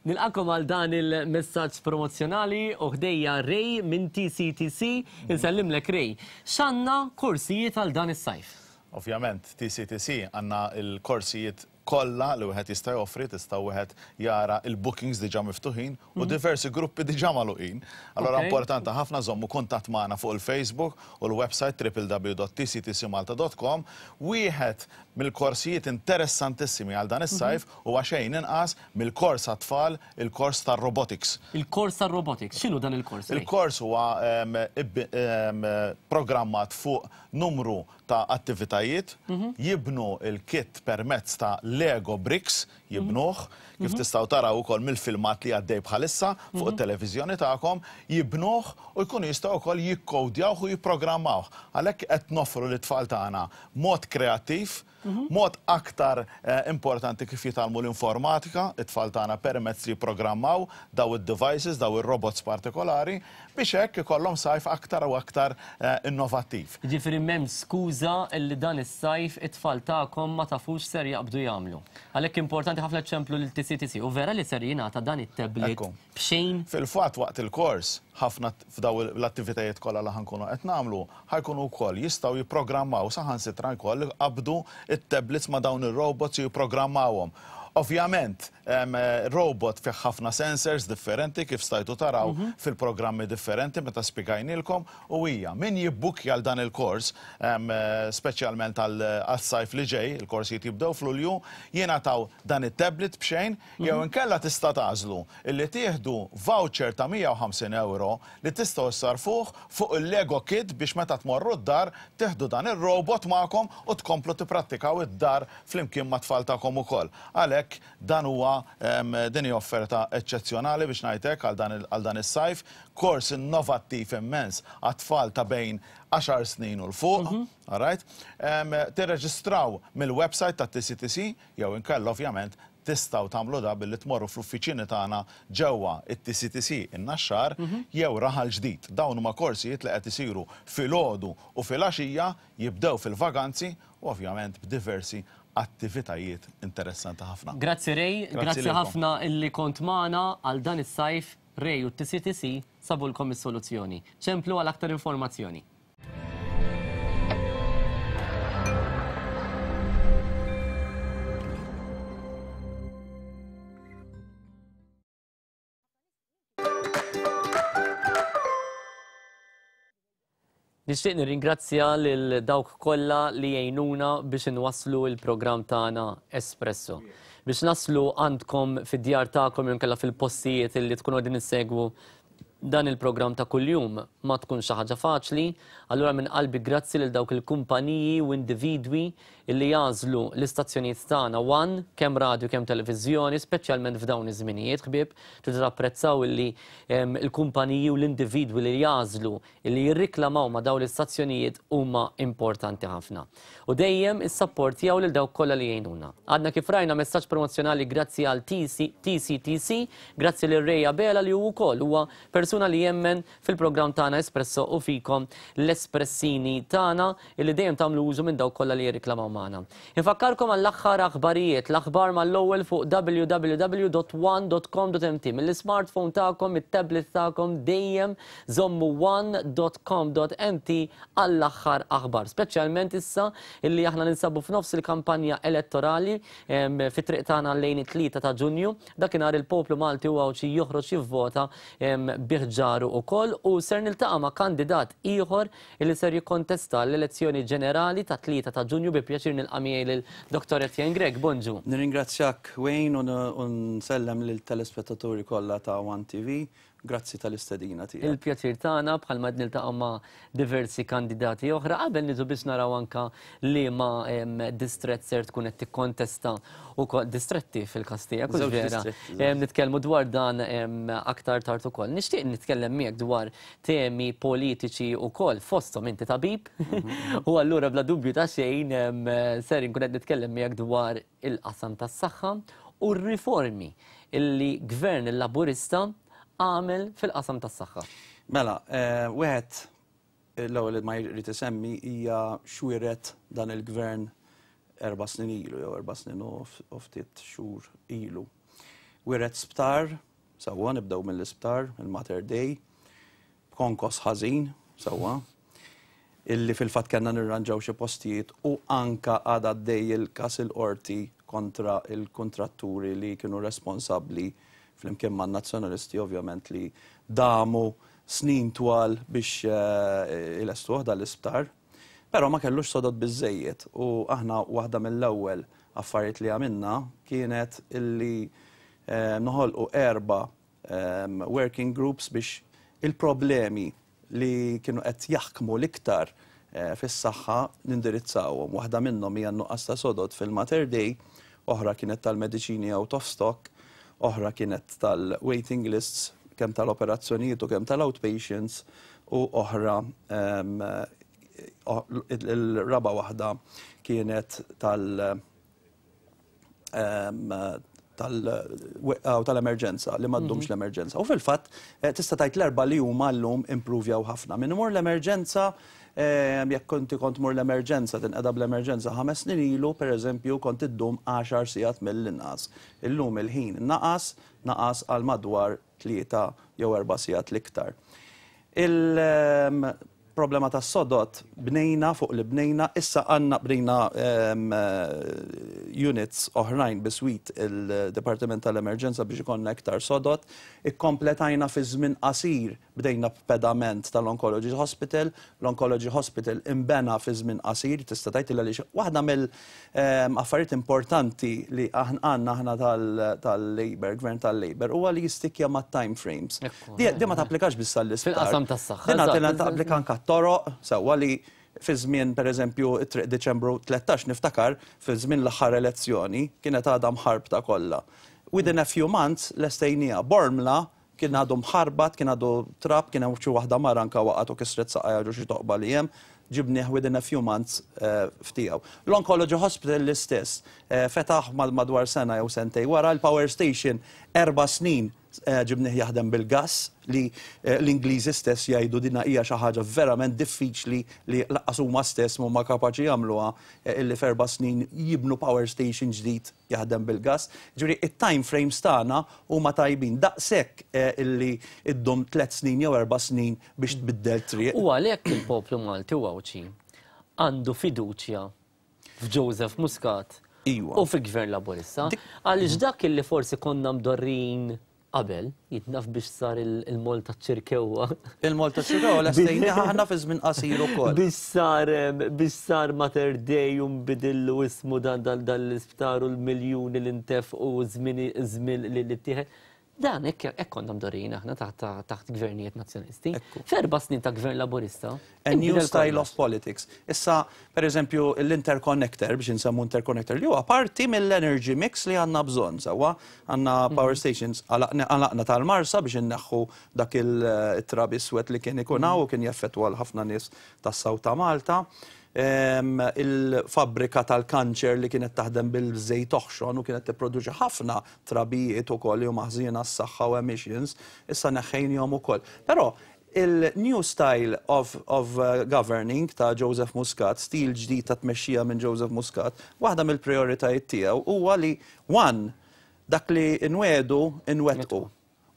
Nilqakom għal dan il-messaġġ promozzjonali u ħdejja Ray minn TCTC. Insellimlek Ray. X'għandna korsijiet għal dan is-sajf? Ovvjament, TCTC għandna l-korsijiet kollha li wieħed jista' joffri, tista' wieħed jara l-bookings diġà miftuħin u diversi gruppi diġà magħluqin. Allura importanti ħafna żommu kuntatt magħna fuq il-Facebook u l-website www.tctcmalta.com. Wieħed mill-korsijiet interessantissimi għal dan is-sajf huwa xejn inqas mill-kors għat-tfal, il-kors tar-robotics. Il-kors tar-robotics, x'inhu dan il-kors? Il-kors huwa programmat fuq numru ta' attivitajiet, jibnu l-kit permezz ta' Lego bricks, jibnuh, kif tistgħu taraw ukoll mill-filmat li għaddej bħalissa fuq it-televiżjoni tagħkom, jibnuh u jkunu jistgħu wkoll jikkowdjawh u jipprogrammawh. Għalhekk qed noffru lit-tfal tagħna mod kreattiv, mod aktar importanti kif jitgħallmu l-informatika, it-tfal tagħna permezz li jipprogrammaw daw id-devices, daw ir-robots partikolari, biex hekk ikollhom sajf aktar u aktar innovattiv. Jiġifieri m'hemmx skuża li dan is-sajf it-tfal tagħkom ma tafux x'ser jaqbdu jagħmlu. Għalhekk importanti ħafna ċċemplu lil TCTC u vera li ser jingħata dan it-tablet b'xejn? Fil-fatt waqt il-kors, ħafna f'daw l-attivitajiet kollha li ħa nkunu qed nagħmlu, ħa jkunu wkoll jistgħu jipprogrammaw saħansitra wkoll iqabbdu t-tablets ma' dawn ir-robots u jipprogrammawhom. Ovvjament, robot fih ħafna sensors differenti kif stajtu taraw fil-programmi differenti meta spjegajnielkom u hija min jibbukkja għal dan il-kors, speċjalment għas-sajf li ġej, il-korsijiet jibdew f'Lulju, jingħataw dan it-tablet b'xejn jew inkella tista' tagħżlu illi tieħdu voucher ta' 150 ewro li tistgħu ssarrfuh fuq il-Lego Kit biex meta tmorru d-dar tieħdu dan ir-robot magħkom u tkomplu tipprattikaw id-dar flimkien mat-tfal tagħkom ukoll. Għalhekk dan huwa din hi offerta eċċezzjonali biex ngħid hekk għal dan għal dan is-sajf, kors innovattiv immens għat-tfal ta' bejn għaxar snin u 'l fuq, all right? Tirreġistraw mill-website tat-TCTC jew inkella ovvjament Tistgħu tagħmlu da billi tmorru fl-uffiċini tagħna ġewwa it-TCTC in-Naxxar jew Raħal Ġdid. Dawn huma korsijiet li qed isiru filgħodu u filgħaxija, jibdew fil-vaganzi u ovvjament b'diversi attivitajiet interessanti ħafna. Grazzi Ray, Grazzi grazzi lilkom. ħafna illi kont magħna għal dan is-sajf, Ray u t-TCTC sabulkom is-soluzzjoni. Ċemplu għal aktar informazzjoni. Nixtieq nirringrazzja lil dawk kollha li jgħinuna biex inwasslu l-programm tagħna Espresso. Biex naslu għandkom fid-djar tagħkom jew inkella fil-postijiet li tkunu qegħdin issegwu. dan il-programm ta' kuljum ma tkunx xi ħaġa faċli, allura minn qalbi grazzi lil dawk il-kumpaniji u individwi illi jagħżlu l-istazzjonijiet tagħna one, kemm radju kemm televiżjoni, speċjalment f'dawn iż-żminijiet ħbieb, tridu tapprezzaw illi l-kumpaniji u l-individwi li jagħżlu illi jirriklamaw ma' dawn l-istazzjonijiet huma importanti ħafna. U dejjem issapportjaw lil dawk kollha li jgħinuna. Għadna kif rajna messaġġ promozzjonali grazzi għal TCTC, grazzi lil Ray Abela li hu wkoll huwa persuna li jemmen fil-programm tagħna Espresso u fikom l-espressini tagħna illi dejjem tagħmlu użu minn dawk kollha li jirriklamaw magħna. Infakkarkom għall-aħħar aħbarijiet, l-aħbar mal-ewwel fuq www.one.com.mt mill-ismartphone tagħkom, mit-tablet tagħkom dejjem żommu one.com.mt għall-aħħar aħbar, speċjalment issa illi aħna ninsabu f'nofs il-kampanja elettorali fit-triq tagħna lejn it-3 ta' Ġunju. Dakinhar il-poplu Malti u Għawdxi joħroġ jivvota bi ħġaru wkoll u ser niltaqa' ma' kandidat ieħor illi ser jikkontesta l-elezzjoni ġenerali tat-3 ta' Ġunju. Bi pjaċir nilqa' miegħi lil Dottor Etienne Grech. Bonġu. Nirringrazzjak Wayne u nsellem lill-telespettaturi kollha ta' one TV. Grazzi tal-istedina tiegħek. Il-pjaċir tagħna, bħalma qed niltaqgħu ma' diversi kandidati oħra. Qabel niġu biex naraw anka liema distrett ser tkun qed tikkontesta ukoll distretti fil-każ tiegħek, hux Żewġ vera? distretti, żewġ. Nitkellmu dwar dan aktar tard ukoll. Nixtieq nitkellem miegħek dwar temi politiċi wkoll, fosthom inti tabib, u allura bla dubju ta' xejn ser inkun qed nitkellem miegħek dwar il-qasam tas-saħħa u r-riformi illi Gvern Laburista għamel fil-qasam tas-saħħa. Mela, wieħed l-ewwel li ma jrid isemmi hija x'wiret dan il-Gvern 4 snin ilu jew 4 snin u ftit xhur ilu. Wiret sptar, sewwa nibdew mill-isptar, il-Mater Dei, b'konkos ħażin, sewwa, illi fil-fatt kellna nirranġaw xi postijiet u anka għadha għaddej il-każ il-qorti kontra il-kuntratturi li kienu responsabbli flimkien man-Nazzjonalisti ovvjament li damu snin twal biex ilestuh dal-isptar. Però ma kellux sodod biżżejjed u aħna waħda mill-ewwel affarijiet li għamilna kienet illi noħolqu 4 working groups biex il-problemi li kienu qed jaħkmu l-iktar fis-saħħa nindirizzawhom. Waħda minnhom hija n-nuqqas ta' sodod fil-Mater Dei, oħra kienet tal-mediċini out of stock, oħra kienet tal-waiting lists kemm tal-operazzjonijiet u kemm tal-outpatients, u oħra il-raba' waħda kienet tal-emerġenza, li ma ddumx l-emerġenza. U fil-fatt, tista' tgħid l-erba' li huma llum improvjaw ħafna. Min imur l-emerġenza, jekk inti kont tmur l-emerġenza, tinqeda bl-emerġenza 5 snin ilu, per eżempju, kont iddum 10 sigħat mill-inqas. Illum il-ħin naqas, naqas għal madwar 3 jew 4 sigħat l-iktar. Il-problema tas-sodod bnejna fuq li bnejna, issa għandna bnejna units oħrajn biswit il-Dipartiment tal-Emerġenza biex ikollna iktar sodod. Ikkompletajna fi żmien qasir, bdejna b'pedament tal-Oncology Hospital. L-Oncology Hospital imbena fi żmien qasir, tista' tgħid li għaliex waħda mill-affarijiet importanti li għandna aħna tal-Labour, Gvern tal-Labour, huwa li jistikja ma' time frames. Di ma tapplikax biss għall-isptar. Fil-qasam tas-saħħa, Din eżatt. tapplika anke t-toroq, sewwa li fi żmien, per eżempju, it-triq Diċembru 13 niftakar fi żmien l-aħħar elezzjoni kienet għadha mħarbta kollha. Within a few months lestejnija. Bormla kien għadu mħarbat, kien għadu trab, kien hemm xi waħda mara anke waqgħet u kisret saqajha ġo xi toqba li hemm, ġibnieh within a few months ftiegħu. L-Oncology Hospital l-istess, fetaħ madwar sena jew sentej wara, l-Power Station 4 snin ġibnieh jaħdem bil-gas li l-Ingliżi stess jgħidu dina hija xi ħaġa verament diffiċli li lanqas huma stess m'huma kapaċi jagħmluha, illi f'erba' snin jibnu power station ġdid jaħdem bil-gas. Ġifieri it-time frames tagħna huma tajbin daqshekk illi iddum 3 snin jew 4 snin biex tbiddel triq. U għalhekk il-poplu Malti u Għawdxi għandu fiduċja f'Joseph Muscat u fi Gvern Laburista, għaliex dak illi forsi konna mdorrin qabel, jitnaf biex sar il-Mall taċ-Ċirkewwa. Il-Mall taċ-Ċirkewwa lestejnieh aħna fi żmien qasir ukoll. Biex sar Mater Dei u nbidillu ismu dan l-isptar u l-miljuni li ntefqu u żmien li ttieħed. Dan hekk hekk konna mdorrijin aħna taħt gvernijiet Nazzjonalisti. F'erba' snin ta' gvern Laburista. A new style of politics. Issa, per eżempju, l-interconnector, biex insemmu interconnector, li huwa parti mill-energy mix li għandna bżonn, sewwa, għandna power stations, għalaqna tal-Marsa biex inneħħu dak il-trab iswed li kien ikun hawn u kien jaffettwa 'l ħafna nies tas-South ta' Malta. Il-fabbrika tal-kanċer li kienet taħdem bil-żejt oħxon u kienet tipproduċi ħafna trabijiet ukoll li huma ħżiena għas-saħħa u emissions, issa neħħejnihom ukoll. Però il-new style of, of governing ta' Joseph Muscat, stil ġdid ta' tmexxija minn Joseph Muscat, waħda mill-prijoritajiet tiegħu huwa li one, dak li nwiegħdu nwettqu.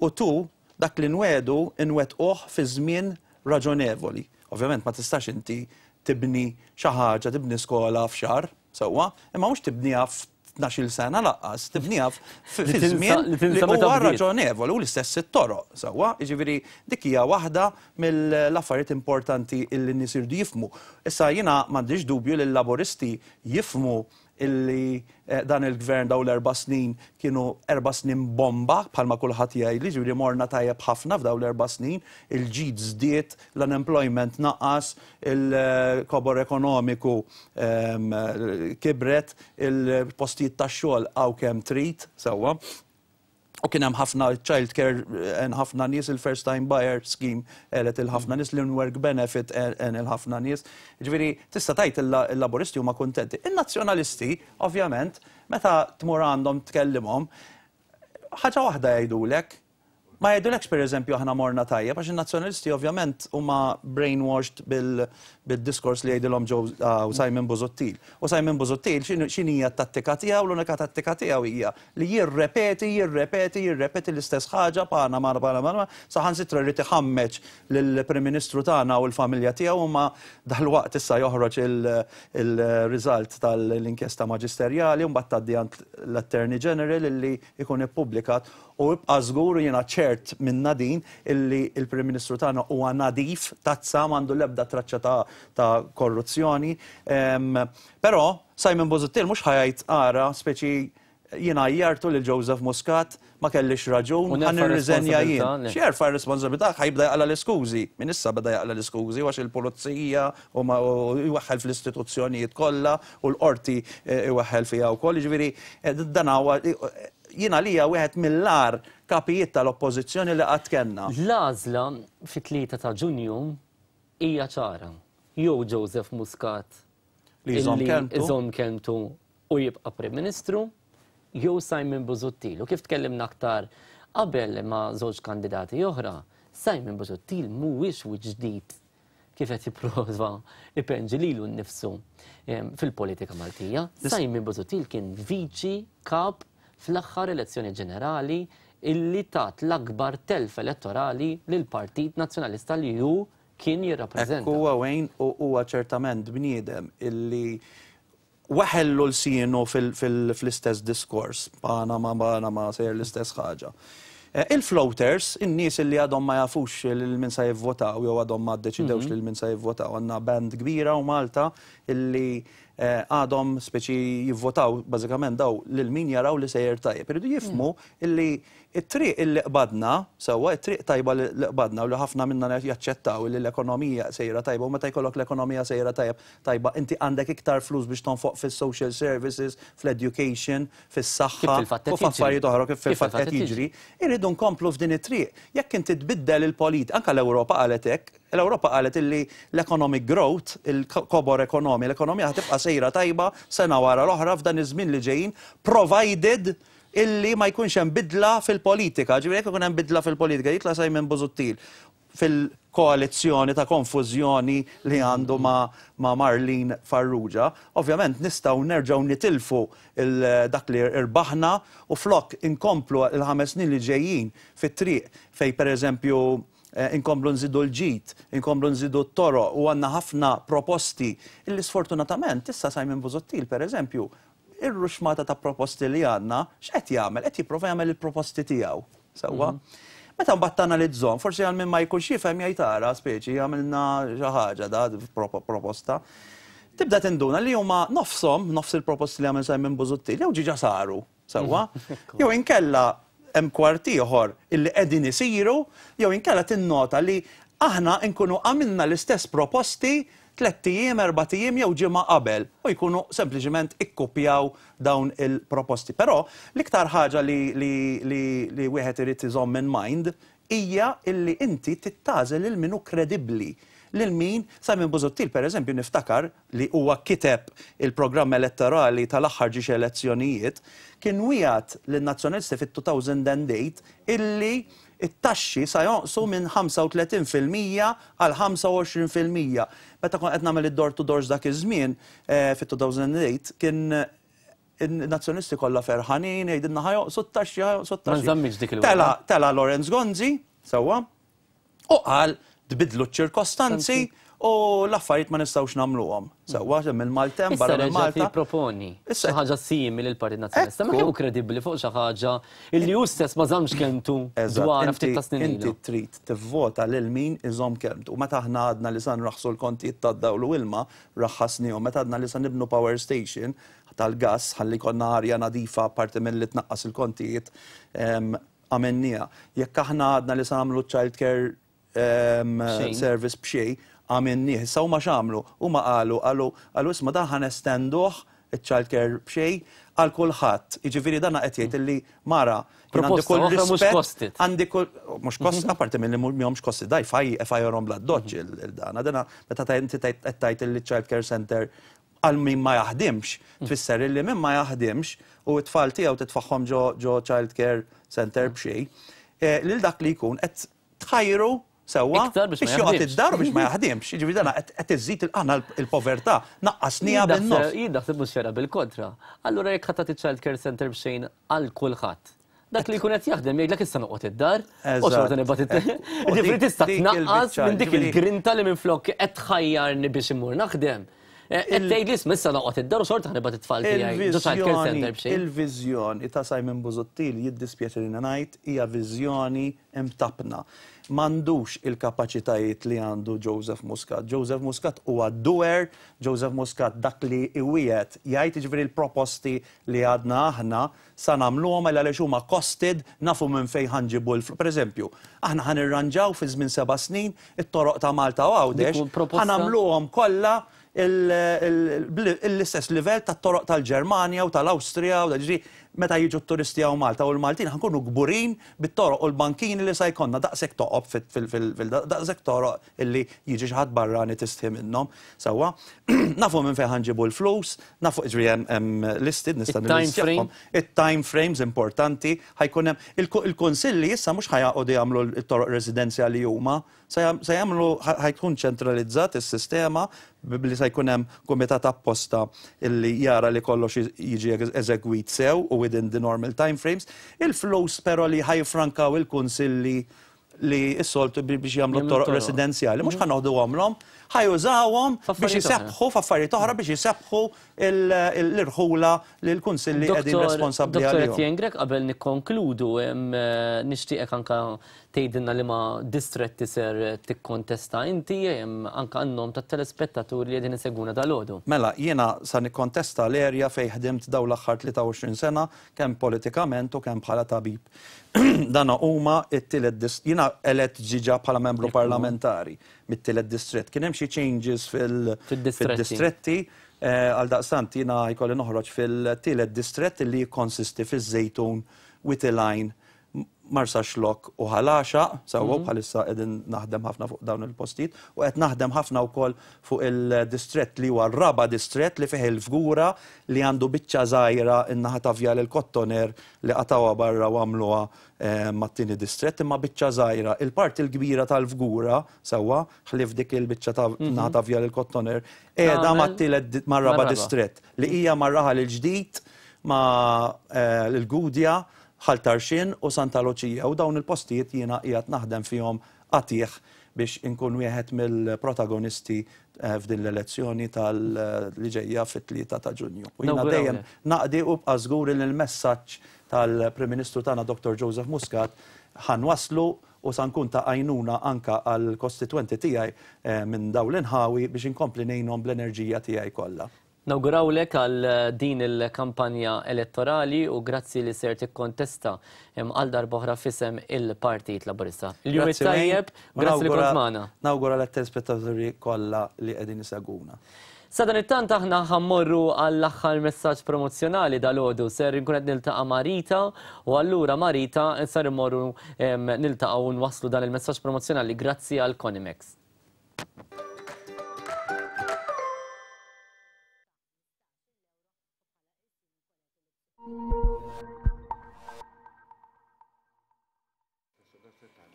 U two, dak li nwiegħdu nwettquh fi żmien raġonevoli. Ovvjament ma tistax inti tibni xi ħaġa, tibni skola f'xahar, sewwa, imma mhux tibniha f'tnax-il sena lanqas, tibniha fi żmien li huwa raġonevoli u l-istess it-toroq, sewwa, jiġifieri dik hija waħda mill-affarijiet importanti li n-nies iridu jifhmu. Issa jiena m'għandix dubju li l-Laburisti jifhmu illi dan il-Gvern dawn l-erba' snin kienu erba' snin bomba bħalma kulħadd jgħidli, jiġifieri morna tajjeb ħafna f'dawn l-erba' snin, il-ġid żdied, l-unemployment naqas, il-kobor ekonomiku kibret, il-postijiet tax-xogħol hawn kemm trid, sewwa. U kien hemm ħafna child care għen ħafna nies, il-first time buyer scheme għelet il ħafna nies, l-in-work benefit għen il ħafna nies. Jiġifieri tista' tgħid il-Laburisti huma kuntenti. In-Nazzjonalisti, ovvjament, meta tmur għandhom tkellimhom, ħaġa waħda jgħidulek, ma jgħidulekx pereżempju aħna morna tajjeb għax in-Nazzjonalisti ovvjament huma brainwashed bil-diskors li jgħidilhom Simon Busuttil. U Simon Busuttil x'inhija t-tattika tiegħu? L-unika tattika tiegħu hija li jirrepeti, jirrepeti, jirrepeti l-istess ħaġa, Panama, Panama, Panama, saħansitra jrid iħammeġ lill-Prim Ministru tagħna u l-familja tiegħu imma dalwaqt issa joħroġ il-result tal-inkjesta maġisterjali u mbagħad tgħaddi għand l-Attorney General illi jkun ippubblikat u ibqa' żgur u jiena ċert minnha din illi l-Prim Ministru tagħna huwa nadif, tazza, m'għandu l-ebda traċċa ta' korruzzjoni. Però Simon Busuttil mhux ħa jgħid ara speċi jien għajjartu lil Joseph Muscat, ma kellix raġun, ħa nirriżenja jien. X'jerfa' r-responsabilità? Ħa jibda jaqla' l-iskużi. Minn issa beda jaqla' l-iskużi għax il-pulizija u jweħħel fl-istituzzjonijiet kollha u l-qorti jweħħel fiha wkoll. Jiġifieri dan huwa jien għalija wieħed mill-agħar kapijiet tal-Oppożizzjoni li qatt kellna. L-għażla fit-3 ta' Ġunju hija ċara. Jew Joseph Muscat li jżomm kelmtu u jibqa' Prim Ministru, jew Simon Busuttil. U kif tkellimna aktar qabel ma' żewġ kandidati oħra, Simon Busuttil mhuwiex wiċċ ġdid kif qed jipprova ipenġi lilu nnifsu fil-politika Maltija. Simon Busuttil kien viċi kap fl-aħħar elezzjoni ġenerali illi tat l-akbar telf elettorali lill-Partit Nazzjonalista li hu kien jirrappreżenta. Hekk huwa Wayne u huwa ċertament bniedem illi weħellu lsienu fl-istess diskors, Panama, Panama, sejjer l-istess ħaġa. Il-floaters, in-nies illi għadhom ma jafux lil min se jivvotaw jew għadhom ma ddeċidewx lil min se jivvotaw, għandna band kbira hawn Malta illi għadhom speċi jivvotaw bażikament daw lil min jaraw li sejjer tajjeb. Iridu jifhmu illi It-triq illi qbadna, sewwa, it-triq tajba li qbadna u li ħafna minna jaċċettaw illi l-ekonomija sejra tajba u meta jkollok l-ekonomija sejra tajjeb tajba inti għandek iktar flus biex tonfoq fis-social services, fl-education, fis-saħħa u f'affarijiet oħra kif fil-fatt qed jiġri. Irridu nkomplu f'din it-triq. Jekk inti tbiddel il-polit, anke l-Ewropa qalet hekk, l-Ewropa qalet illi l-economic growth, il-kobor ekonomi, l-ekonomija ħa tibqa' sejra tajba sena wara l-oħra f'dan iż-żmien li ġejjin provided illi ma jkunx hemm bidla fil-politika. Ġifieri jekk ikun hemm bidla fil-politika, jitla' Simon Busuttil fil-koalizzjoni ta' konfużjoni li għandu ma' ma' Marlene Farrugia, ovvjament nistgħu nerġgħu nitilfu dak li rbaħna u flok inkomplu l-ħames snin li ġejjin fit-triq fejn pereżempju inkomplu nżidu l-ġid, inkomplu nżidu t-toroq u għandna ħafna proposti illi sfortunatament issa Simon Busuttil pereżempju Ir-ruxmata ta' proposti li għandna, x'qed jagħmel? Qed jipprova jagħmel il-proposti tiegħu. Sewwa? Meta mbagħad tanalizzhom, forsi għal min ma jkunx jifhem jgħid ara speċi għamilna xi ħaġa da proposta. Tibda tinduna li huma nofshom, nofs il-proposti li għamel Simon Busuttil, jew ġiġa saru, sewwa? Jew inkella hemm kwart ieħor illi qegħdin isiru jew inkella tinnota li aħna nkunu għamilna l-istess proposti tlett ijiem, erbat ijiem jew ġimgħa qabel u jkunu sempliċement ikkupjaw dawn il-proposti. Però l-iktar ħaġa li li li li wieħed irid iżomm in mind hija illi inti trid tagħżel lil min hu kredibbli, lil min, Simon Busuttil per eżempju niftakar li huwa kiteb il-programm elettorali tal-aħħar ġiex elezzjonijiet, kien wiegħed lin-Nazzjonalisti fit-2008 illi t-taxxi sa jonqsu minn 35% għal 25%. Meta kont qed nagħmel id-door to doors dak iż-żmien, fit-2008, kien In-Nazzjonisti kollha ferħanin, jgħidilna ħa jonqsu t-taxxi, ħa jonqsu t-taxxi. Ma nżammix dik il-wegħda. Tela' tela' Lawrence Gonzi, sewwa, u qal tbiddlu ċ-ċirkostanzi u l-affarijiet ma nistgħux nagħmluhom. Sewwa, hemm il-maltemp barra minn Malta. Issa reġa' jipproponi xi ħaġa simili lill-Partit Nazzjonalista. Ma kemm hu kredibbli fuq xi ħaġa li hu stess ma żammx kelmtu dwarha ftit ta' snin ilu. Inti trid tivvota lil min iżomm kelmtu. Meta aħna għadna li sa nraħħsu l-kontijiet tad-dawl u ilma, raħħasniehom. Meta għadna li sa nibnu power station, tal-gass ħalli jkollna arja nadifa apparti milli tnaqqas il-kontijiet għamilnieha. Jekk aħna għadna li se nagħmlu child care service b'xejn, għamilnieh. Issa huma x'għamlu? Huma qalu qalu qalu isma' dan ħa nestenduh iċ-child care b'xejn għal kulħadd. Jiġifieri dan qed jgħid illi mara jien għandi kull rispett għandi kull mhux kost apparti milli mhomx kosti daj fajjarhom bl-addoċċ il-dana. Dana meta inti qed tgħid illi child care center għal min ma jaħdimx, tfisser illi min ma jaħdimx u t-tfal tiegħu titfagħhom ġo ġo child care center b'xejn, lil dak li jkun qed tħajru sewwa biex joqgħod id-dar u biex ma jaħdimx. Jiġifieri dan qed iżżid aħna l-povertà naqqasnieha bin-nofs. Jien naħseb mhux vera bil-kontra. Allura jekk ħa tagħti child care center b'xejn għal kulħadd, Dak li jkun qed jaħdem jgħidlek issa noqgħod id-dar u xorta nibgħat it Ġifieri tista' tnaqqas minn dik il-grinta li minflok qed tħajjarni biex immur naħdem. Qed tgħidli isma' issa noqgħod id-dar u xorta ħa nibgħat it-tfal tiegħi ġo child care center b'xejn. Il-viżjoni ta' Simon Busuttil jiddispjaċini ngħid hija viżjoni mtappna. M'għandux il-kapaċitajiet li għandu Joseph Muscat. Joseph Muscat huwa doer, Joseph Muscat dak li iwiegħed jgħid, jiġifieri l-proposti li għadna aħna Sa nagħmluhom għal għaliex huma costed, nafu minn fejn ħa nġibu l-flus. Per eżempju, aħna ħa nirranġaw fi żmien seba' snin it-toroq ta' Malta u Għawdex, ħa nagħmluhom kollha l-istess livell tat-toroq tal-Ġermanja u tal-Awstrija u ġifieri meta jiġu t-turisti hawn Malta u l-Maltin ħa nkunu kburin bit-toroq u l-bankini li sa jkollna daqshekk toqob fil daqshekk toroq illi jiġi xi ħadd barrani tistħi minnhom. Sewwa, nafu minn fejn ħa nġibu l-flus, nafu jiġifieri hemm listed nista' nillistjahom. It-time frames importanti, ħa jkun hemm il-kunsilli issa mhux ħa joqogħdu jagħmlu t-toroq residenzjali huma, se jagħmlu ħa jkun ċentralizzat is-sistema billi se jkun hemm kumitat apposta illi jara li kollox jiġi eżegwit sew u within the normal time frames. Il-flus però li ħa jiffrankaw il-kunsilli li s-soltu biex jagħmlu toroq residenzjali, mhux ħa noħduhomlhom, ħa jużawhom biex isebbħu f'affarijiet oħra biex isebbħu l-irħula li l-kunsilli qegħdin responsabbli għalihom. Dottor Etienne Grech, qabel nikkonkludu, nixtieqek anke tgħidilna liema distretti ser tikkontesta inti, anke għan-nom tat-telespettaturi li qegħdin isegwuna dalgħodu. Mela, jiena sa nikkontesta l-area fejn ħdimt dawn l-aħħar 23 sena, kemm politikament u kemm bħala tabib. Dana huma t-tielet dist-, jiena elett ġiġa bħala membru parlamentari mit-tielet distrett. Kien hemm xi changes fil-distretti, għaldaqstant jiena jkolli noħroġ fil-tielet distrett li jikkonsisti fiż-Żejtun, Wied il-Għajn, Marsaxlokk u Ħal Għaxaq, sewwa bħalissa qegħdin naħdem ħafna fuq dawn il-postijiet u qed naħdem ħafna wkoll fuq il-distrett li huwa r-raba' distrett li fih il-Fgura li għandu biċċa żgħira n-naħa ta' Vjal il-Kottoner li qatgħuha barra u għamluha mat-tieni distrett, imma biċċa żgħira. Il-parti l-kbira tal-Fgura, sewwa, ħlief dik il-biċċa ta' naħa ta' Vjal il-Kottoner, qiegħda mat-tielet mar-raba' distrett, li hija mar-Raħal il-Ġdid, ma' l-Gudja, Ħal Tarxien u Santa Luċija u dawn il-postijiet jiena qiegħed naħdem fihom qatigħ biex inkun wieħed mill-protagonisti f'din l-elezzjoni tal li ġejja fit-3 ta' Ġunju. U jiena dejjem naqdi u ibqa' żgur li l-messaġġ tal-Prim Ministru tagħna Dottor Joseph Muscat ħa nwasslu u sa nkun ta' għajnuna anke għall-kostitwenti tiegħi minn dawn l-inħawi biex inkompli ngħinhom bl-enerġija tiegħi kollha. Nawgurawlek għal din il-kampanja elettorali u grazzi li ser tikkontesta għal darb'oħra f'isem il-Partit Laburista. Il-jum it-tajjeb, grazzi li kont magħna. Nawgura lit-telespettaturi kollha li qegħdin isegwuna. Sadanittant aħna ħa mmorru għall-aħħar messaġġ promozzjonali dalgħodu. Ser inkun qed niltaqa' ma' Rita u allura ma' Rita ser immorru niltaqgħu u nwasslu dan il-messaġġ promozzjonali grazzi għal Conimex.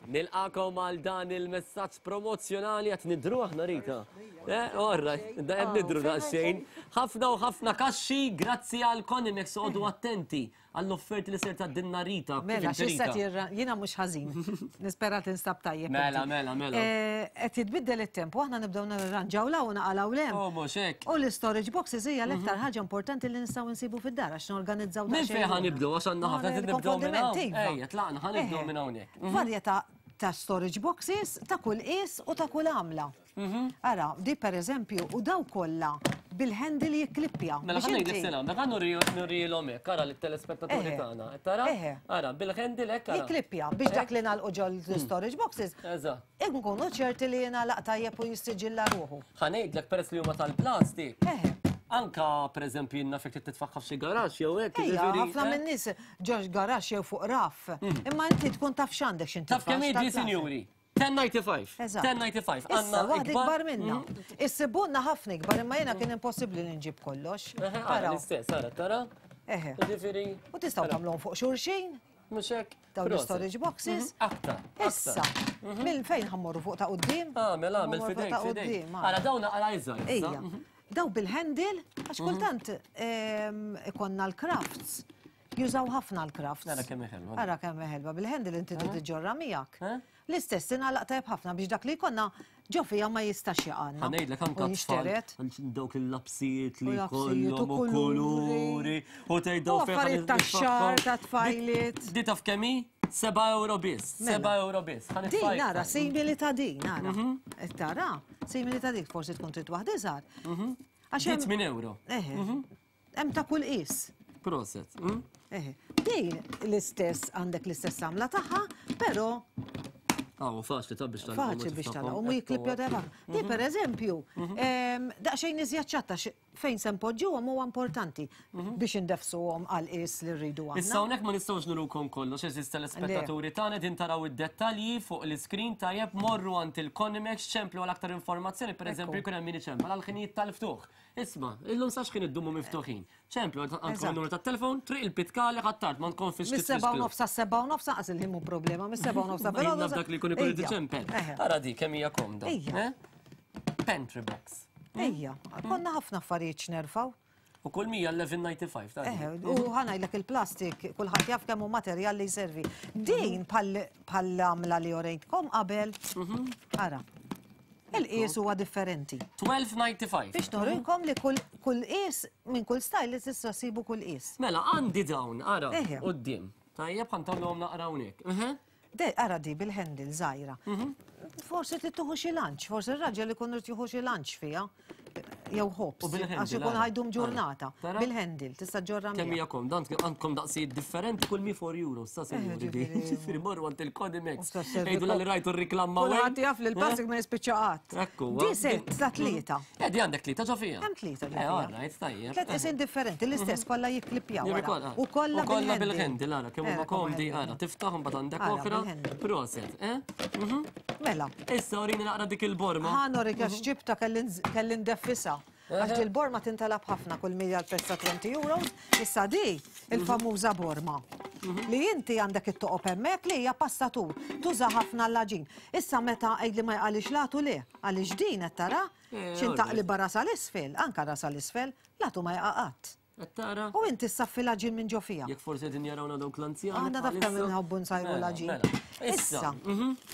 Nilqakom għal dan il-messaġġ promozzjonali qed nidru aħna Rita. Eh, orra, da qed nidru daqsxejn. Ħafna u ħafna kaxxi grazzi għal Conimex għodu attenti għall-offerti li ser tgħaddilna Rita. Kif Mela, inti, x'issa Rita? tirra, jiena mhux ħażin. Nispera tinstab tajjeb. Mela, inti. mela, mela. Eh, Qed jitbiddel it-temp u aħna nibdew nirranġaw 'l hawn u naqalgħu 'l hemm. Oh, mhux hekk. U l-istorage boxes hija l-iktar ħaġa importanti li nistgħu nsibu fid-dar għax norganizzaw Minn daqsxejn fejn ħa ruħna. nibdew għax għandna ħafna Għana trid nibdew minn hawn. il-konfondiment, iva. Ejja, tlaqna ħa nibdew Eħe. minn hawnhekk. Varjetà ta' storage boxes ta' kull qies u ta' kull għamla. Mhm. Ara, di per eżempju, u daw kollha bil-handle jikklippja. Mela Biex ħa ngħidlek inti- sena, mela nurijilhom hekk, ara lit-telespettaturi tagħna. Qed Tara? Eħe. Ara, bil-handle hekk ara. Jikklippja biex dak li nagħlqu ġol storage boxes. Eżatt. Inkunu ċerti li jingħalaq tajjeb u jissiġilla ruħu. Ħa ngħidlek peress li huma tal-plastik. Anka pereżempju jien naf jekk trid titfaħħa f'xi garaxx jew hekk. Ejja, jiġifieri, ħafna eh? minn nies ġox garaxx jew fuq raff. Imma inti tkun taf x'għandek x'inti. Taf kemm hi sinjuri? 1095. Eżatt. 1095. Issa, Għandna waħda ikbar minna. Mhm. Issibunna ħafna ikbar, imma jiena kien impossibbli li nġib kollox. Eħe, ara Araw. l-istess, ara, tara? Eħe. Jiġifieri. U tistgħu tagħmluhom fuq xulxin. Mhux hekk. Dawn Proset. l-storage boxes. Mhm. Aktar. Issa, mill fejn ħammorru fuq ta' quddiem? Għamel, għamel, Ħammorru fuq fidejk, ta' fidejk. quddiem, Ara, dawn naqra iżgħar issa. Ejja. Daw bil-handle, għax kultant ikonna l-crafts. Jużaw ħafna l-crafts. Ara kemm hi ħelwa. Ara kemm hi ħelwa. Bil-handle inti trid iġġorra miegħek. L-istess tingħalaq tajjeb ħafna biex dak li jkollna ġo fiha ma jistax jaqgħalna. Ħa ngħidlek anke U tfal jinxtered. dawk il-lapsijiet li U lapsijiet u jkollhom u kuluri u tgħid U affarijiet tax-xagħar, ta' tfajliet. Di taf kemm hi? 7 euro biss. Mela. 7 euro biss. Ħa Din nitfa' nara iktar. simili ta' din, nara. Qed tara, simili ta' dik, forsi tkun trid waħda iżgħar. Għax Di hemm 8 euro. Eħe. Hemm ta' kull qies. Proset. Eħe. Din l-istess għandek l-istess għamla tagħha, però Aw, faċli ta' biex tagħlaq. Faċli biex tagħlaq u mu jiklippja deba. Di per eżempju, daqsxejn iżjed ċatta fejn se npoġġuhom huwa importanti biex indefsuhom għal qies li rridu aħna. Issa hawnhekk ma nistgħux nurukom kollox, eżiż telespettaturi tagħna qegħdin taraw id-dettalji fuq l-iskrin tajjeb morru għand il-Conimex ċemplu għal aktar informazzjoni, pereżempju jkun hemm min iċempel għal ħinijiet tal-ftuħ. Isma', illum sa x'ħin iddumu miftuħin. Ċemplu, għandkom il-numru tat-telefon, Triq il-Pitkali ħ'Attard, ma tkun fiex Mis-sebgħa u nofs sas-sebgħa u nofs lanqas il-ħin mhu problema, mis-sebgħa u nofs ta' filgħodu. Jien naf dak li jkun ikun irid iċempel. Ara di kemm hija komda. Ejja. Pantry box. Ejja, konna ħafna affarijiet x'nerfgħu. U kull mija 11.95 ta' Eħe, u ħa ngħidlek il-plastik, kulħadd jaf kemm hu materjal li jservi. Din bħall-għamla li orejtkom qabel, ara. Il-qies huwa differenti. 12.95. Biex nurikom li kull qies minn kull style li tista' ssibu kull qies. Mela għandi dawn, ara, quddiem. Tajjeb ħa ntawlhom naqra hawnhekk. De, ara di bil-handle żgħira. Forsi trid tieħu xi lunch, forsi r-raġel ikun irid jieħu xi lunch fiha. Jew ħobż, għax ikun ħajdum ġurnata. Bil-handle, tista' ġorra Kemm hija komda, għandkom daqsijiet differenti kull mi 4 euros, sa sinjuri di. Ġifieri morru għand il-Codimex. Għidu li rajtu r-riklam ma' Kulħadd jaf li l-plastik ma jispiċċa qatt. Ekku. Di set ta' tlieta. Eh, di għandek tlieta ġo fiha. Hemm tlieta ġo Eh, fiha. all right, tajjeb. Tliet qisin differenti, l-istess kollha jikklippjaw. U kollha U kollha bil-handle, ara, kemm huma komdi, ara, tiftaħ imbagħad għandek oħra. Proset, eh? Mela. Issa urini naqra dik il-borma. Ħa norik għax ġibta kelli ndeffisha. Għax dil-borma tintalab ħafna kull mija l-prezz ta' 20 euros. Issa di, il-famuża borma. Li inti għandek it-toqob hemmhekk li hija passatur. Tuża ħafna l-għaġin. Issa meta għidli ma jqalix l-għatu le, għaliex din qed tara, x'in taqlibha rasha 'l isfel, anke rasha 'l isfel, l-għatu ma jaqa' qatt. Qed tara? U inti ssaffi l-għaġin minn ġo fiha. Jekk forsi qegħdin jarawna dawk l-anzjani. Aħna taf kemm inħobbu nsajru l-għaġin. Mela, Issa,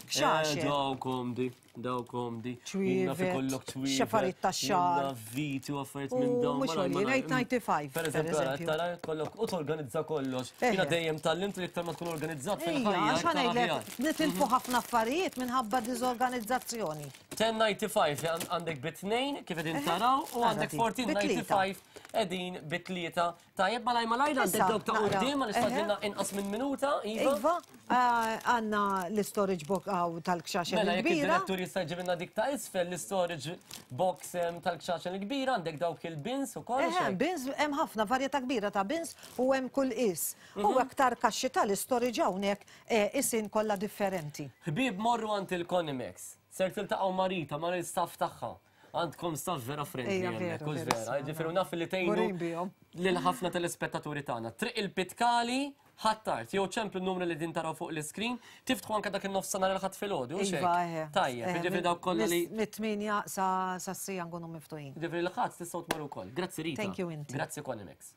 kxaxer. Eh, daw komdi, daw komdi. Ċwievet, xafarijiet tax-xagħar. Jiena viti u affarijiet minn dawn. Mhux għoljin, 895. Per eżempju, tara kollok u torganizza kollox. Jiena dejjem tgħallimt li iktar ma tkun organizzat fil-ħajja. Għax ħa ngħidlek, nitilfu ħafna affarijiet minħabba diżorganizzazzjoni. 1095 għandek bi tnejn kif qegħdin taraw u għandek 1495. qegħdin bi tlieta. Tajjeb malaj malajr għandek dawk ta' quddiem għaliex fadlilna inqas minn minuta, Iva. Iva, għandna l-istorage box hawn tal-kxaxen il-kbira. Mela jekk id-direttur jista' jġibilna dik ta' isfel l-istorage box tal-kxaxen il-kbira, għandek dawk il-bins ukoll. Eħe, bins hemm ħafna varjetà kbira ta' bins u hemm kull qies. U aktar kaxxi tal-istorage hawnhekk qisien kollha differenti. Ħbieb morru għand il-Conimex. Ser tiltaqgħu ma' Rita, ma' l-istaff tagħha. Għandkom staff vera friendly hemmhekk, hux vera? Jiġifieri naf li tgħinu lil ħafna telespettaturi tagħna. Triq il-Pitkali, Ħ'Attard, jew ċemplu n-numru li qegħdin taraw fuq l-iskrin, tiftħu anke dak in-nofsinhar il-Ħadd filgħodu, hux hekk? Iva, eħe. Tajjeb, jiġifieri dawk kollha li. Mit-tmienja sa s-siegħa nkunu miftuħin. Jiġifieri l-Ħadd tistgħu tmorru wkoll. Grazzi Rita. Thank you inti. Grazzi Conimex.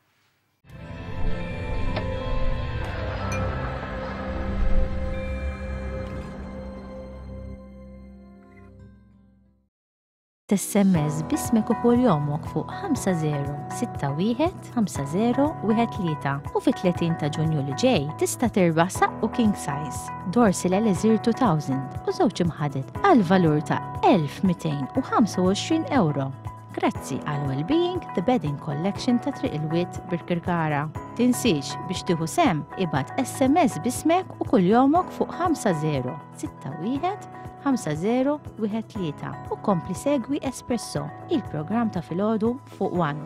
SMS b'ismek u kuljomok fuq 5061 5013 u fit-30 ta' Ġunju li ġej tista' tirbaħ saqqu king size, Dorsil Elixir 2000 u żewġ imħaded għal valur ta' 1225 euro. Grazzi għal Wellbeing The Bedding Collection ta' Triq il-Wied Birkirkara. Tinsiex biex tieħu sehem ibgħat SMS b'ismek u kuljomok fuq 5061 5013 u kompli segwi Espresso, il-programm ta' filgħodu fuq One.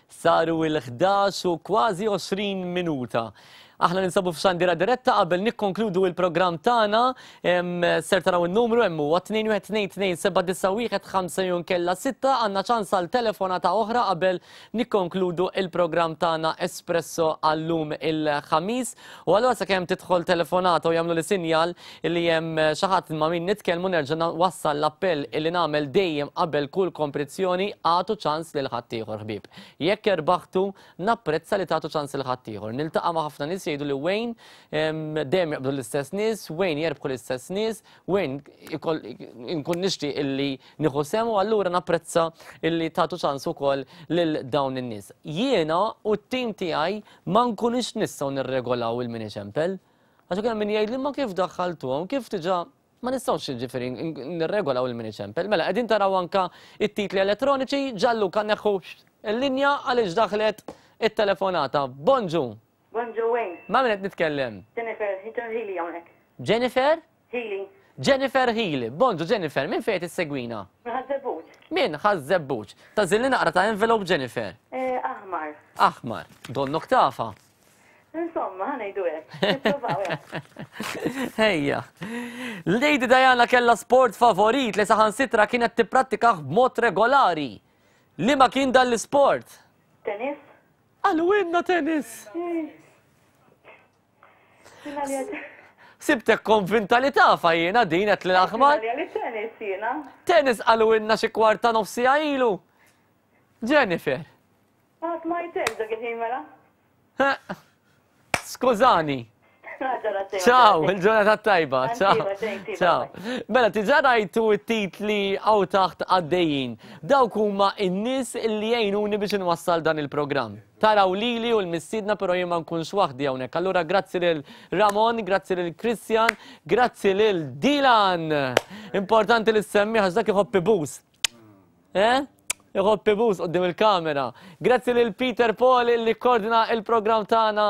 Saru il-11 u kważi 20 minuta. Aħna ninsabu f'xandira diretta qabel nikkonkludu il-programm tagħna ser taraw in-numru hemm huwa 2122791 jew kella 6 għandna ċans għal telefonata oħra qabel nikkonkludu il-programm tagħna Espresso għallum il-ħamis. U allura sakemm tidħol telefonata u jagħmlu li sinjal li hemm xi ħadd ma' min nitkellmu nerġa' wassal l-appell illi nagħmel dejjem qabel kull kompetizzjoni agħtu ċans lil ħaddieħor ħbieb. Jekk erbaħtu, napprezza li tagħtu ċans lil ħaddieħor. Niltaqa' ma' ħafna nies jgħidu li Wayne dejjem jaqbdu l-istess nies, Wayne jerbħu l-istess nies, Wayne nkun nixtieq illi nieħu sehem u allura napprezza illi tagħtu ċans ukoll lil dawn in-nies. Jiena u t-tim tiegħi ma nkunux nistgħu nirregolaw il-mini ċempel. Għax hemm min jgħidli ma kif daħħaltuhom, kif diġà ma nistgħux jiġifieri nirregolaw il-mini ċempel. Mela qegħdin taraw anka it-titli elettroniċi, Gianluca neħħu l-linja għaliex daħlet it-telefonata. Bonġu. Bonġu Wayne. Ma' min qed nitkellem? Jennifer, Jennifer Healy hawnhekk. Jennifer? Healy. Jennifer Healy. Bonġu Jennifer, minn fejn qed issegwina? Minn Ħaż-Żebbuġ. Minn Ħaż-Żebbuġ. Tagħżilli naqra ta' envelope Jennifer. Eh, aħmar. Aħmar. Donnok tafha. Insomma, ħa ngħidu hekk. Nippruvaw hekk. Ejja. Lady Diana kellha sport favorit li saħansitra kienet tipprattikah b'mod regolari. Liema kien dan l-isport? Tennis. Għalwinna tennis. Sibtek konvinta li tafa jiena din qed l-aħmar. Tennis jiena. Tennis qalwinna xi kwarta nofsija ilu. Jennifer. Ma smajtekx dak il-ħin mela. Skużani. Ciao, il-ġurnata tajba. Ciao. Ciao. Mela, tiġa rajtu t-titli għaw taħt għaddejjin. Dawk huma n-nies li jgħinuni biex inwassal dan il-programm. Taraw lili u l-mistiedna però jien ma nkunx waħdi hawnhekk. Allura grazzi lil Ramon, grazzi lil Christian, grazzi lil Dylan. Importanti li semmi għax dak iħobb ibus. Eh? Iħobb ibus qudiem il-kamera. Grazzi lil Peter Paul li koordina il-programm tagħna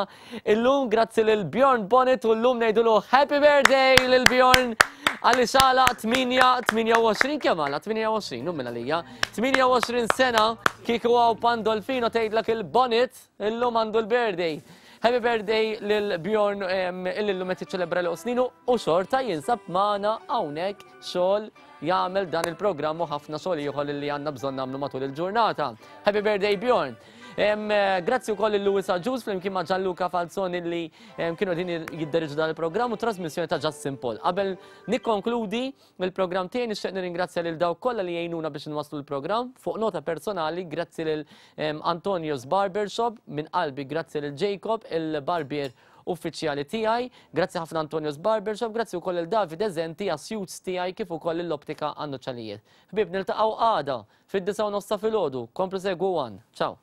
illum, grazzi lil Bjorn Bonnet u llum ngħidulu Happy Birthday lil Bjorn għaliex għalaq 8 28 kemm għalaq 28 nu minn għalija 28 sena kieku hawn Pandolfino tgħidlek il-Bonnet illum għandu l-birthday. Happy birthday lil Bjorn illi llum qed jiċċelebra l sninu u xorta jinsab magħna hawnhekk xogħol jagħmel dan il-programm u ħafna xogħol ieħor li għandna bżonn nagħmlu matul il-ġurnata. Happy birthday Bjorn! Eh, grazzi wkoll lil Louis Agius flimkien ma' Gianluca Falzoni li kienu din jidderġu dan il-programm u trasmissjoni ta' Justin Paul. Qabel nikkonkludi mill-programm tiegħi nixtieq nirringrazzja lil dawk kollha li jgħinuna biex nwasslu l-programm fuq nota personali grazzi lil Antonio's Barbershop minn qalbi grazzi lil Jacob il-barbier uffiċjali tiegħi. Grazzi ħafna Antonio's Barbershop, grazzi wkoll lil Davide Zenti għas-suits tiegħi kif ukoll lill-Optika għan-nuċċalijiet. Ħbieb niltaqgħu għada fid-9 u nofs ta' filgħodu. Komplu segwu One. Ciao.